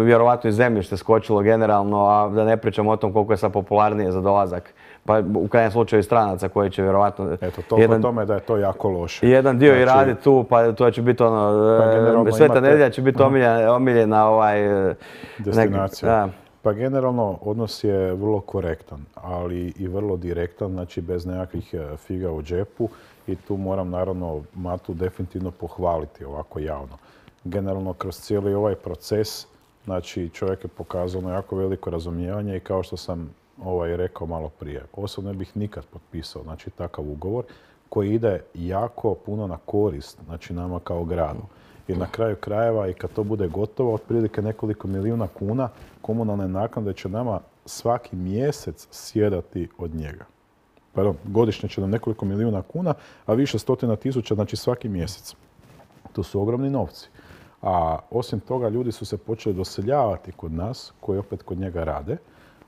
vjerovatno i zemljište skočilo generalno, a da ne pričamo o tom koliko je sad popularnije za dolazak. Pa u krajnjem slučaju stranaca koji će vjerovatno... Eto, toliko tome da je to jako loše. Jedan dio i radi tu, pa to će biti Sveta Nedjelja će biti omiljena destinacija. Pa generalno odnos je vrlo korektan, ali i vrlo direktan, znači bez nekakvih figa u džepu i tu moram naravno Matu definitivno pohvaliti ovako javno. Generalno kroz cijeli ovaj proces, znači čovjek je pokazao jako veliko razumijevanje i kao što sam rekao malo prije, osobno ne bih nikad potpisao znači takav ugovor koji ide jako puno na korist znači nama kao gradu. I na kraju krajeva i kad to bude gotovo, otprilike nekoliko milijuna kuna komunalne naknade će nama svaki mjesec sjedati od njega. Pardon, godišnje će nam nekoliko milijuna kuna, a više stotina tisuća, znači svaki mjesec. To su ogromni novci. A osim toga, ljudi su se počeli doseljavati kod nas, koji opet kod njega rade.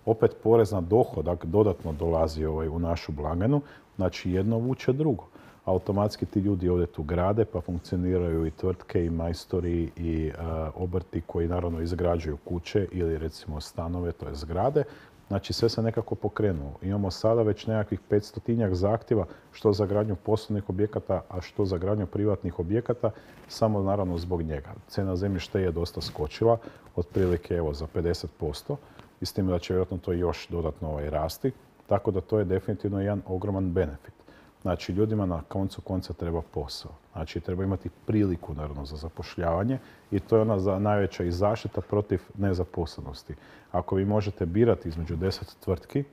Opet porez na dohodak dodatno dolazi u našu blagajnu, znači jedno vuče drugo. Automatski ti ljudi ovdje tu grade, pa funkcioniraju i tvrtke, i majstori, i obrti koji naravno izgrađuju kuće ili recimo stanove, to je zgrade. Znači sve se nekako pokrenulo. Imamo sada već nekakvih 500-tinjak zahtjeva što za gradnju poslovnih objekata, a što za gradnju privatnih objekata, samo naravno zbog njega. Cena zemljišta je dosta skočila, otprilike evo za 50%, i s tim da će vjerojatno to još dodatno rasti, tako da to je definitivno jedan ogroman benefit. Znači, ljudima na koncu konca treba posao. Znači, treba imati priliku, naravno, za zapošljavanje i to je ona najveća i zaštita protiv nezaposlenosti. Ako vi možete birati između 10 tvrtki,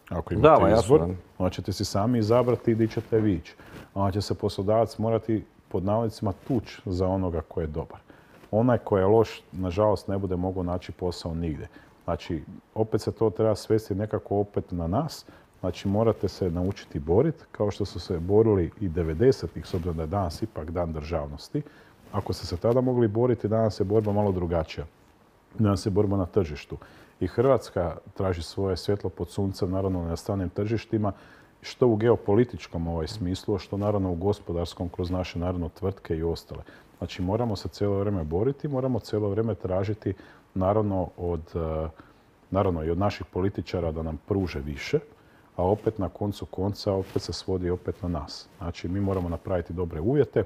ako imate izbor, onda ćete si sami izabrati gdje ćete vi ići. Onda će se poslodavac morati, pod navodnicima, tući za onoga koji je dobar. Onaj koji je loš, nažalost, ne bude mogao naći posao nigdje. Znači, opet se to treba svesti nekako opet na nas. Znači, morate se naučiti boriti, kao što su se borili i 90-ih, s obzirom da je danas ipak dan državnosti. Ako ste se tada mogli boriti, danas je borba malo drugačija. Danas je borba na tržištu. I Hrvatska traži svoje svjetlo pod suncem, naravno na stranim tržištima, što u geopolitičkom smislu, što naravno u gospodarskom, kroz naše naravno tvrtke i ostale. Znači, moramo se cijelo vrijeme boriti, moramo cijelo vrijeme tražiti naravno i od naših političara da nam pruže više, a opet na koncu konca opet se svodi opet na nas. Znači, mi moramo napraviti dobre uvjete,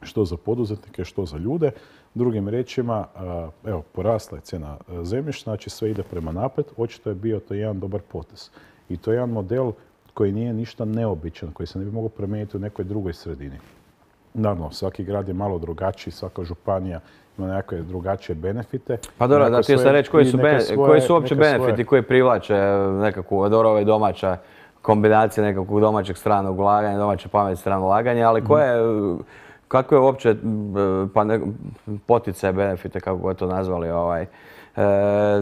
što za poduzetnike, što za ljude. Drugim riječima, evo, porasla je cijena zemljišta, znači sve ide prema naprijed. Očito je bio to jedan dobar potez. I to je jedan model koji nije ništa neobičan, koji se ne bi mogao promijeniti u nekoj drugoj sredini. Naravno, svaki grad je malo drugačiji, svaka županija ima nekakve drugačije benefite. Pa dobro, da ti je sad reći koji su uopće benefiti koji privlače nekakvu domaća kombinacija nekakvog domaćeg stranog ulaganja, domaće pametne strane ulaganja, ali kakve je uopće poticaje, benefite, kako god to nazvali,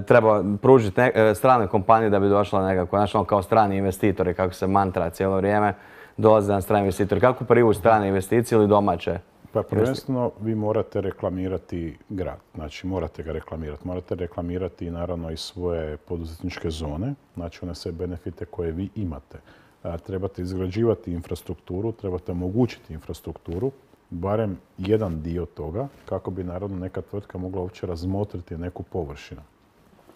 treba pružiti strane kompanije da bi došla nekako, znači kao strani investitori, kako se mantra cijelo vrijeme, dolaze na strani investitori. Kako privući strane investicije ili domaće? Pa prvenstveno vi morate reklamirati grad, znači morate ga reklamirati. Morate reklamirati naravno i svoje poduzetničke zone, znači one sve benefite koje vi imate. Trebate izgrađivati infrastrukturu, trebate omogućiti infrastrukturu, barem jedan dio toga, kako bi naravno neka tvrtka mogla uopće razmotriti neku površinu.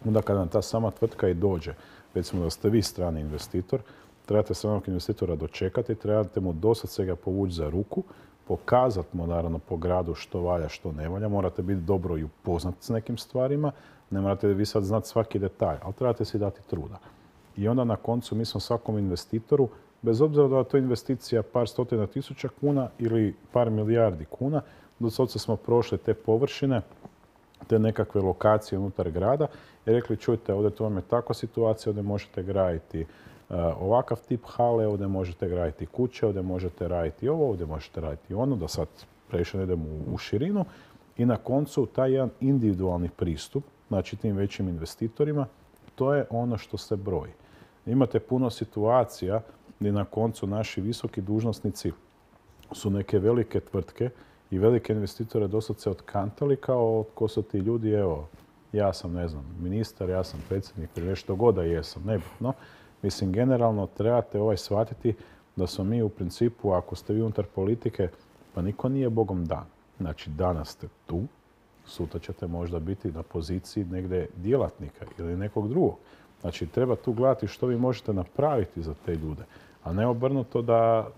Onda kada nam ta sama tvrtka i dođe, recimo da ste vi strani investitor, trebate stranog investitora dočekati, trebate mu dosad ga povući za ruku, pokazati mu naravno po gradu što valja, što ne valja. Morate biti dobro i upoznati s nekim stvarima. Ne morate vi sad znati svaki detalj, ali trebate si dati truda. I onda na koncu mi smo svakom investitoru, bez obzira da je to investicija par stotina tisuća kuna ili par milijardi kuna, do sada smo prošli te površine, te nekakve lokacije unutar grada i rekli, čujte, ovdje to vam je takva situacija, ovdje možete graditi ovakav tip hale, ovdje možete graditi kuće, ovdje možete raditi ovo, ovdje možete raditi ono, da sad previše ne idemo u širinu. I na koncu taj jedan individualni pristup, znači tim većim investitorima, to je ono što se broji. Imate puno situacija gdje na koncu naši visoki dužnosnici su neke velike tvrtke i velike investitore dosad se otkantali kao ko su ti ljudi, evo, ja sam, ne znam, ministar, ja sam predsjednik ili nešto god da jesam, nebitno. Mislim, generalno trebate shvatiti da smo mi u principu, ako ste vi unutar politike, pa niko nije Bogom dan. Znači, danas ste tu, sutra ćete možda biti na poziciji negdje djelatnika ili nekog drugog. Znači, treba tu gledati što vi možete napraviti za te ljude, a ne obrnuto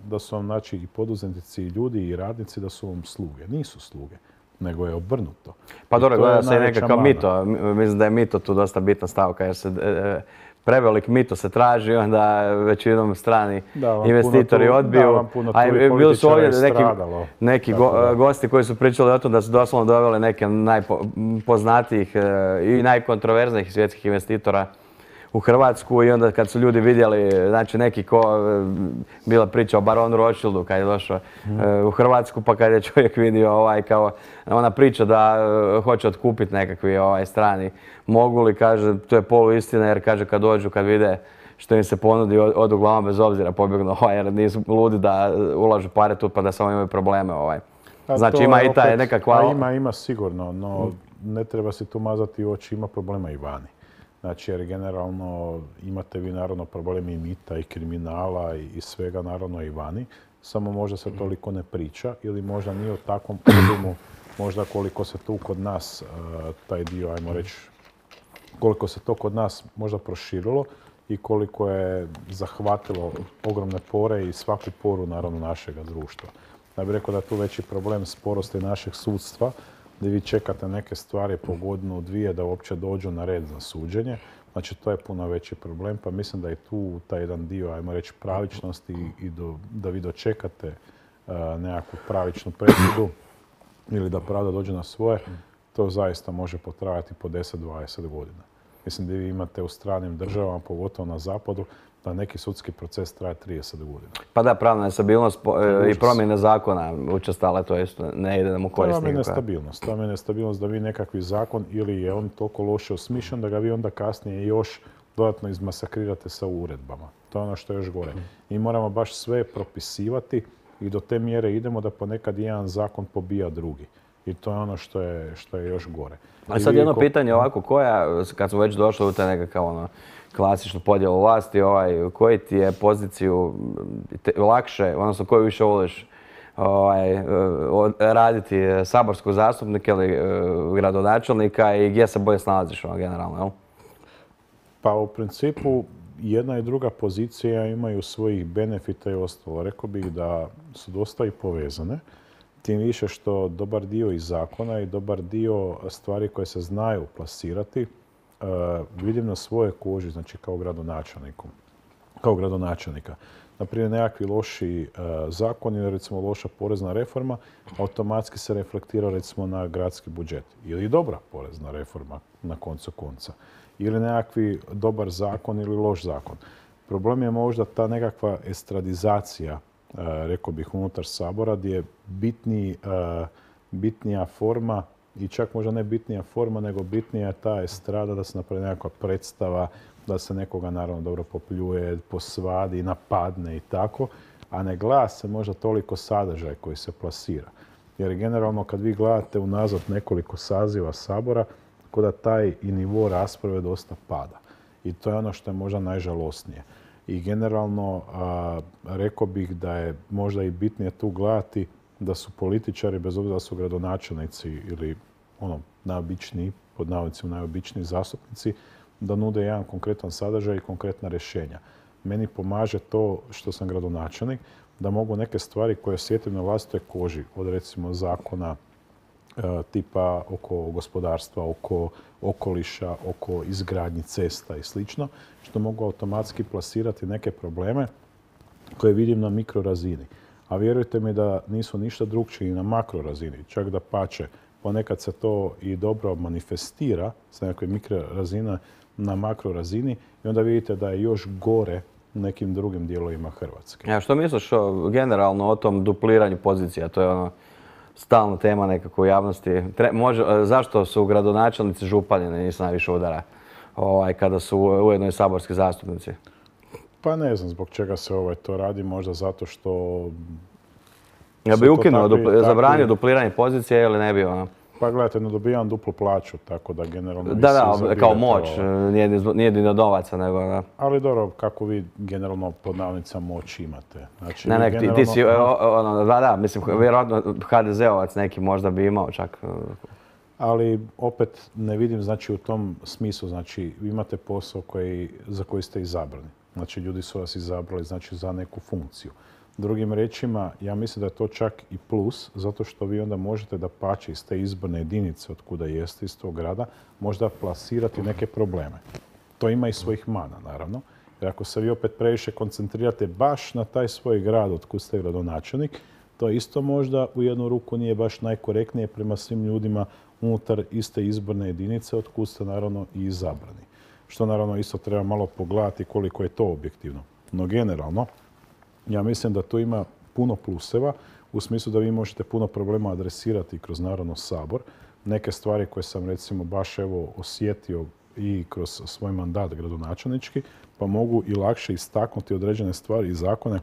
da su vam, znači, i poduzetnici, i ljudi, i radnici da su vam sluge. Nisu sluge. nego je obrnuto. Pa I dobro, to je gleda se i najveća nekakav mana. mito. Mislim da je mito tu dosta bitna stavka jer se prevelik mito se traži, onda većinom strani Da, vam investitori puno tu- odbiju. da, vam puno tu A i bili su političara ovdje je neki, stradalo, neki tako da. gosti koji su pričali o tom da su doslovno doveli neke najpoznatijih i najkontroverznijih svjetskih investitora u Hrvatsku i onda kad su ljudi vidjeli, znači neki bila priča o baronu Rothschildu kad je došao u Hrvatsku, pa kad je čovjek vidio kao ona priča da hoće otkupiti nekakvi strani moguli, kaže to je poluistina jer kaže kad dođu, kad vide što im se ponudi, odu glavom bez obzira, pobjegnu jer nisu ludi da ulažu pare tu pa da samo imaju probleme. A Znači to ima je i taj opet- nekakva... Ima sigurno, no ne treba se tu mazati u oči, ima problema i vani. Znači jer generalno imate vi naravno problemi i mita i kriminala i svega naravno i vani. Samo možda se toliko ne priča ili možda nije u takvom obimu možda koliko se tu kod nas taj dio, ajmo reći, koliko se to kod nas možda proširilo i koliko je zahvatilo ogromne pore i svaku poru naravno našega društva. Ja bih rekao da je tu veći problem sporosti našeg sudstva, gdje vi čekate neke stvari po godinu, dvije da uopće dođu na red za suđenje. Znači to je puno veći problem, pa mislim da je tu taj jedan dio, ajmo reći, pravičnosti i da vi dočekate nekakvu pravičnu presudu ili da pravda dođe na svoje, to zaista može potrajati po 10-20 godina. Mislim da vi imate u stranim državama, pogotovo na zapadu, da neki sudski proces traje 30 godina. Pa da, pravna nestabilnost i promjene zakona učestale, to isto ne ide nam u korist To vam je nikakva. nestabilnost. To vam je nestabilnost da vi nekakvi zakon ili je on toliko loše osmišljen da ga vi onda kasnije još dodatno izmasakrirate sa uredbama. To je ono što je još gore. Mi moramo baš sve propisivati i do te mjere idemo da ponekad jedan zakon pobija drugi. I to je ono što je još gore. A sad jedno pitanje ovako, kad smo već došli u taj nekakav klasičnu podjelu vlasti, koji ti je poziciju lakše, odnosno koju više voliš raditi, saborskog zastupnika ili gradonačelnika i gdje se bolje snalaziš generalno, jel? Pa u principu jedna i druga pozicija imaju svojih benefita i ostalo. Rekao bih da su dosta i povezane. Tim više što dobar dio iz zakona i dobar dio stvari koje se znaju plasirati vidim na svojoj koži, znači kao gradonačelnika. Naprimjer, nekakvi loši zakoni ili recimo loša porezna reforma automatski se reflektira recimo na gradski budžet. Ili dobra porezna reforma na koncu konca. Ili nekakvi dobar zakon ili loš zakon. Problem je možda ta nekakva estradizacija, rekao bih, unutar Sabora, gdje je bitnija forma i čak možda ne bitnija forma, nego bitnija je ta estrada da se napravi nekakva predstava, da se nekoga naravno dobro popljuje, posvadi, napadne i tako, a ne gleda se možda toliko sadržaj koji se plasira. Jer generalno kad vi gledate unazad nekoliko saziva Sabora, kod da taj i nivo rasprave dosta pada. I to je ono što je možda najžalosnije. I generalno rekao bih da je možda i bitnije tu gledati da su političari, bez obzira da su gradonačelnici ili najobičniji, pod navodnicima najobičniji zastupnici, da nude jedan konkretan sadržaj i konkretna rješenja. Meni pomaže to što sam gradonačelnik, da mogu neke stvari koje osjetim na vlastitoj koži, od recimo zakona tipa oko gospodarstva, oko okoliša, oko izgradnji cesta i slično, što mogu automatski plasirati neke probleme koje vidim na mikrorazini. A vjerujte mi da nisu ništa drukčiji na makrorazini, čak da pače. Ponekad se to i dobro manifestira sa nekakve mikrorazine na makrorazini i onda vidite da je još gore u nekim drugim dijelovima Hrvatske. A što misliš generalno o tom dupliranju pozicija? To je stalna tema nekako u javnosti. Zašto su gradonačelnici župani nisu najviše udara kada su ujedno i saborski zastupnici? Pa ne znam zbog čega se to radi, možda zato što... Ja bi ukinuo, zabranio dupliranje pozicije ili ne bi Pa gledajte, ne dobijam duplu plaću, tako da generalno... Da, kao moć, nije ni do novaca, nego... Ali dobro, kako vi generalno pod navodnicama moć imate. Znači, Ne, ti si, da, mislim, vjerojatno HDZ-ovac neki možda bi imao čak... Ali opet ne vidim, znači, u tom smislu, znači, vi imate posao za koji ste izabrani. Znači, ljudi su vas izabrali znači, za neku funkciju. Drugim riječima, ja mislim da je to čak i plus, zato što vi onda možete da pače iz te izborne jedinice od kuda jeste, iz tog grada, možda plasirati neke probleme. To ima i svojih mana, naravno. Jer ako se vi opet previše koncentrirate baš na taj svoj grad od kud ste gradonačelnik, to isto možda u jednu ruku nije baš najkorektnije prema svim ljudima unutar iste izborne jedinice od kud ste naravno i izabrani. Što naravno isto treba malo pogledati koliko je to objektivno. No generalno, ja mislim da tu ima puno pluseva u smislu da vi možete puno problema adresirati kroz naravno Sabor. Neke stvari koje sam recimo baš evo osjetio i kroz svoj mandat gradonačelnički, pa mogu i lakše istaknuti određene stvari i zakone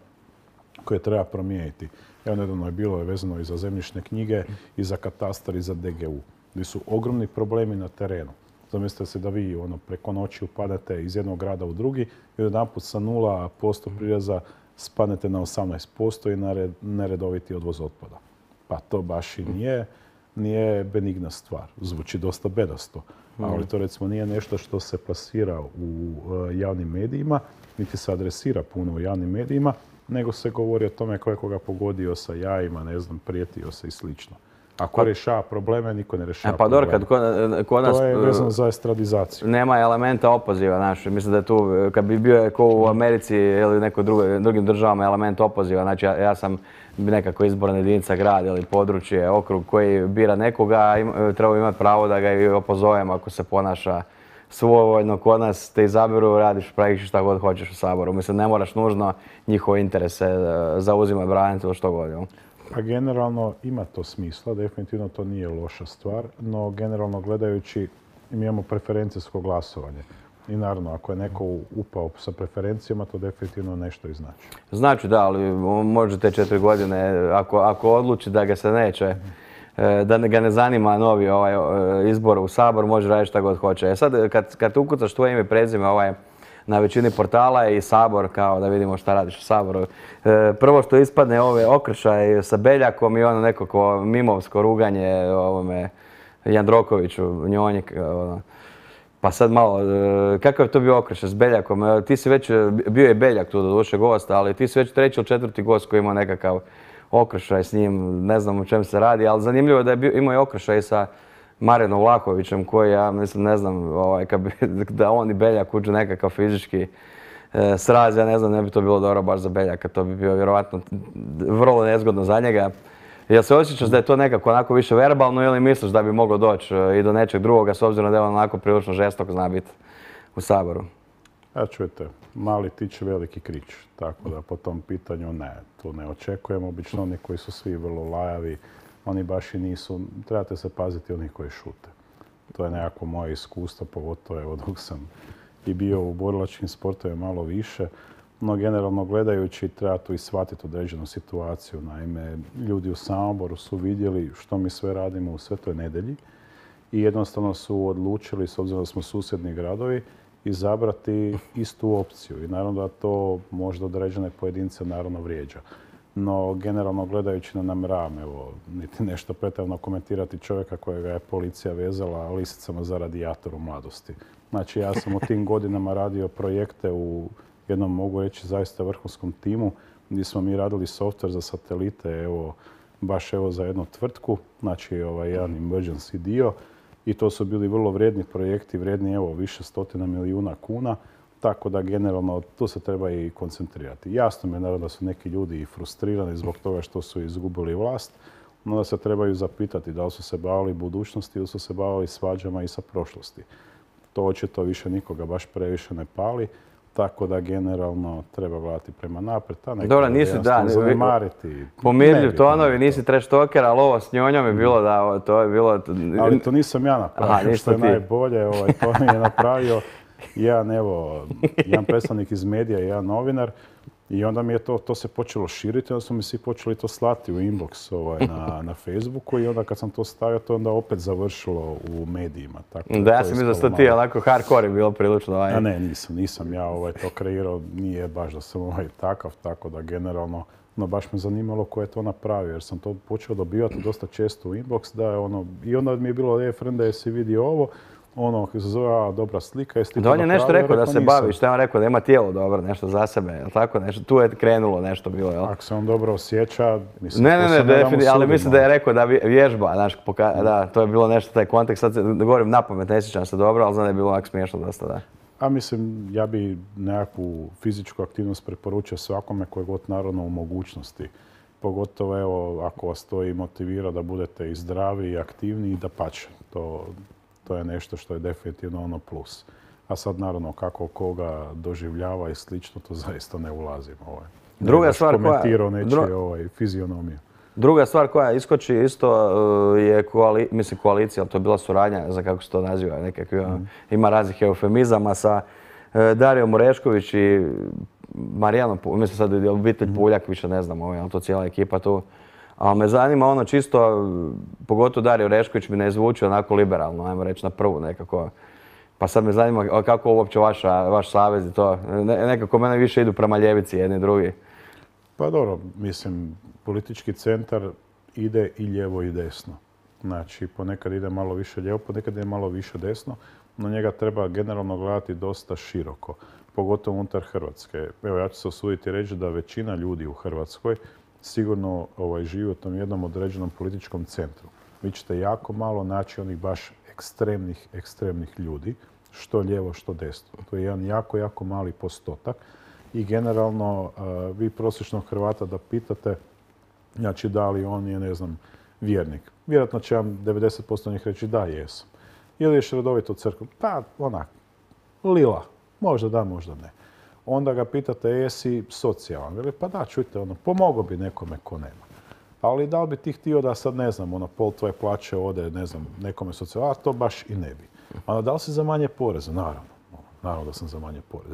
koje treba promijeniti. Evo nedavno je bilo vezano i za zemljišne knjige, i za katastar, i za DGU, gdje su ogromni problemi na terenu. Zamislite se da vi preko noći upadate iz jednog grada u drugi i jedanput sa 0% prireza spadnete na 18% i neredoviti odvoz otpada. Pa to baš i nije benigna stvar. Zvuči dosta bedasto, ali to recimo nije nešto što se plasira u javnim medijima, niti se adresira puno u javnim medijima, nego se govori o tome ko je koga pogodio sa jajima, ne znam, prijetio se i slično. Ako rješava probleme, niko ne rješava probleme. Pa dobro, kod nas... To je vezano za estradizaciju. Nema elementa opoziva naše. Mislim da je tu, kad bi bio ko u Americi ili neko drugim državama element opoziva, znači ja sam nekako izborna jedinica, grad ili područje, okrug koji bira nekoga, treba imati pravo da ga i opozovem ako se ponaša svojevoljno. Kod nas te izabiru, radiš, praviš šta god hoćeš u Saboru. Mislim, ne moraš nužno njihove interese zauzimati, braniti ili što god. Pa generalno ima to smisla, definitivno to nije loša stvar, no generalno gledajući mi imamo preferencijsko glasovanje. I naravno, ako je neko upao sa preferencijama, to definitivno nešto i znači. Znači da, ali može te 4 godine, ako odluči da ga se neće, da ga ne zanima novi izbor u Sabor, može raditi šta god hoće. Sad, kad ukucaš tvoje ime i prezime na većini portala i Sabor, kao da vidimo šta radiš u Saboru. Prvo što ispadne okršaj sa Beljakom i ono nekako mimovsko ruganje Jandrokoviću, Njonjik. Pa sad malo, kakav je to bio okršaj s Beljakom? Ti si već, bio je Beljak tu doduše gost, ali ti si već 3. ili 4. gost koji ima nekakav okršaj s njim, ne znam o čem se radi, ali zanimljivo je da je imao i okršaj sa Marinom Vlahovićem koji, ja mislim, ne znam, da on i Beljak uđu nekakav fizički sraz, ja ne znam, ne bi to bilo dobro baš za Beljaka, to bi bilo vjerovatno vrlo nezgodno za njega. Jel se osjećaš da je to nekako onako više verbalno ili misliš da bi moglo doći i do nečeg drugoga s obzirom da je on onako prilično žestok zna biti u Saboru? Ja čujete, mali tič, veliki krič, tako da po tom pitanju ne, tu ne očekujemo. Obično oni koji su svi vrlo lajavi, oni baš i nisu, trebate se paziti oni koji šute. To je nekako moje iskustvo, pogotovo evo dok sam i bio u borilačkim sportovima malo više. No generalno gledajući treba tu i shvatiti određenu situaciju. Naime, ljudi u Samoboru su vidjeli što mi sve radimo u Svetoj Nedelji i jednostavno su odlučili, s obzirom da smo susjedni gradovi, izabrati istu opciju. I naravno da to možda određene pojedince naravno vrijeđa. No, generalno gledajući ne namjeravam, evo, niti nešto pretjerano komentirati čovjeka kojega je policija vezala lisicama za radijator u mladosti. Znači, ja sam u tim godinama radio projekte u jednom, mogu reći, zaista vrhunskom timu, gdje smo mi radili software za satelite, evo, baš evo za jednu tvrtku, znači jedan emergency dio. I to su bili vrlo vrijedni projekti, vrijedni evo više stotina milijuna kuna. Tako da generalno tu se treba i koncentrirati. Jasno mi je naravno da su neki ljudi i frustrirani zbog toga što su izgubili vlast, no da se trebaju zapitati da li su se bavili budućnosti ili su se bavili svađama i sa prošlosti. To očito više nikoga baš previše ne pali, tako da generalno treba gledati prema naprijed. Dobro, nisi zanemariti. Pomirljiv tonovi, nisi trash talker, ali ovo s njojom je bilo da to je bilo... Ali to nisam ja napravio, što je najbolje, to mi je napravio jedan predstavnik iz medija i jedan novinar i onda mi je to se počelo širiti, onda su mi svi počeli to slati u inbox na Facebooku i onda kad sam to stavio, to onda opet završilo u medijima. Da, ja sam mislio da ste ti onako hardcore je bilo prilično. A ne, nisam ja to kreirao, nije baš da sam takav, tako da generalno, no baš me zanimalo ko je to napravio, jer sam to počeo dobivati dosta često u inbox, da je i onda mi je bilo, frende, jesi vidio ovo, ono kako se zove dobra slika. Da, on je nešto rekao da se bavi, što je on rekao da ima tijelo dobro, nešto za sebe, jel tako? Nešto, tu je krenulo nešto bilo, jel? Ako se on dobro osjeća, mislim, Ne, definitivno, ali mislim da je rekao da vježba, znaš, da, to je bilo nešto taj kontekst, sad govorim napamet, ne sjećam se dobro, ali znam da je bilo ovako smiješno dosta, da. A mislim, ja bi nekakvu fizičku aktivnost preporučio svakome koje god naravno u mogućnosti. Pogotovo, evo, ako vas to i motivira da budete i zdravi i aktivni i da pače. To je nešto što je definitivno ono plus. A sad naravno kako koga doživljava i slično, to zaista ne ulazim. Druga stvar koja... komentirao nečije fizionomiju. Druga stvar koja iskoči isto je koalicija, ali to je bila suradnja, za kako se to naziva, nekakvi, ima raznih eufemizama sa Darijom Orešković i Marijanom, mislim sad je obitelj Puljak, više ne znam, ali to cijela ekipa tu. Ali me zanima ono čisto, pogotovo Dario Orešković mi ne zvuči onako liberalno, ajmo reći na prvu nekako. Pa sad me zanima kako uopće vaš savez i to, nekako mene više idu prema ljevici jedni i drugi. Pa dobro, mislim, politički centar ide i lijevo i desno. Znači, ponekad ide malo više lijevo, ponekad ide malo više desno, no njega treba generalno gledati dosta široko, pogotovo unutar Hrvatske. Evo, ja ću se usuditi reći da većina ljudi u Hrvatskoj sigurno živi u tom jednom određenom političkom centru. Vi ćete jako malo naći onih baš ekstremnih ljudi, što lijevo, što desno. To je jedan jako mali postotak. I generalno, vi prosječnog Hrvata da pitate, znači da li on je, ne znam, vjernik. Vjerojatno će vam 90% njih reći da, jesam. Ili ješ redovito u crkvu? Pa, onak, lila. Možda da, možda ne. Onda ga pitate, jesi socijalan? Veli, pa da, čujte, pomogao bi nekome ko nema. Ali da li bi ti htio da sad, ne znam, pol tvoje plaće ode, ne znam, nekome socijalan? A to baš i ne bi. A da li si za manje poreza? Naravno. Naravno da sam za manje poreza.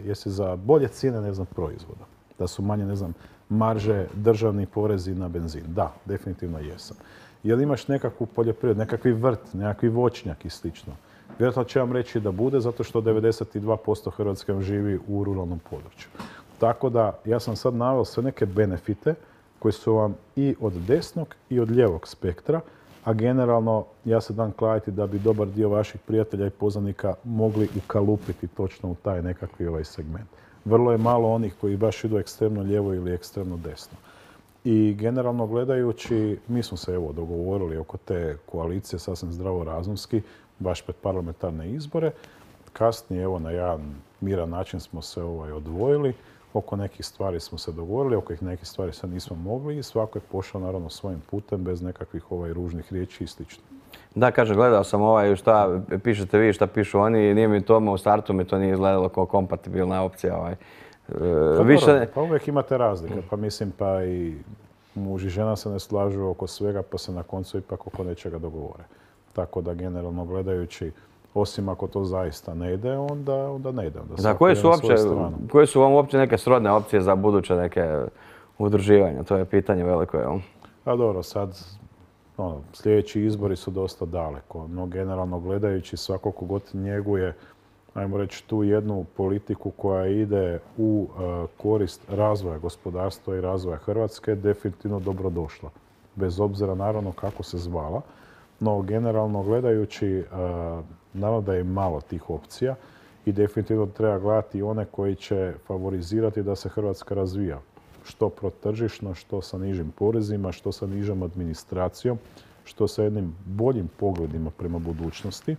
Jesi za bolje cijene, ne znam, proizvoda? Da su manje, ne znam, marže, državni porezi na benzin? Da, definitivno jesam. Jel imaš nekakvu poljoprivredu, nekakvi vrt, nekakvi voćnjak i slično? Vjerojatno će vam reći da bude, zato što 92% Hrvatske živi u ruralnom području. Tako da, ja sam sad naveo sve neke benefite koji su vam i od desnog i od lijevog spektra, a generalno ja se dam kladiti da bi dobar dio vaših prijatelja i poznanika mogli ukalupiti točno u taj nekakvi segment. Vrlo je malo onih koji baš idu ekstremno lijevo ili ekstremno desno. I generalno gledajući, mi smo se dogovorili oko te koalicije sasvim zdravorazumski, baš pred parlamentarne izbore. Kasnije, na jedan miran način smo se odvojili. Oko nekih stvari smo se dogovorili, oko nekih stvari se nismo mogli i svako je pošao naravno svojim putem bez nekakvih ružnih riječi i slično. Da, kažem, gledao sam šta pišete vi, šta pišu oni i nije mi to, u startu mi to nije izgledalo kao kompatibilna opcija. Pa uvijek imate razlike, pa mislim pa i muž i žena se ne slažu oko svega pa se na koncu ipak oko nečega dogovore. Tako da generalno gledajući, osim ako to zaista ne ide, onda ne ide. Da, koje su vam uopće neke srodne opcije za buduće neke udruživanja? To je pitanje veliko, jel? A dobro, sad sljedeći izbori su dosta daleko, no generalno gledajući svako kogod njeguje, ajmo reći, tu jednu politiku koja ide u korist razvoja gospodarstva i razvoja Hrvatske, definitivno dobrodošla. Bez obzira naravno kako se zvala. No, generalno gledajući, naravno da je malo tih opcija i definitivno treba gledati one koji će favorizirati da se Hrvatska razvija. Što protržišno, što sa nižim porezima, što sa nižom administracijom, što sa jednim boljim pogledima prema budućnosti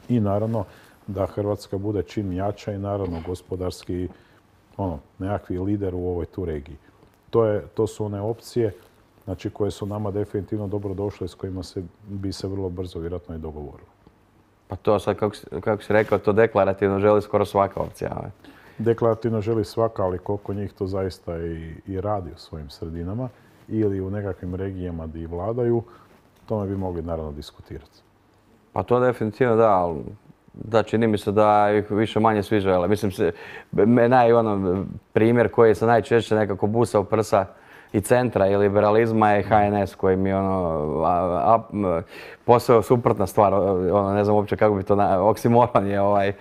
i naravno da Hrvatska bude čim jača i naravno gospodarski nekakvi lider u ovoj tu regiji. To su one opcije koje su nama definitivno dobro došle i s kojima bi se vrlo brzo vjerojatno i dogovorilo. Pa to sad, kako si rekao, to deklarativno želi skoro svaka opcija. Deklarativno želi svaka, ali koliko njih to zaista i radi u svojim sredinama ili u nekakvim regijama gdje vladaju, tome bi mogli naravno diskutirati. Pa to definitivno da, ali da, čini mi se da ih više manje svi žele. Mislim, primjer koji se najčešće nekako busa u prsa i centra i liberalizma je HNS koji mi je posao suprotna stvar, ne znam uopće kako bi to, oksimoron je obe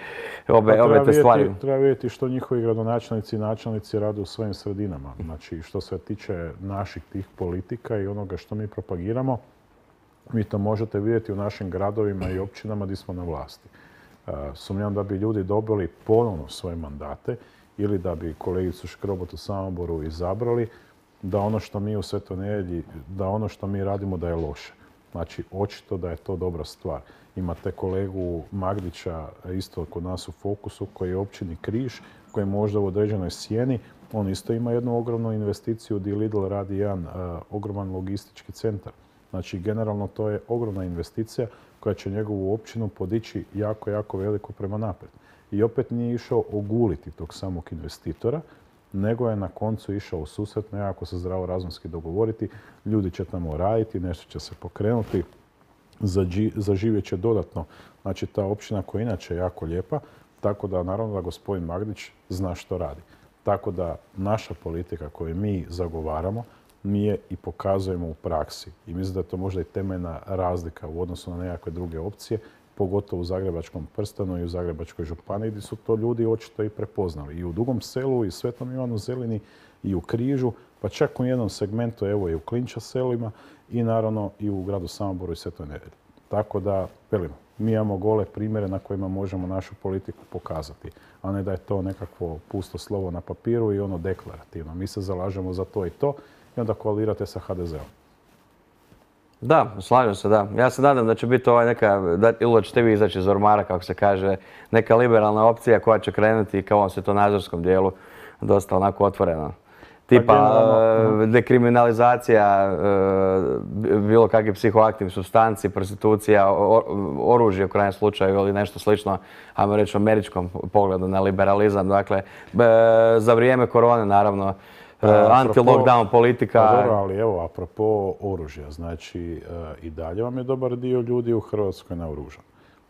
te stvari. Treba vidjeti što njihovi gradonačelnici i načelnici rade u svojim sredinama. Znači, što se tiče naših tih politika i onoga što mi propagiramo, Vi to možete vidjeti u našim gradovima i općinama gdje smo na vlasti. Sumnjam da bi ljudi dobili ponovno svoje mandate ili da bi kolegicu Škrobot u Samoboru izabrali, da ono što mi u Svetoj Nedjelji, da ono što mi radimo da je loše. Znači, očito da je to dobra stvar. Imate kolegu Magdića isto kod nas u Fokusu, koji je općini Križ, koji je možda u određenoj sjeni. On isto ima jednu ogromnu investiciju gdje Lidl radi jedan ogroman logistički centar. Znači, generalno to je ogromna investicija koja će njegovu općinu podići jako, jako veliko prema naprijed. I opet nije išao oguliti tog samog investitora, nego je na koncu išao u susret, nekako se zdravorazumski dogovoriti. Ljudi će tamo raditi, nešto će se pokrenuti, zaživjet će dodatno. Znači, ta općina koja je inače jako lijepa, tako da naravno da gospodin Magdić zna što radi. Tako da naša politika koju mi zagovaramo, mi je i pokazujemo u praksi. I mislim da je to možda i temeljna razlika u odnosu na nekakve druge opcije, pogotovo u Zagrebačkom prstenu i u Zagrebačkoj županiji, gdje su to ljudi očito i prepoznali. I u Dugom Selu, i Svetom Ivanu Zelini, i u Križu, pa čak u jednom segmentu, evo i u Klinča selima, i naravno i u gradu Samoboru i Svetoj Nedjelji. Tako da, velim, mi imamo gole primjere na kojima možemo našu politiku pokazati, a ne da je to nekakvo pusto slovo na papiru i ono deklarativno. Mi se zalažemo za to i to i onda koalirate sa HDZ-om. Da, slažem se, da. Ja se nadam da će biti neka, ili da ćete vi izaći iz ormara, kako se kaže, neka liberalna opcija koja će krenuti ka ovom svjetonazorskom dijelu dosta onako otvoreno. Tipa dekriminalizacija bilo kakvih psihoaktivnih supstanci, prostitucija, oružje u krajnjem slučaju ili nešto slično, ajmo reći, američkom pogledu na liberalizam. Dakle, za vrijeme korone, naravno, anti-lockdown politika. Pa dobro, ali evo, apropo oružja, znači i dalje vam je dobar dio ljudi u Hrvatskoj naoružan.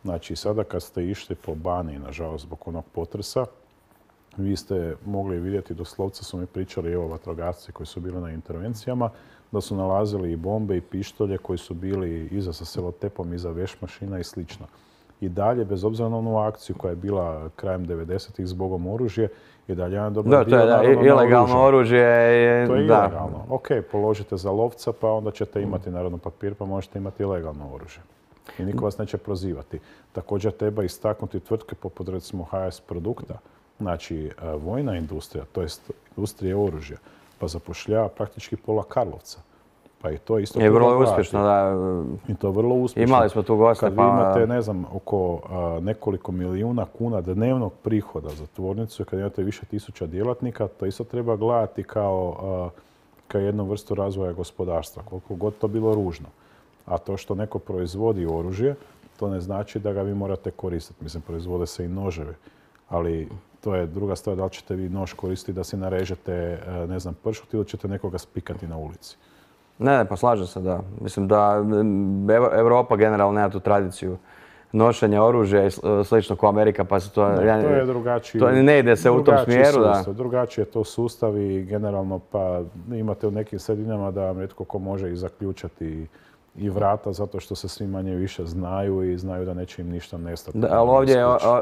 Znači, sada kad ste išli po Baniji, nažalost, zbog onog potresa, vi ste mogli vidjeti, doslovce su mi pričali, evo, vatrogasci koji su bili na intervencijama, da su nalazili i bombe i pištolje koji su bili iza sa selotepom, iza vešmašina i slično. I dalje, bez obzira na onu akciju koja je bila krajem 90-ih zbogom oružje, i dalje jedan dobar dio naravno naoružan. Ilegalno oružje je... To je ilegalno. Ok, položite za lovca, pa onda ćete imati naravno papir, pa možete imati ilegalno oružje. I niko vas neće prozivati. Također treba istaknuti tvrtke poput recimo HS Produkta, znači vojna industrija, to jest industrija oružja, pa zapošljava praktički pola Karlovca. Pa i to isto... Je vrlo uspješno, da. I to vrlo uspješno. Imali smo tu goste, kad vi imate, ne znam, oko nekoliko milijuna kuna dnevnog prihoda za tvornicu, kad imate više tisuća djelatnika, to isto treba gledati kao jednu vrstu razvoja gospodarstva, koliko god to bilo ružno. A to što neko proizvodi oružje, to ne znači da ga vi morate koristiti. Mislim, proizvode se i noževi, ali to je druga stvar, da li ćete vi nož koristiti da si narežete, ne znam, pršut ili ćete nekoga spikati na ulici. Ne, pa slažem se, da. Mislim da Europa generalno nema tu tradiciju nošenja oružja i slično kao Amerika, pa se to... To je drugačiji... To ne ide se u tom smjeru, da. Drugačiji je to sustav i generalno pa imate u nekim sredinama da vam netko ko može i zaključati i vrata zato što se svi manje više znaju i znaju da neće im ništa nestati. Da, ali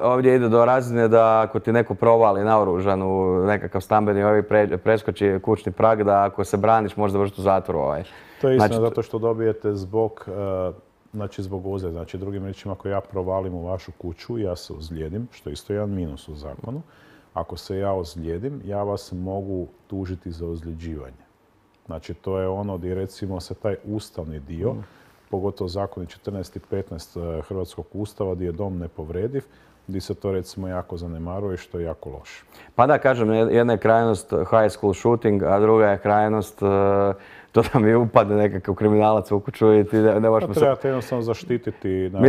ovdje ide do razine da ako ti neko provali naoružan u nekakav stambeni preskoči kućni prag, da ako se braniš možda završiti u zatvoru. To je istina zato što dobijete zbog ozljede. Znači, drugim riječima, ako ja provalim u vašu kuću, ja se ozlijedim, što je isto jedan minus u zakonu. Ako se ja ozlijedim, ja vas mogu tužiti za ozljeđivanje. Znači, to je ono gdje recimo se taj ustavni dio, pogotovo zakoni 14 i 15 Hrvatskog ustava, gdje je dom nepovrediv, gdje se to recimo jako zanemaruje, što je jako loše. Pa da, kažem, jedna je krajnost high school shooting, a druga je krajnost to da mi upadne nekakav kriminalac u kuću i ti ne možemo se... Trebate jednostavno zaštititi dom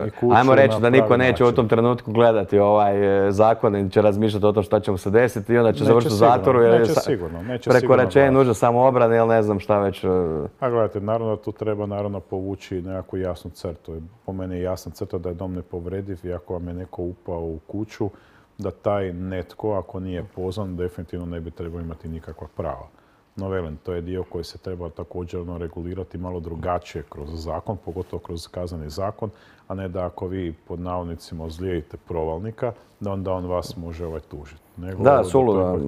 i kuću. Ajmo reći da niko neće u tom trenutku gledati ovaj zakon i će razmišljati o tom što će mu se desiti i onda će završiti u zatvoru. Neće sigurno. Prekoračenje nužno samoobrane ili ne znam šta već. A gledajte, naravno tu treba povući nekakvu jasnu crtu. Po meni je jasna crta da je dom nepovrediv i ako vam je neko upao u kuću, da taj netko, ako nije pozvan, definitivno ne bi trebao imati nikakva prava. No velim, to je dio koji se treba također regulirati malo drugačije kroz zakon, pogotovo kroz kazneni zakon, a ne da ako vi pod navodnicima ozlijedite provalnika, da onda on vas može tužiti. Da, suludo.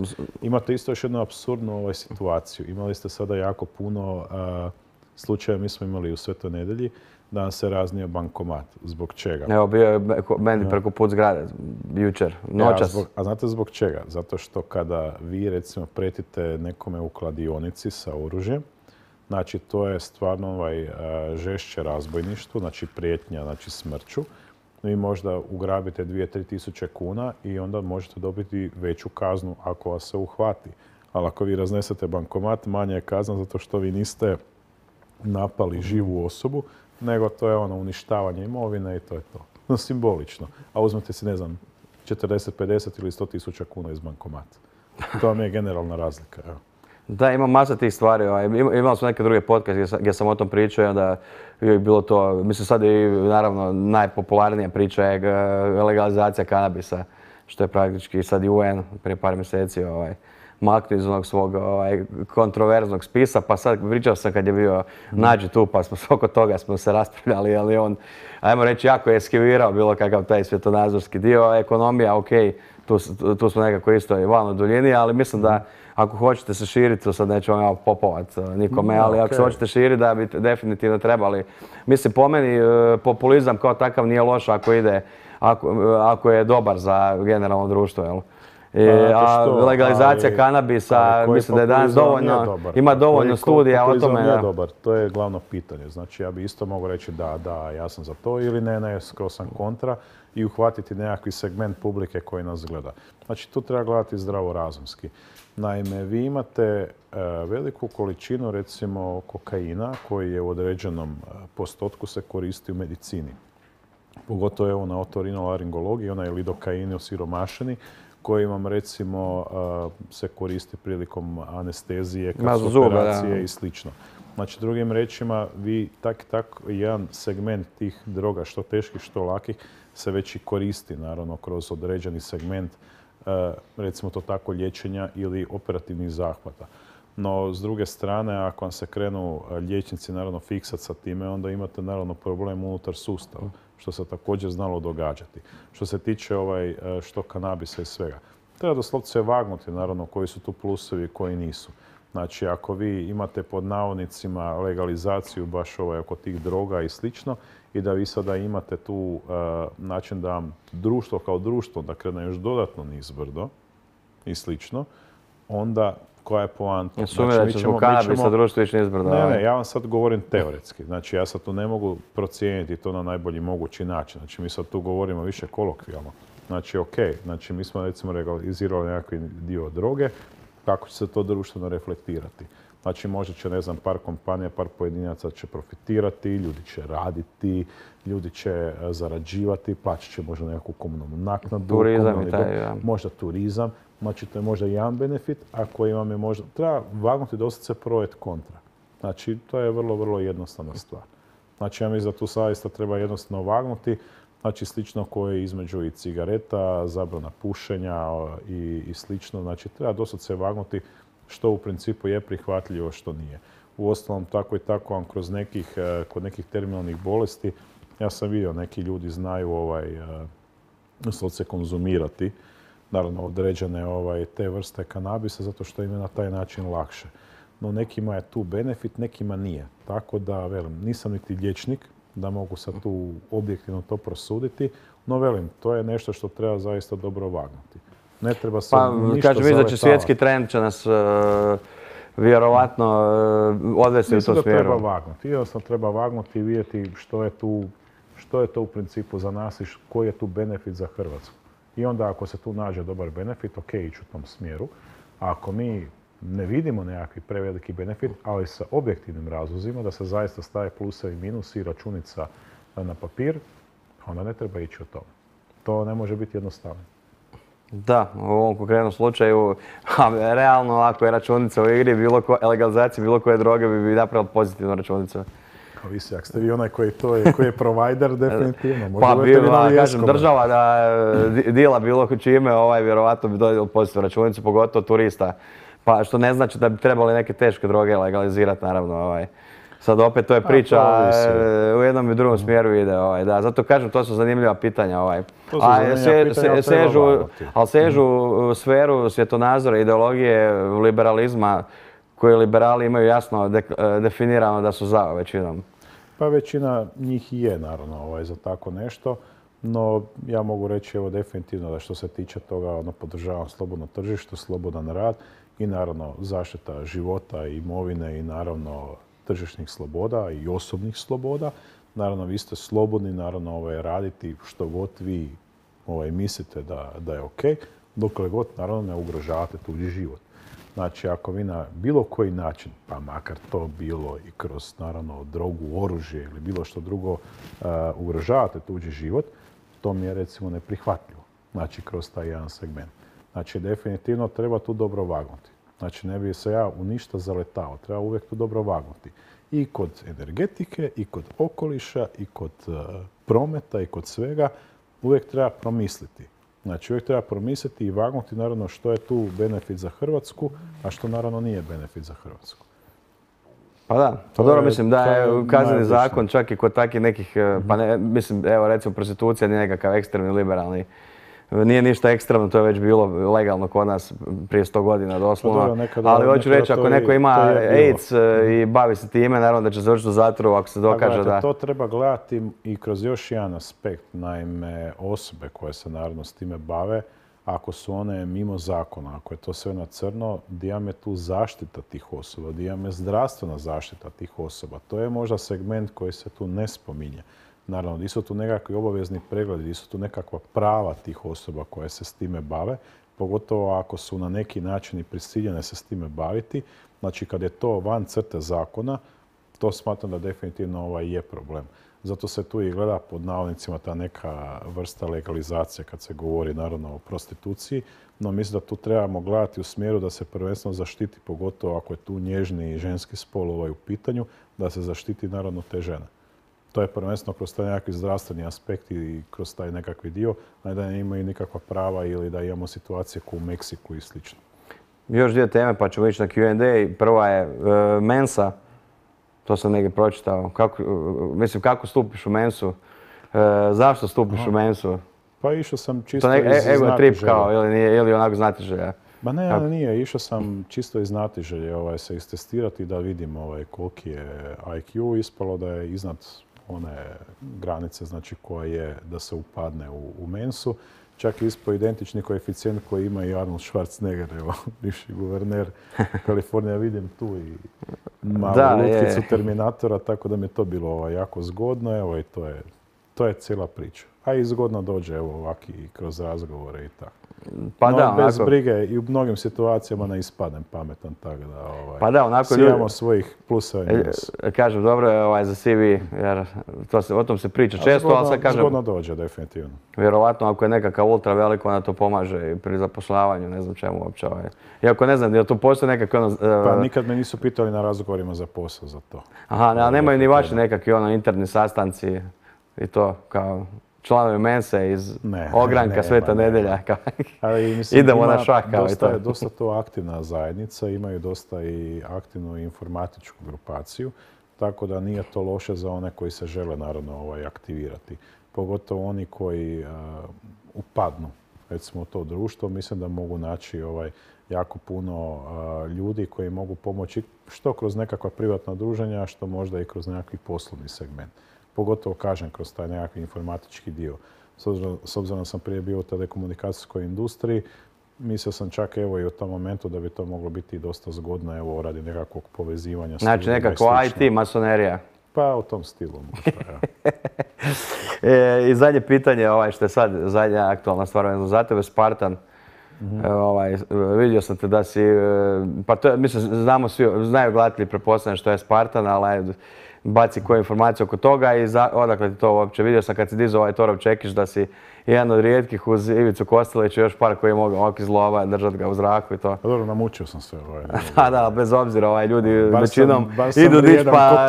Imate isto još jednu apsurdnu situaciju. Imali ste sada jako puno slučaja mi smo imali u Svetoj Nedjelji da nam se raznio bankomat. Zbog čega? Evo, bio je meni preko put zgrade, jučer, noćas. A znate zbog čega? Zato što kada vi, recimo, pretite nekome u kladionici sa oružjem, znači to je stvarno žešće razbojništvo, znači prijetnja, znači smrću. Vi možda ugrabite 2-3 tisuće kuna i onda možete dobiti veću kaznu ako vas se uhvati. Ali ako vi raznesete bankomat, manja je kazna zato što vi niste napali živu osobu, nego to je uništavanje imovine i to je to. No, simbolično. A uzmete si, ne znam, 40, 50 ili 100 tisuća kuna iz bankomata. To vam je generalna razlika. Evo. Da, ima masa tih stvari. Imali smo neke druge podcaste gdje sam o tom pričao i onda je bilo to, mislim sad je naravno najpopularnija priča je legalizacija kanabisa, što je praktički sad i UN prije par mjeseci maknuo iz onog svog kontroverznog spisa, pa sad pričao sam kad je bio Nađi tu, pa smo oko toga smo se raspravljali, ali on, ajmo reći, jako je eskivirao bilo kakav taj svjetonazorski dio. Ekonomija, ok, tu smo nekako isto i van u duljini, ali mislim da ako hoćete se širiti, to sad neću vam ja popovat nikome, ali ako se hoćete širiti da bi definitivno trebali. Mislim, po meni populizam kao takav nije loš ako ide, ako je dobar za generalno društvo, jel? A legalizacija kanabisa, mislim da je danas dovoljno, ima dovoljno studija o tome. Nije dobar, to je glavno pitanje. Znači ja bi isto mogao reći da, ja sam za to ili ne, skoro sam kontra i uhvatiti nekakvi segment publike koji nas gleda. Znači tu treba gledati zdravorazumski. Naime, vi imate veliku količinu recimo kokaina koji je u određenom postotku se koristi u medicini. Pogotovo evo na otorinolaringologiji, onaj lidokain osiromašeni, koji vam recimo se koristi prilikom anestezije, operacije i slično. Znači, drugim rečima, vi tak jedan segment tih droga, što teških, što lakih, se već i koristi, naravno, kroz određeni segment, recimo to tako, liječenja ili operativnih zahvata. No, s druge strane, ako vam se krenu liječnici, naravno, fiksati sa time, onda imate, naravno, problem unutar sustava, što se također znalo događati. Što se tiče što kanabisa i svega. Treba doslovce vagnuti, naravno, koji su tu plusevi i koji nisu. Znači, ako vi imate pod navodnicima legalizaciju baš oko tih droga i slično i da vi sada imate tu način da vam društvo kao društvo da krene još dodatno nizbrdo i slično, onda koja je poanta? Sumirat ćeš zbog kanabisa društvo ići nizbrdo. Ne, ja vam sad govorim teoretski. Znači, ja sad tu ne mogu procijeniti to na najbolji mogući način. Znači, mi sad tu govorimo više kolokvijalno. Znači, ok, znači mi smo recimo legalizirali nekakvi dio droge, kako će se to društveno reflektirati. Znači, možda će, ne znam, par kompanija, par pojedinaca će profitirati, ljudi će raditi, ljudi će zarađivati, plaćat će možda nekakvu komunalnu naknadu, turizam i taj, možda turizam. Znači, to je možda jedan benefit, a koji vam je možda... Treba vagnuti dosta se pro et kontra. Znači, to je vrlo, vrlo jednostavna stvar. Znači, ja mislim da tu zaista treba jednostavno vagnuti. Znači, slično koje između i cigareta, zabrana pušenja i slično. Znači, treba dosta se vagnuti što u principu je prihvatljivo, što nije. Uostalom, tako i tako vam kod nekih terminalnih bolesti, ja sam vidio, neki ljudi znaju se konzumirati, naravno određene te vrste kanabisa, zato što im je na taj način lakše. No nekima je tu benefit, nekima nije. Tako da, velim, nisam niti liječnik, da mogu sad tu objektivno to prosuditi, no velim, to je nešto što treba zaista dobro vagnuti. Ne treba se ništa kažem, da će svjetski trend će nas vjerovatno odvesti u tom smjeru. Mislim da treba vagnuti. Jednostavno treba vagnuti i vidjeti što je to u principu za nas i koji je tu benefit za Hrvatsku. I onda ako se tu nađe dobar benefit, ok, ići u tom smjeru. A ako mi ne vidimo nekakvi preveliki benefit, ali sa objektivnim razlozima, da se zaista staje plusevi i minusi i računica na papir, onda ne treba ići o tome. To ne može biti jednostavno. Da, u ovom konkretnom slučaju, realno ako je računica u igri, legalizacija bilo koje droge bi napravila pozitivnu računicu. Ovisi, ako ste vi onaj koji je provider, definitivno. Pa kažem, država da dila bilo čime, vjerovatno bi dodjela pozitivnu računicu, pogotovo turista. Pa što ne znači da bi trebali neke teške droge legalizirati, naravno. Sad opet to je priča, u jednom i drugom smjeru ide. Da, zato kažem, to su zanimljiva pitanja. Ali sežu sferu svjetonazora, ideologije, liberalizma, koji liberali imaju jasno definirano da su za većinom. Pa većina njih i je naravno za tako nešto, no ja mogu reći evo definitivno da što se tiče toga podržavam slobodno tržište, slobodan rad i naravno zaštita života, imovine i naravno tržišnih sloboda i osobnih sloboda. Naravno vi ste slobodni naravno raditi što god vi mislite da je ok, dokle god naravno ne ugrožavate tuđi život. Znači, ako vi na bilo koji način, pa makar to bilo i kroz, naravno, drogu, oružje ili bilo što drugo, ugrožavate tuđi život, to mi je, recimo, neprihvatljivo. Znači, kroz taj jedan segment. Znači, definitivno treba tu dobro vagnuti. Znači, ne bi se ja u ništa zaletao. Treba uvijek tu dobro vagnuti. I kod energetike, i kod okoliša, i kod prometa, i kod svega. Uvijek treba promisliti. Znači, uvijek treba promisliti i vagnuti naravno što je tu benefit za Hrvatsku, a što naravno nije benefit za Hrvatsku. Pa da, to dobro mislim da je kazneni zakon čak i kod takih nekih, pa ne, mislim, evo recimo prostitucija nije nekakav ekstremni liberalni. Nije ništa ekstremno, to je već bilo legalno kod nas prije 100 godina doslovno. Ali hoću reći, ako neko ima AIDS i bavi se time, naravno da će završiti u zatvoru ako se dokaže da... To treba gledati i kroz još jedan aspekt. Naime, osobe koje se naravno s time bave, ako su one mimo zakona, ako je to sve na crno, di je tu zaštita tih osoba, di je zdravstvena zaštita tih osoba. To je možda segment koji se tu ne spominje. Naravno, di su tu nekakvi obavezni pregledi, di su tu nekakva prava tih osoba koje se s time bave, pogotovo ako su na neki način i prisiljene se s time baviti. Znači, kad je to van crte zakona, to smatram da definitivno je problem. Zato se tu i gleda pod navodnicima ta neka vrsta legalizacije kad se govori naravno o prostituciji, no mislim da tu trebamo gledati u smjeru da se prvenstveno zaštiti, pogotovo ako je tu nježni i ženski spol u pitanju, da se zaštiti naravno te žene. To je prvenstveno kroz taj nekakvi zdravstveni aspekt i kroz taj nekakvi dio, a ne da ne imaju nikakva prava ili da imamo situacije kao u Meksiku i slično. Još dvije teme pa ćemo ići na Q&A. Prva je Mensa. To sam negdje pročitao. Kako stupiš u Mensu? Zašto stupiš u Mensu? Pa išao sam čisto iz znatiželje. Ego trip kao, ili onako znatiželja? Ma ne, nije. Išao sam čisto iz znatiželje se istestirati da vidim koliki je IQ. Ispalo da je iznad one granice, znači koja je da se upadne u Mensu. Čak je ispao identični koeficijent koji ima i Arnold Schwarzenegger, evo, bivši guverner Kalifornije. Vidim tu i malu lutkicu Terminatora, tako da mi je to bilo jako zgodno. Evo, i to je cijela priča. A i zgodno dođe, evo, ovaki kroz razgovore i tako. Pa no, da, bez brige i u mnogim situacijama ne ispadnem pametan, tako da pa da, onako svi imamo svojih plusa i minusa. Kažem, dobro je za CV, jer o tom se priča često, ali sad kažem... Zgodno dođe, definitivno. Vjerovatno, ako je nekakav ultra veliko, onda to pomaže i pri zapošljavanju, ne znam čemu uopće. Iako ne znam, je li to postoji nekakvi Pa nikad me nisu pitali na razgovorima za posao za to. Aha, a nemaju ni vaši nekakvi interni sastanci i to, kao... članovi Mense iz ogranka Sveta Nedelja. Idemo na šah. Dosta to aktivna zajednica, imaju dosta i aktivnu informatičku grupaciju, tako da nije to loše za one koji se žele naravno aktivirati. Pogotovo oni koji upadnu recimo u to društvo, mislim da mogu naći jako puno ljudi koji mogu pomoći što kroz nekakva privatna druženja, što možda i kroz nekakvi poslovni segment. Pogotovo, kažem, kroz taj nekakvi informatički dio. S obzirom da sam prije bio u telekomunikacijskoj industriji, mislio sam čak evo i u tom momentu da bi to moglo biti dosta zgodno evo radi nekakvog povezivanja. Znači nekakva IT masonerija. Pa u tom stilu možda, I zadnje pitanje, što je sad zadnja aktualna stvar za tebe, Spartan. Vidio sam te da si, pa to mislim, znamo svi, znaju gledatelji pretpostavljam što je Spartan, ali baci koju informaciju oko toga i odakle ti to uopće. Vidio sam kad si dizao Torov Čekić da si jedan od rijetkih uz Ivicu Kostelića i još par koji je mogao iz lova držati ga u zraku i to. Dobro, namučio sam se. Da, bez obzira, ljudi većinom idu dić pa,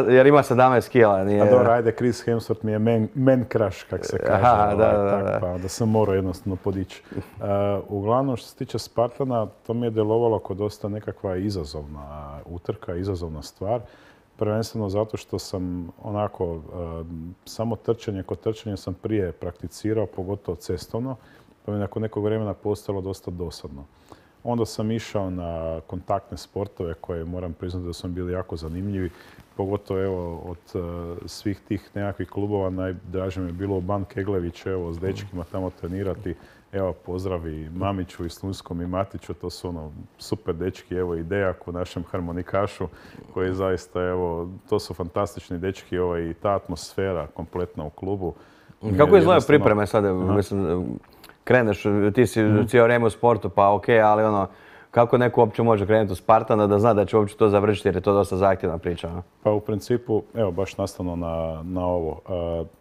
jer ima 17 kila. A dobro, ajde, Chris Hemsworth mi je man crush, kak se kaže. Pa da sam morao jednostavno podići. Uglavnom, što se tiče Spartana, to mi je delovalo kao dosta nekakva izazovna utrka, izazovna stvar. Prvenstveno zato što sam onako, samo trčanje, kod trčanja sam prije prakticirao, pogotovo cestovno, pa mi nakon nekog vremena postalo dosta dosadno. Onda sam išao na kontaktne sportove koje moram priznati da su mi bili jako zanimljivi. Pogotovo evo od svih tih nekakvih klubova najdraže mi je bilo Ban Keglević, evo s dečkima tamo trenirati. Evo pozdravi Mamiću i Slunskom i Matiću, to su ono super dečki, evo i Dejak u našem harmonikašu koji zaista evo, to su fantastični dečki i ta atmosfera kompletna u klubu. Kako izgledaju pripreme sada? Mislim, kreneš, ti si cijelo vrijeme u sportu, pa ok, ali ono, kako neko uopće može krenuti u Spartana da zna da će uopće to završiti jer je to dosta zahtjevna priča? A? Pa u principu, evo baš nastavno na ovo,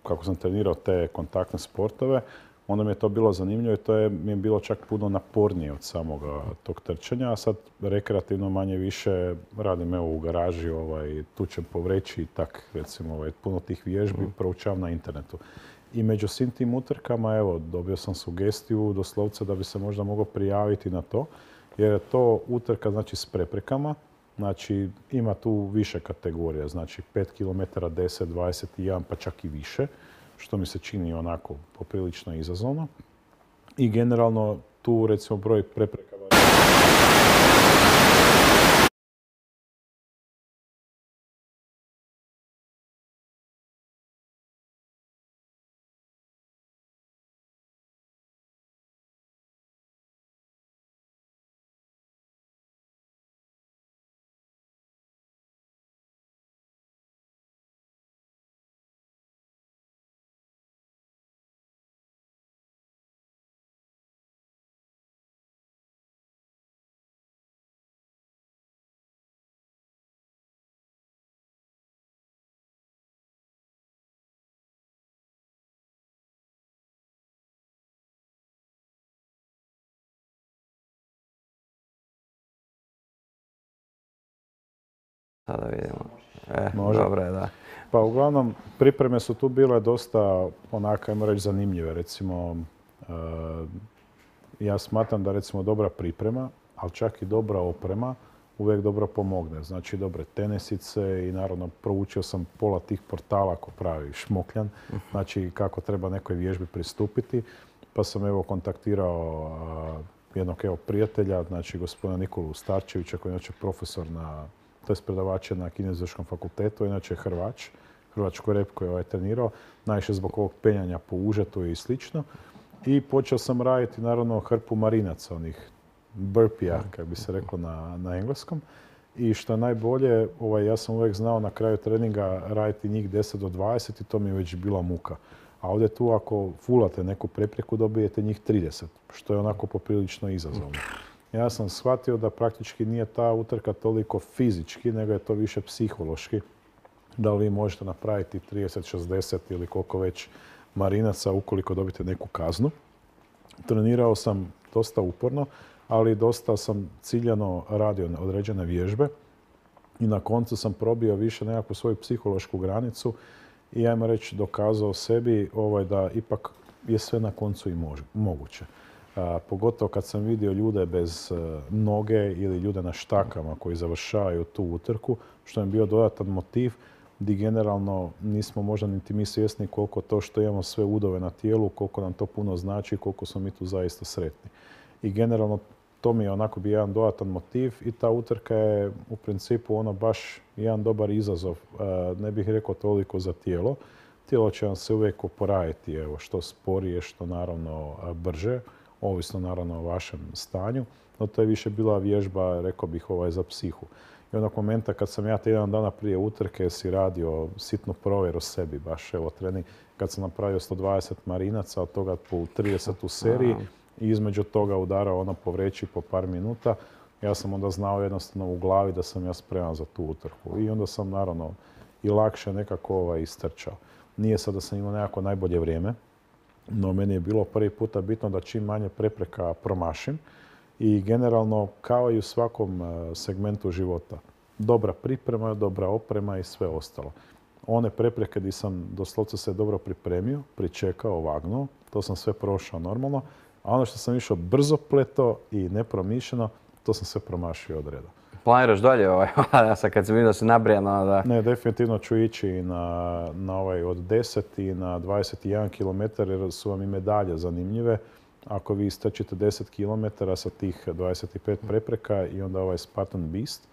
kako sam trenirao te kontaktne sportove, onda mi je to bilo zanimljivo i to mi je bilo čak puno napornije od samoga tog trčanja, a sad rekreativno manje više radim evo u garaži, tučem po vreći i tak, recimo, puno tih vježbi proučavam na internetu. I među svim tim utrkama, evo, dobio sam sugestiju doslovce da bi se možda mogao prijaviti na to, jer je to utrka, znači, s preprekama. Znači, ima tu više kategorija, znači 5 km, 10, 21, pa čak i više, što mi se čini onako poprilično izazovno. I generalno tu, recimo, broj prepreka Sada vidimo. može. Dobro je, da. Pa uglavnom, pripreme su tu bile dosta, onako, ajmo reći, zanimljive. Recimo, ja smatram da recimo dobra priprema, ali čak i dobra oprema uvijek dobro pomogne. Znači dobre tenisice i naravno proučio sam pola tih portala ko pravi šmokljan, znači kako treba nekoj vježbi pristupiti. Pa sam evo kontaktirao jednog evo prijatelja, znači gospodina Nikolu Starčevića koji je inače profesor to je predavač na Kineziološkom fakultetu, inače Hrvač, hrvačko rep koji je trenirao, najviše zbog ovog penjanja po užetu i slično. I počeo sam raditi naravno hrpu marinaca, onih burpija, kako bi se reklo na engleskom. I što je najbolje, ja sam uvijek znao na kraju treninga raditi njih 10 do 20 i to mi je već bila muka. A ovdje tu ako fulate neku prepreku dobijete njih 30, što je onako poprilično izazovno. Ja sam shvatio da praktički nije ta utrka toliko fizički, nego je to više psihološki. Da li vi možete napraviti 30, 60 ili koliko već marinaca ukoliko dobite neku kaznu. Trenirao sam dosta uporno, ali dosta sam ciljano radio na određene vježbe i na koncu sam probio više nekakvu svoju psihološku granicu i ajmo reći dokazao sebi da ipak je sve na koncu i moguće. Pogotovo kad sam vidio ljude bez noge ili ljude na štakama koji završavaju tu utrku, što je bio dodatan motiv gdje generalno nismo možda niti mi svjesni koliko to što imamo sve udove na tijelu, koliko nam to puno znači i koliko smo mi tu zaista sretni. I generalno to mi je onako bio jedan dodatan motiv i ta utrka je u principu baš jedan dobar izazov. Ne bih rekao toliko za tijelo. Tijelo će vam se uvijek oporaviti, što sporije, što naravno brže, ovisno naravno o vašem stanju. No to je više bila vježba, rekao bih, za psihu. I onog momenta kad sam ja tjedan dana prije utrke si radio sitnu provjeru sebi, baš trening, kad sam napravio 120 marinaca, od toga po 30 u seriji i između toga udarao po vreći po par minuta, ja sam onda znao jednostavno u glavi da sam ja spreman za tu utrku. I onda sam naravno i lakše nekako istrčao. Nije sad da sam imao nekako najbolje vrijeme, no meni je bilo prvi puta bitno da čim manje prepreka promašim i generalno kao i u svakom segmentu života. Dobra priprema, dobra oprema i sve ostalo. One prepreke gdje sam doslovce se dobro pripremio, pričekao, vagnuo, to sam sve prošao normalno, a ono što sam išao brzo pleto i nepromišljeno, to sam sve promašio od reda. Planiraš dalje sad kad sam vidio da si nabrijan? Ne, definitivno ću ići na od 10 i na 21 km jer su vam i medalje zanimljive. ako vi istrčite 10 km sa tih 25 prepreka i onda ovaj Spartan Beast,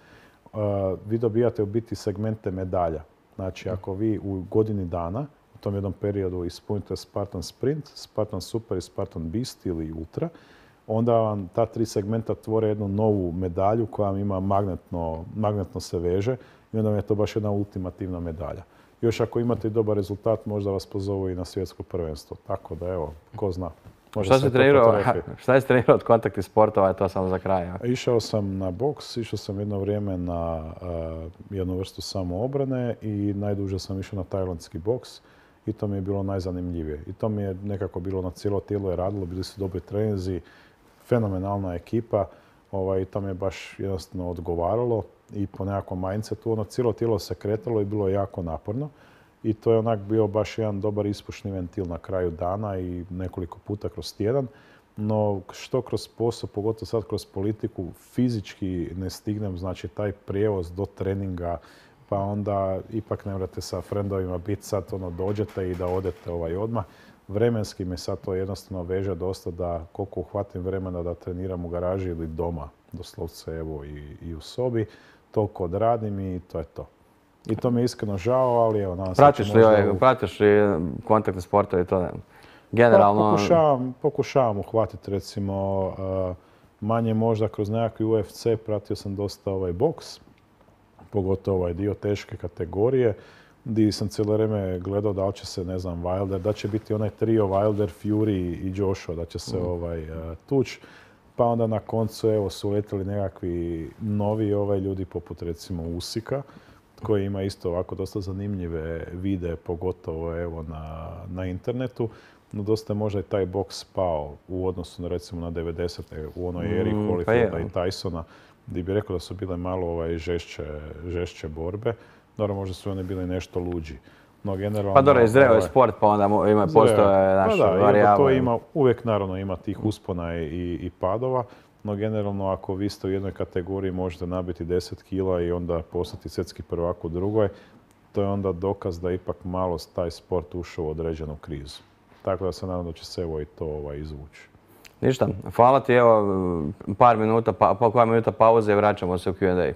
vi dobijate u biti segmente medalja. Znači, ako vi u godini dana, u tom jednom periodu ispunite Spartan Sprint, Spartan Super i Spartan Beast ili Ultra, onda vam ta 3 segmenta tvore jednu novu medalju koja vam ima magnetno se veže i onda vam je to baš jedna ultimativna medalja. Još ako imate i dobar rezultat, možda vas pozovu i na svjetsko prvenstvo. Tako da, evo, ko zna. Šta je trenirao od kontaktnih sportova, to samo za kraj? Išao sam na boks, išao sam jedno vrijeme na jednu vrstu samoobrane i najduže sam išao na tajlandski boks i to mi je bilo najzanimljivije. I to mi je nekako bilo na cijelo tijelo je radilo, bili su dobri treninzi, fenomenalna ekipa i to mi je baš jednostavno odgovaralo i po nekakvom mindsetu, cijelo tijelo se kretalo i bilo je jako naporno. I to je onak bio baš jedan dobar ispušni ventil na kraju dana i nekoliko puta kroz tjedan. No što kroz posao, pogotovo sad kroz politiku, fizički ne stignem, znači taj prijevoz do treninga, pa onda ipak ne morate sa frendovima biti sad dođete i da odete odmah. Vremenski me sad to jednostavno veže dosta da koliko uhvatim vremena da treniram u garaži ili doma, doslovce evo i u sobi, toliko odradim i to je to. I to mi je iskreno žao, ali evo, nadam se... Pratiš li kontaktne sportove i to? Generalno... Pokušavam uhvatiti, recimo, manje možda kroz nekakvi UFC, pratio sam dosta boks, pogotovo ovaj dio teške kategorije, gdje sam cijelo vrijeme gledao da li će se, ne znam, Wilder, da će biti onaj trio Wilder, Fury i Joshua, da će se tući. Pa onda na koncu, evo, su letili nekakvi novi ljudi poput, recimo, Usika, koji ima isto ovako dosta zanimljive videe, pogotovo evo na internetu. No dosta je možda i taj boks spao u odnosu na recimo na 90. u onoj eri Holyfielda i Tysona, gdje bi rekao da su bile malo žešće borbe. Naravno, možda su oni bili nešto luđi. No, generalno... Pa dobro, izreo je sport, pa onda postoje naše varijable. Uvijek naravno ima tih uspona i padova. No generalno ako vi ste u jednoj kategoriji možete nabiti 10 kila i onda postati svjetski prvak u drugoj, to je onda dokaz da ipak malo taj sport ušao u određenu krizu. Tako da se nadam da će se evo i to izvući. Ništa, hvala ti, evo par minuta pauze i vraćamo se u Q&A.